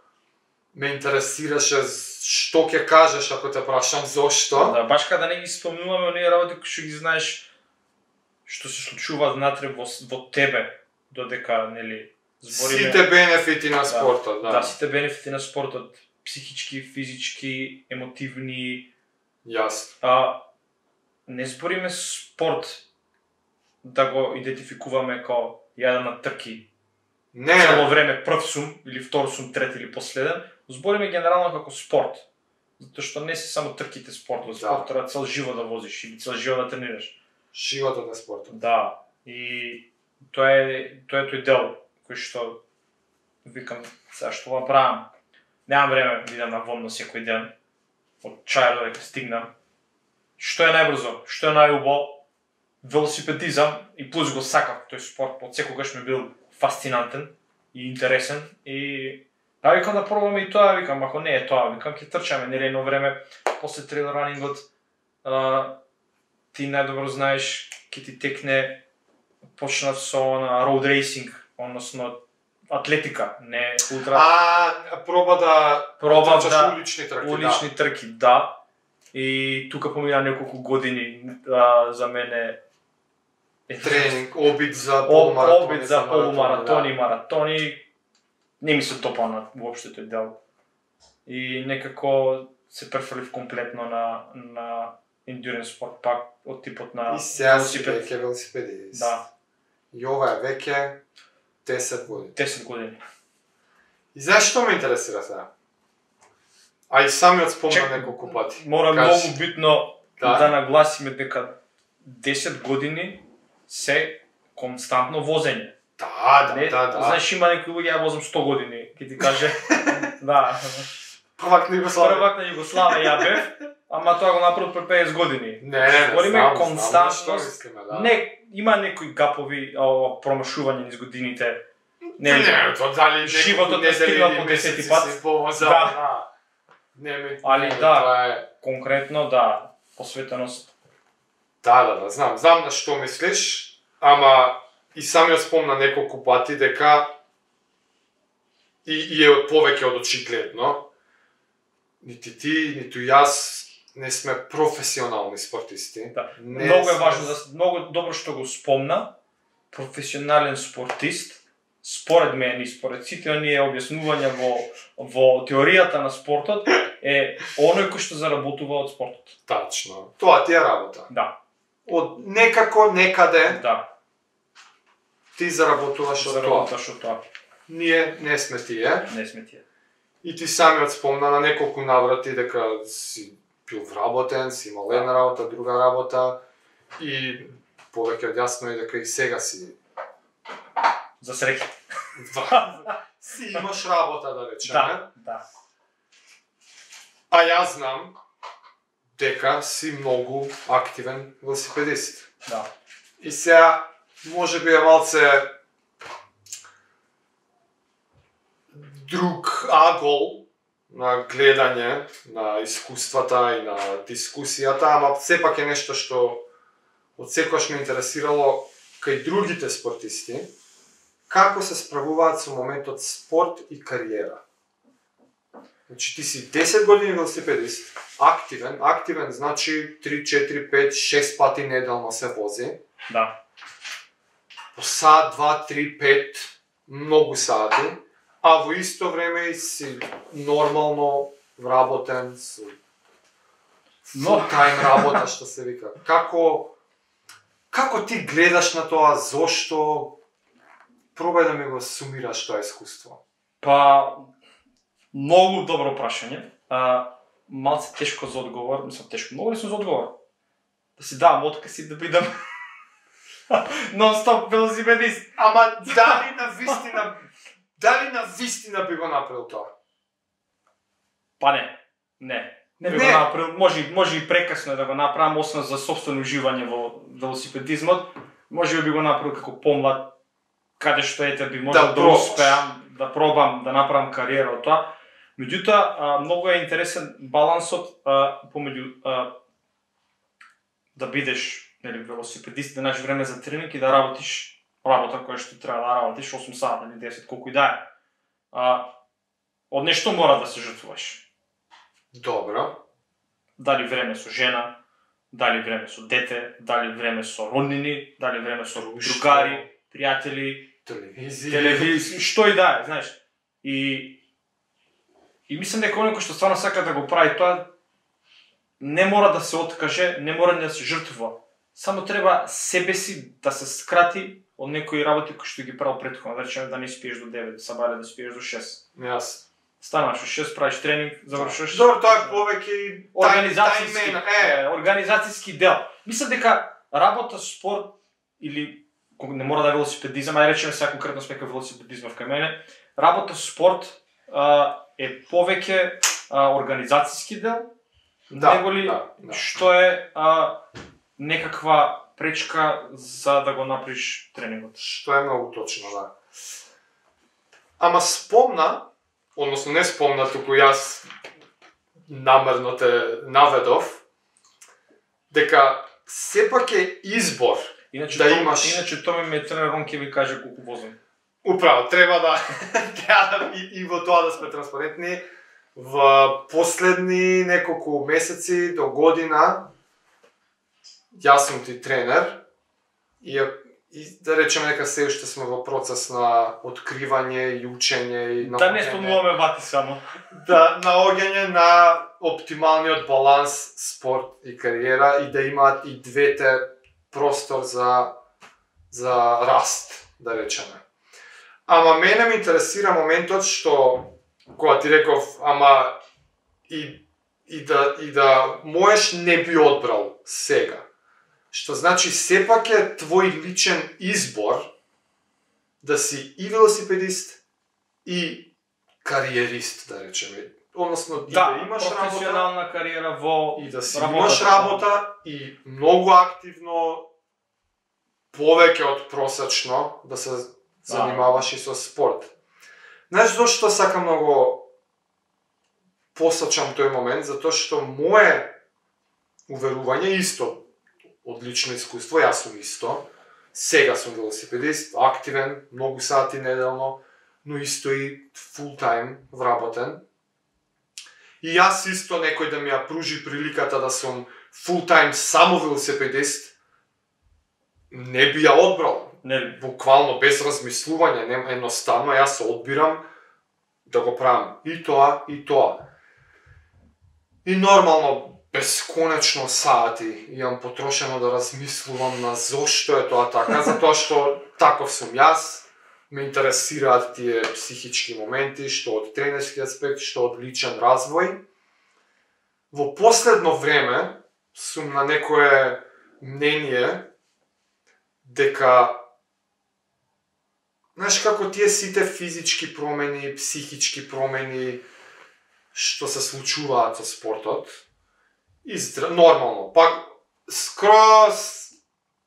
ме интересираше што ќе кажеш ако те прашам зошто. Да, баш кога да не ги спомнуваме оние работи кои што ги знаеш што се случуваат внатре во тебе, додека, нели, збориме... Сите бенефити на спортот, да. Да, сите бенефити на спортот, психички, физички, емотивни. Јасно. Не збориме спорт да го идентификуваме као јадам на трки. Цело време прв сум, или втор сум, трет или последен. Збориме генерално како спорт. Затоа што не се само трките спорт, во спорт треба цел живот да возиш или цел живот да тренираш. Животот на спортот. Да. И тоа е тој дел кој што викам, сега што го правам. Немам време да идам на водно секој ден. Од чајар додека стигнам. Што е најбрзо, што е најубо, велосипедизам и плюс го сакав тој спорт, од секогаш ми бил фасцинантен и интересен и викам да пробаме и тоа, викам, ако не е тоа, викам ќе трчаме, нели едно време после трейл ранингот ти најдобро знаеш ќе ти текне почнав со на роуд рейсинг, односно атлетика, не ултра. Проба да улични трки, да. И тука помина неколку години за мене тренинг, обид за полумаратони, маратони. Не ми се допана воопшто тој дел. И некако се префрлив комплетно на endurance спорт, пак од типот на велосипед. Велосипедист. Да. И ова е веќе 10 години. 10 години. И знаеш што ме интересира сега? А и самиот спомна неколку пати. Мора многу битно да нагласиме дека 10 години се константно возење. Да. Знаеш, има некои луѓе, ја возам 100 години, ќе ти каже. Да. Првак на Југославија ја бев, ама тоа го направи пред 50 години. Не, знам константност. Не, има некои гапови, промашување низ годините. Не, тоа дали животот не стигнал по 10 пат. Али да, конкретно да, посветеност. Да, знам на што мислиш, ама и самиот спомна неколку пати дека и е повеќе од очигледно нити ти, ниту јас не сме професионални спортисти. Да. Не Многу е сме- важно, многу добро што го спомна, професионален спортист, според мене и според сите оние објаснувања во теоријата на спортот, е оној кој што заработува од спортот. Тачно. Тоа ти е работа. Да, Од некако, некаде, да, ти заработуваш од тоа. заработуваш од тоа. Ние не сме тие. Не сме тие. И ти самиот спомна на неколку наврати дека си бил вработен, си имал една работа, друга работа и повеќе од јасно е дека и сега си За среќа. си имаш работа, да речеме. Да. А јас знам дека си многу активен велосипедист. Да. И сега може би е малце друг агол на гледање на искуствата и на дискусијата, ама сепак е нешто што од секогаш ме интересирало кај другите спортисти, како се справуваат со моментот спорт и кариера. Значи ти си 10 години велосипедист, активен значи 3, 4, 5, 6 пати неделно се вози. Да. По сат, 2, 3, 5, многу сати, а во исто време и си нормално вработен со full-time работа, што се вика. Како ти гледаш на тоа, зошто? Пробај да ми го сумираш тоа искуство. Па, многу добро прашање. Малце тешко за одговор, мислам тешко, многу лесно за одговор. Да си дам отказ и да бидам нон-стоп велосипедист. Ама дали на вистина би го направил тоа? Па не би го Не. направил, може и прекасно да го направам, освен за собствено уживање во велосипедизмот, може би го направил како помлад, каде што би можел да пробаш. успеам, да пробам, да направам кариера од тоа. Меѓутоа, многу е интересен балансот помеѓу да бидеш велосипедист, да најдеш време за тренинг и да работиш работа која што треба да работиш 8 сата или 10, колку и да е. Од нешто мора да се жртвуваш. Добро. Дали време со жена, дали време со дете, дали време со роднини, дали време со другари, пријатели, телевизија, што и да е, знаеш. И мислам дека оној кој што стварно сака да го прави тоа, не мора да се откаже, не мора да се жртвува. Само треба себе си да се скрати од некои работи кои што ги правил претходно, да речеме да не спиеш до 9, сабале да спиеш до 6. Јас. Станаш во 6, правиш тренинг, завршуваш. Добро, тоа е повеќе организацијски дел. Мислам дека работа спорт или не мора да е велосипедизам, ај речеме сега конкретно сме кај велосипедизмов кај мене, работа спорт е повеќе организацијски дел, неголи што е некаква пречка за да го направиш тренингот. Што е многу точно, да. Ама спомна, односно не спомна, туку јас намерно те наведов, дека сепак е избор да имаш... Иначе Томи ме тренер, он ќе ви каже колку возам. Управо, треба да и во тоа да сме транспарентни. Во последни неколку месеци до година јас сум ти тренер и да речеме дека се уште сме во процес на откривање и учење и да не спомнуваме вати само. Да наоѓање на оптималниот баланс спорт и кариера и да имаат и двете простор за раст, да речеме. Ама мене ме интересира моментот што кога ти реков, ама и да можеш не би одбрал сега. Што значи сепак е твој личен избор да си и велосипедист и кариерист, да речеме. Односно и да имаш професионална работа, кариера во и да си имаш работа и многу активно повеќе од просечно да се занимаваш и со спорт. Знаеш зашто сакам многу посачам тој момент? Затоа што мое уверување исто од лично искуство, јас сум исто. Сега сум велосипедист, активен, многу сати неделно, но исто и full time вработен. И јас исто некој да ми ја пружи приликата да сум full-time само велосипедист, не би ја одбрал. Нели? Буквално без размислување, едноставно јас се одбирам да го правам и тоа, и тоа. И нормално, бесконечно сати имам потрошено да размислувам на зошто е тоа така, затоа што таков сум јас, ме интересираат тие психички моменти, што од тренерски аспект, што од личен развој. Во последно време сум на некое мнение дека, знаеш како тие сите физички промени, психички промени што се случуваат со спортот, нормално, пак скроз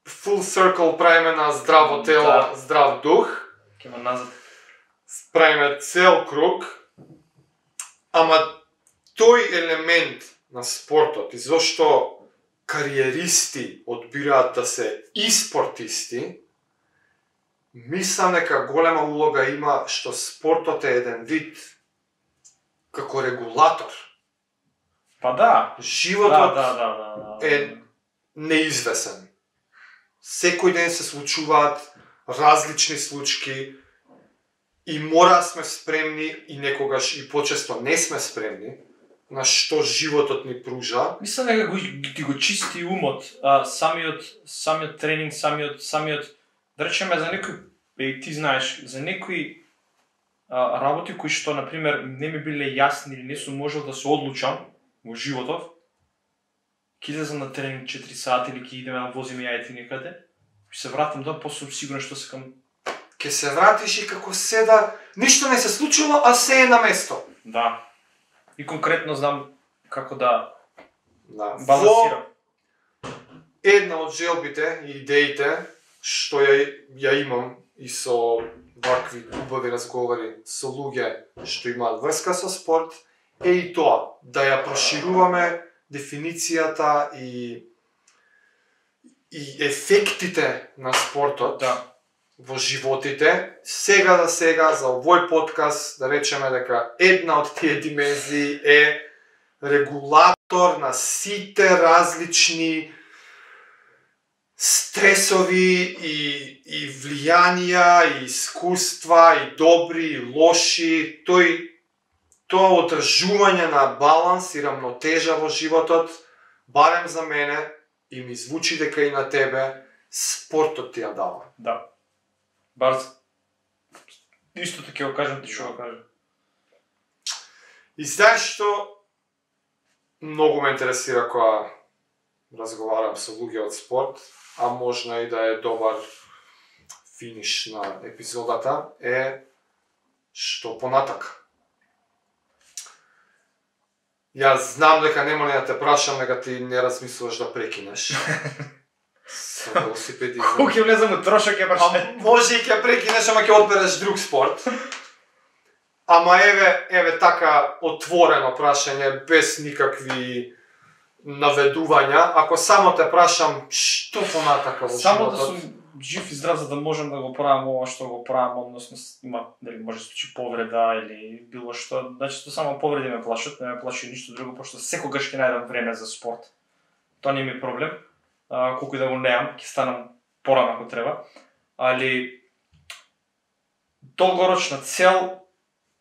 full circle правиме на здраво тело, здрав дух, Кема назад. правиме цел круг, ама тој елемент на спортот и зошто кариеристи одбираат да се и спортисти, мислам дека голема улога има што спортот е еден вид како регулатор. Па да. Животот Да. е неизвесен. Секој ден се случуваат различни случаи и мора сме спремни и некогаш и почесто не сме спремни на што животот ни пружа. Мислам дека ти го чисти умот, самиот тренинг, самиот да речеме за некои, ти знаеш, за некои работи кои што на пример не ми биле јасни или не сум можел да се одлучам во животот, ќе излезам на тренинг 4 сати или ќе идеме да возиме јајци некаде, ќе се вратам дома, после сум сигурен што сакам. Ке се вратиш и како седа, ништо не се случило, а се е на место. Да. И конкретно знам како да Да. балансирам. Една од желбите и идеите што ја имам и со вакви убави разговори со луѓе што имаат врска со спорт е и тоа, да ја прошируваме дефиницијата и ефектите на спортот во животите. Сега за овој подкаст да речеме дека една од тие димензии е регулатор на сите различни стресови и влијанија, и искуства, и добри, и лоши, тоа одржување на баланс и рамнотежа во животот, барем за мене, и ми звучи дека и на тебе, спортот ти ја дава. Да. Бар исто така го кажам, ти што го кажам. И знаеш што многу ме интересира кога разговарам со луѓе од спорт, а можна и да е добар финиш на епизодата, е што понатака. Јас знам дека нема да те прашам, дека ти не размислуваш да прекинеш со велосипедизам. Колку ќе влезам у трошок ќе прашам. Може и ќе прекинеш, ама ќе одбереш друг спорт. Ама еве така отворено прашање, без никакви наведувања. Ако само те прашам, што понатака во Само да животот? сум жив и здрав за да можам да го правам ова што го правам, односно има дали може да се случи повреда или било што, значи само повреди ме плашат, не ме плаши ништо друго, пошто секогаш ќе најдам време за спорт. Тоа не ми е проблем. Колку и да го неам, ќе станам порано ако треба. Али долгорочна цел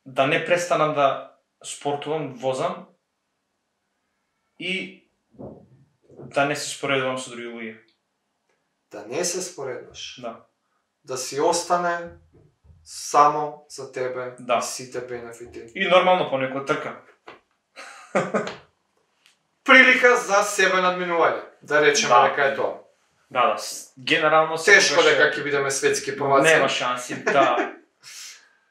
да не престанам да спортувам, возам и да не се споредувам со други луѓе. Да не се спореднаш. Да. Да си остане само за тебе Да. и сите бенефити. И нормално по некоја трка. Прилика за себе надминување. Да речеме Да. дека е тоа. Да, генерално Тешко секогаш дека ќе бидеме светски prvаци. нема шанси, да.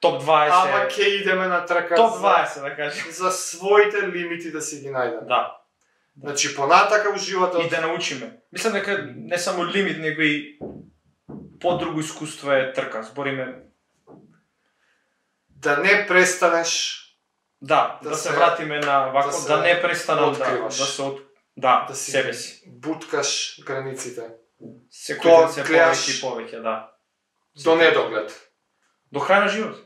Топ 20. Ама ќе идеме на трка Топ 20 да кажем. за своите лимити да си ги најдеме. Да. Значи понатака во животот И да научиме. Мислам дека не само лимит, него и по-друго искуство е трка. Збориме да не престанеш да Да се се- вратиме на вако, да се да не престанам откриваш. да се да си себе си. буткаш границите Секој Тоа ден се гледаш повеќе и повеќе, да. до недоглед. До крај на живот.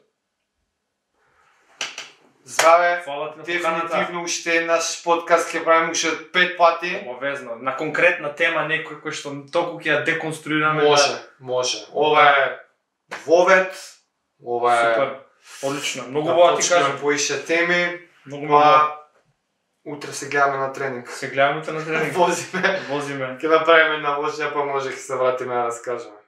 Здраве. Фала ти на поканата. Дефинитивно уште наш подкаст ќе правиме уште 5 пати. Обовезно. На конкретна тема некој кој што толку ќе ја деконструираме. Може. Ова е вовет. Ова е Супер. Одлично. Многу бога ти кажам. поише теми. Многу Утре се гледаме на тренинг. Се гледаме на тренинг. Возиме. Возиме. Ќе направиме една лошја, па може ќе се вратиме да раскажеме.